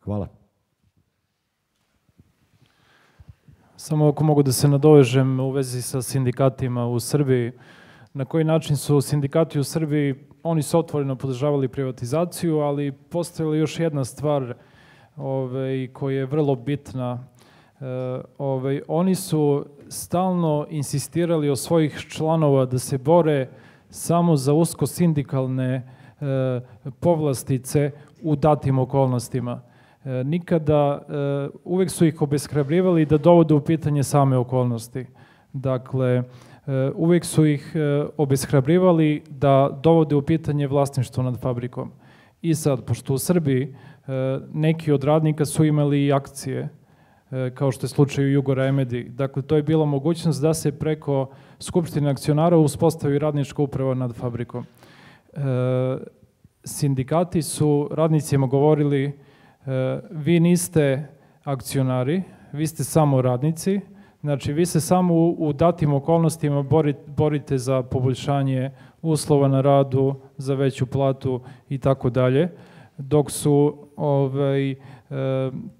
Hvala. Samo ako mogu da se nadovežem u vezi sa sindikatima u Srbiji. Na koji način su sindikati u Srbiji, oni su otvoreno podržavali privatizaciju, ali postojala još jedna stvar koja je vrlo bitna. Oni su stalno insistirali od svojih članova da se bore samo za usko sindikalne povlastice u datim okolnostima. Nikada, uvijek su ih obeshrabrivali da dovode u pitanje same okolnosti. Dakle, uvijek su ih obeshrabrivali da dovode u pitanje vlasništvo nad fabrikom. I sad, pošto u Srbiji neki od radnika su imali i akcije, kao što je slučaj u Jugoremedi. Dakle, to je bila mogućnost da se preko Skupštine akcionara uspostavi radnička uprava nad fabrikom. sindikati su radnicima govorili vi niste akcionari, vi ste samo radnici, znači vi se samo u datim okolnostima borite za poboljšanje uslova na radu, za veću platu i tako dalje, dok su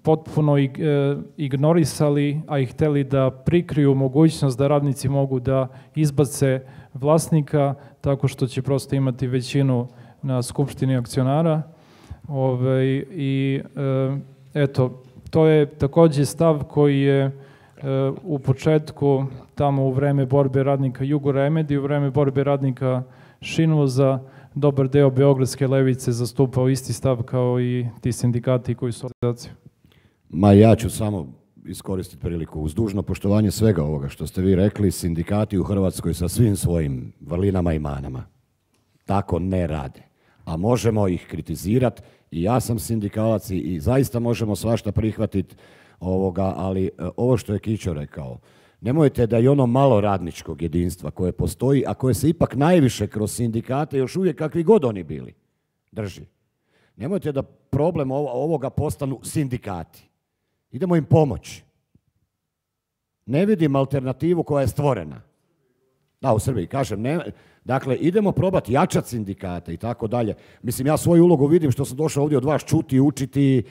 potpuno ignorisali, a i hteli da prikriju mogućnost da radnici mogu da izbace vlasnika tako što će prosto imati većinu na skupštini akcionara. I eto, to je također stav koji je u početku, tamo u vreme borbe radnika Jugoremedije, u vreme borbe radnika Šinvoza, dobar deo beogradske levice zastupao isti stav kao i ti sindikati koji su organizacije. Ma ja ću samo iskoristiti priliku. Uz dužno poštovanje svega ovoga što ste vi rekli, sindikati u Hrvatskoj sa svim svojim vrlinama i manama tako ne rade. A možemo ih kritizirati i ja sam sindikalac i zaista možemo svašta prihvatiti ali ovo što je Kićo rekao, nemojte da i ono malo radničkog jedinstva koje postoji, a koje se ipak najviše kroz sindikate još uvijek kakvi god oni bili drži. Nemojte da problem ovoga postanu sindikati. Idemo im pomoći. Ne vidim alternativu koja je stvorena. Da, u Srbiji, kažem, dakle, idemo probati jačati sindikate i tako dalje. Mislim, ja svoju ulogu vidim što sam došao ovdje od vas čuti, učiti,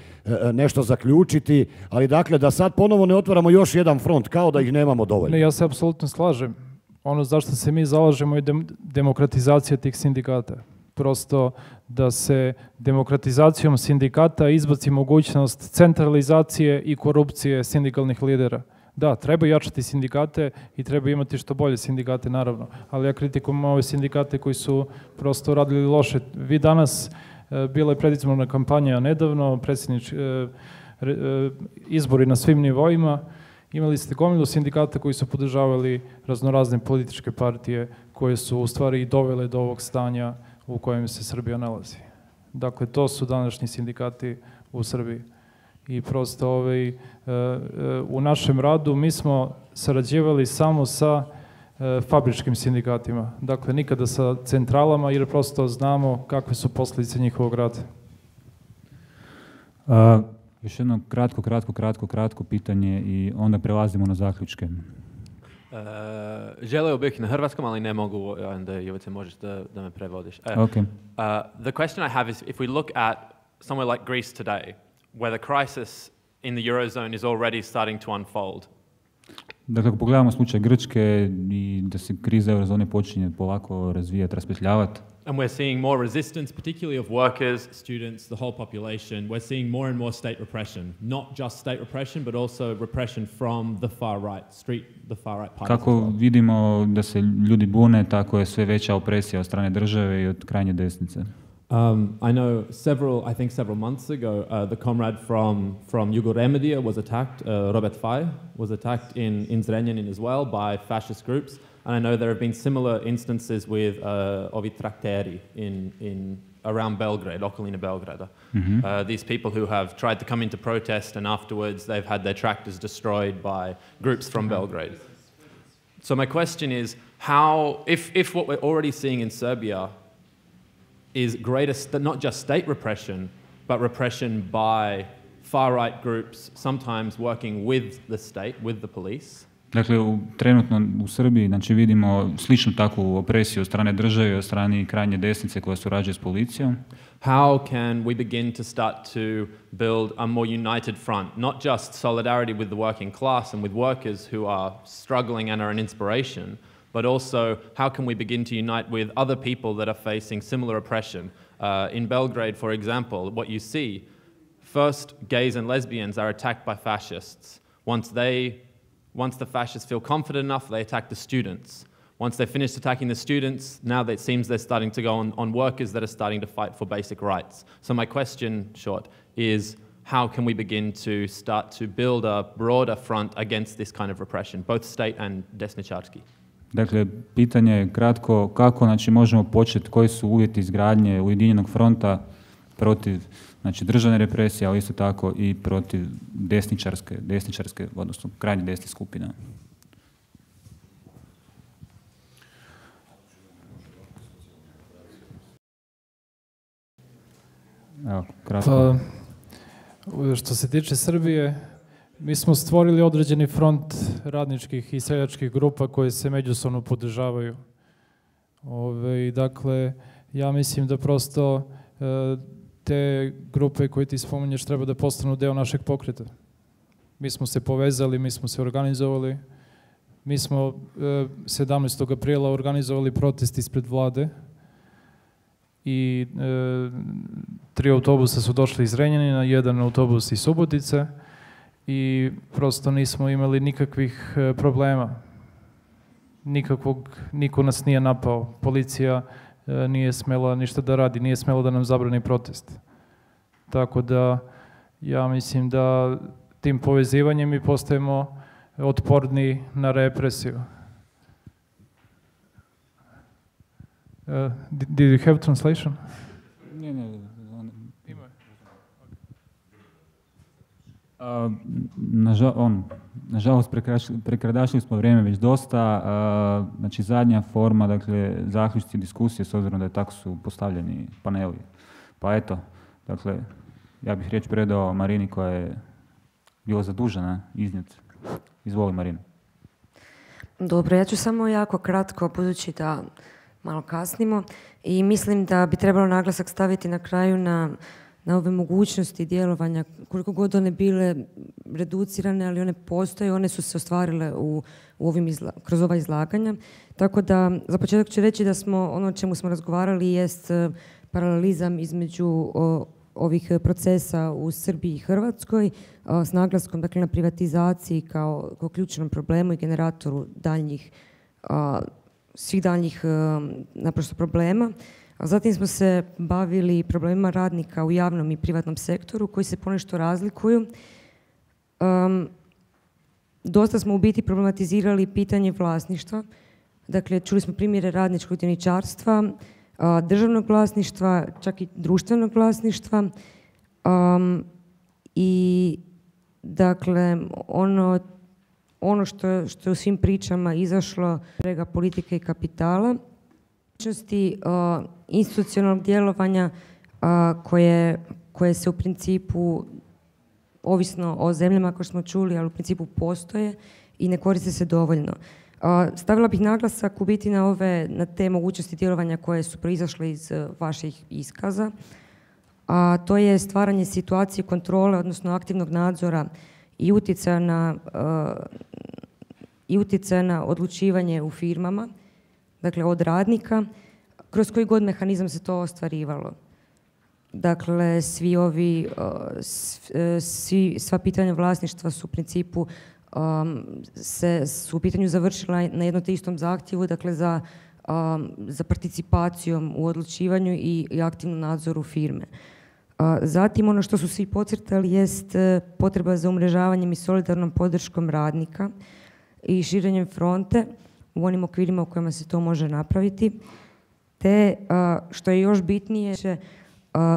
nešto zaključiti, ali dakle, da sad ponovo ne otvaramo još jedan front, kao da ih nemamo dovoljno. Ne, ja se apsolutno slažem. Ono zašto se mi zalažemo je demokratizacija tih sindikata. Prosto da se demokratizacijom sindikata izbaci mogućnost centralizacije i korupcije sindikalnih lidera. Da, treba jačati sindikate i treba imati što bolje sindikate, naravno. Ali ja kritikujem ove sindikate koji su prosto radili loše. Vi danas, bila je predizborna kampanja nedavno, izbori na svim nivoima, imali ste gomilu sindikata koji su podržavali raznorazne političke partije koje su u stvari i dovele do ovog stanja u kojem se Srbija nalazi. Dakle, to su današnji sindikati u Srbiji. I prosto u našem radu mi smo sarađivali samo sa fabričkim sindikatima. Dakle, nikada sa centralama jer prosto znamo kakve su posljedice njihovog rada. Još jedno kratko pitanje i onda prelazimo na zaključke. Želeo bih na hrvatskom, ali ne mogu, onda Jovice možeš da me prevodiš. Okay. The question I have is, if we look at somewhere like Greece today, where the crisis in the Eurozone is already starting to unfold. Dakle, ako pogledamo slučaj Grčke i da se kriza eurozone počinje polako razvijati, raspetljavati. And we're seeing more resistance, particularly of workers, students, the whole population. We're seeing more and more state repression. Not just state repression, but also repression from the far right, the far right parties. Kako vidimo da se ljudi bune, tako je sve veća opresija od strane države i od krajnje desnice. I know I think several months ago, the comrade from Jugoremedije was attacked, Robert Faj, was attacked in Zrenjanin as well by fascist groups. And I know there have been similar instances with ovi trakteri around Belgrade, okolina Belgrada. Mm-hmm. These people who have tried to come into protest and afterwards they've had their tractors destroyed by groups from Belgrade. So my question is, how, if what we're already seeing in Serbia is greater, not just state repression, but repression by far-right groups, sometimes working with the state, with the police. Dakle, trenutno u Srbiji znači, vidimo sličnu takvu opresiju od strane države i od strane krajnje desnice koja surađuje s policijom. How can we begin to start to build a more united front, not just solidarity with the working class and with workers who are struggling and are an inspiration, but also how can we begin to unite with other people that are facing similar oppression? In Belgrade, for example, what you see, first gays and lesbians are attacked by fascists. Once the fascists feel confident enough, they attack the students. Once they've finished attacking the students, now it seems they're starting to go on workers that are starting to fight for basic rights. So my question, short, is how can we begin to start to build a broader front against this kind of repression, both state and desničarski? Dakle, pitanje je kratko, kako znači, možemo početi, koji su uvjeti izgradnje Ujedinjenog fronta protiv znači, državne represije, ali isto tako i protiv desničarske, odnosno krajnje desnih skupina. Evo, kratko. Pa, što se tiče Srbije, mi smo stvorili određeni front radničkih i seljačkih grupa koje se međusobno podržavaju. Dakle, ja mislim da prosto te grupe koje ti spominješ treba da postanu deo našeg pokreta. Mi smo se povezali, mi smo se organizovali. Mi smo 17. aprila organizovali protest ispred vlade i 3 autobusa su došli iz Renjanina, 1 autobus iz Subotice i prosto nismo imali nikakvih problema. Niko nas nije napao. Policija nije smela ništa da radi, nije smela da nam zabrani protest. Tako da ja mislim da tim povezivanjem mi postajemo otporni na represiju. Did you have translation? Ne. Nažalost, prekradašili smo vrijeme već dosta. Znači, zadnja forma, dakle, zaključci diskusije, s obzirom da je tako su postavljeni paneli. Pa eto, dakle, ja bih riječ predao Marini koja je bila zadužena iznijeti. Izvoli, Marina. Dobro, ja ću samo jako kratko, budući da malo kasnimo, i mislim da bi trebalo naglasak staviti na kraju na ove mogućnosti djelovanja, koliko god one bile reducirane, ali one postoje, one su se ostvarile kroz ova izlaganja. Tako da, za početak ću reći da smo, ono o čemu smo razgovarali jest paralelizam između ovih procesa u Srbiji i Hrvatskoj, s naglaskom, dakle, na privatizaciji kao ključnom problemu i generatoru svih daljnjih naprosto problema. A zatim smo se bavili problemima radnika u javnom i privatnom sektoru koji se ponešto razlikuju. Dosta smo u biti problematizirali pitanje vlasništva. Dakle, čuli smo primjere radničkog dioničarstva, državnog vlasništva, čak i društvenog vlasništva. I dakle, ono što je u svim pričama izašlo, prega politike i kapitala, institucionalnog djelovanja koje se u principu, ovisno o zemljama kao što smo čuli, ali u principu postoje i ne koriste se dovoljno. Stavila bih naglasak u biti na te mogućnosti djelovanja koje su proizašle iz vaših iskaza, a to je stvaranje situacije kontrole, odnosno aktivnog nadzora i utjecaja na odlučivanje u firmama, dakle od radnika, kroz koji god mehanizam se to ostvarivalo. Dakle, sva pitanja vlasništva su u principu su u pitanju završila na jednom te istom zahtjevu, dakle za participacijom u odlučivanju i aktivnom nadzoru firme. Zatim, ono što su svi podcrtali jest potreba za umrežavanjem i solidarnom podrškom radnika i širenjem fronte u onim okvirima u kojima se to može napraviti, te, što je još bitnije,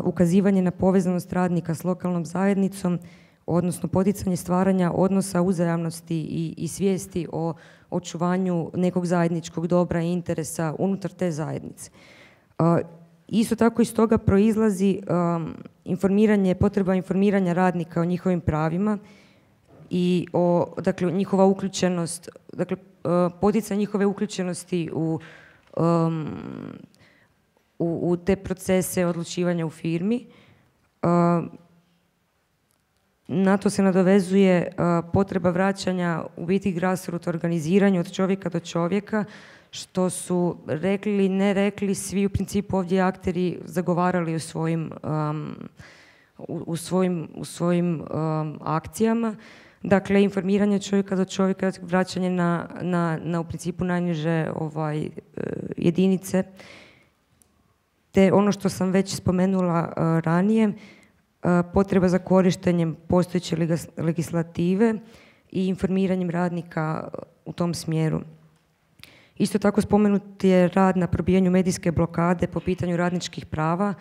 ukazivanje na povezanost radnika s lokalnom zajednicom, odnosno poticanje stvaranja odnosa uzajamnosti i svijesti o očuvanju nekog zajedničkog dobra i interesa unutar te zajednice. Isto tako iz toga proizlazi potreba informiranja radnika o njihovim pravima i dakle, njihova uključenost, dakle, poticanje njihove uključenosti u te procese odlučivanja u firmi. Na to se nadovezuje potreba vraćanja u biti grassroot organiziranju od čovjeka do čovjeka, što su rekli ili ne rekli svi u principu ovdje akteri zagovarali u svojim akcijama. Dakle, informiranje čovjeka do čovjeka, vraćanje na u principu najniže jedinice, te ono što sam već spomenula ranije, potreba za korištenjem postojeće legislative i informiranjem radnika u tom smjeru. Isto tako spomenut je rad na probijanju medijske blokade po pitanju radničkih prava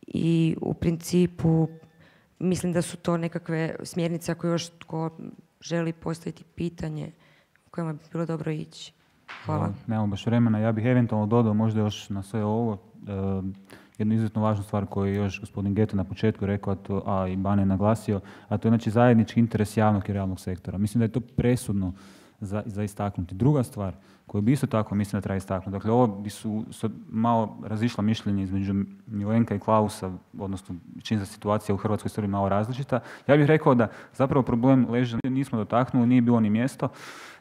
i u principu mislim da su to nekakve smjernice ako još tko želi postaviti pitanje u kojima bi bilo dobro ići. Hvala. Nemamo baš vremena. Ja bih eventualno dodao možda još na sve ovo jednu izuzetno važnu stvar koju je još gospodin Geto na početku rekao, a i Bane naglasio, a to je znači zajednički interes javnog i realnog sektora. Mislim da je to presudno za istaknuti. Druga stvar koju bi isto tako mislim da treba istaknuti, dakle ovo bi su malo razišla mišljenja između Milenka i Klausa, odnosno čini se situacija u hrvatskoj Srbiji malo različita. Ja bih rekao da zapravo problem leži, nismo dotaknuli, nije bilo ni mjesto,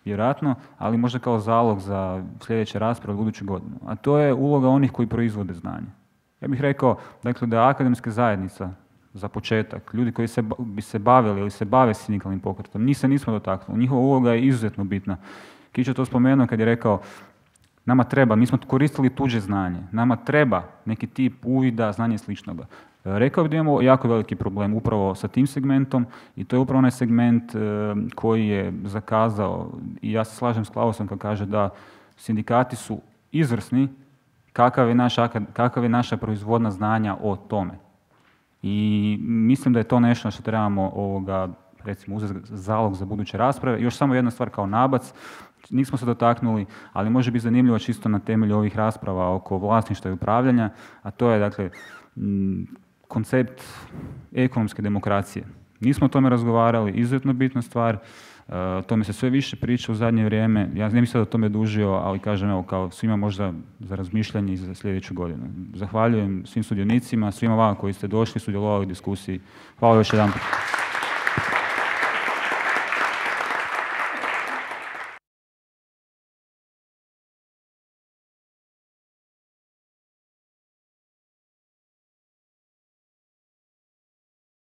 vjerojatno, ali možda kao zalog za sljedeće rasprave od buduću godinu. A to je uloga onih koji proizvode znanje. Ja bih rekao, dakle, da je akademska zajednica, za početak, ljudi koji bi se bavili ili se bave sindikalnim pokretom, njih se nismo dotaknuli. Njihova uloga je izuzetno bitna. Kić je to spomenuo kad je rekao, nama treba, mi smo koristili tuđe znanje, nama treba neki tip uvida, znanje i sličnoga. Rekao bih da imamo jako veliki problem upravo sa tim segmentom i to je upravo onaj segment koji je zakazao i ja se slažem s Klausom kad kaže da sindikati su izvrsni, kakav je naša proizvodna znanja o tome. I mislim da je to nešto što trebamo recimo uzeti zalog za buduće rasprave. Još samo jedna stvar kao nabac, nismo se dotaknuli, ali može biti zanimljivo čisto na temelju ovih rasprava oko vlasništva i upravljanja, a to je dakle koncept ekonomske demokracije. Nismo o tome razgovarali, izuzetno bitna stvar, o tome se sve više priča u zadnje vrijeme. Ja ne bih sad o tome dužio, ali kažem evo kao svima možda za razmišljanje i za sljedeću godinu. Zahvaljujem svim sudionicima, svima vama koji ste došli, sudjelovali u diskusiji. Hvala još jedanput.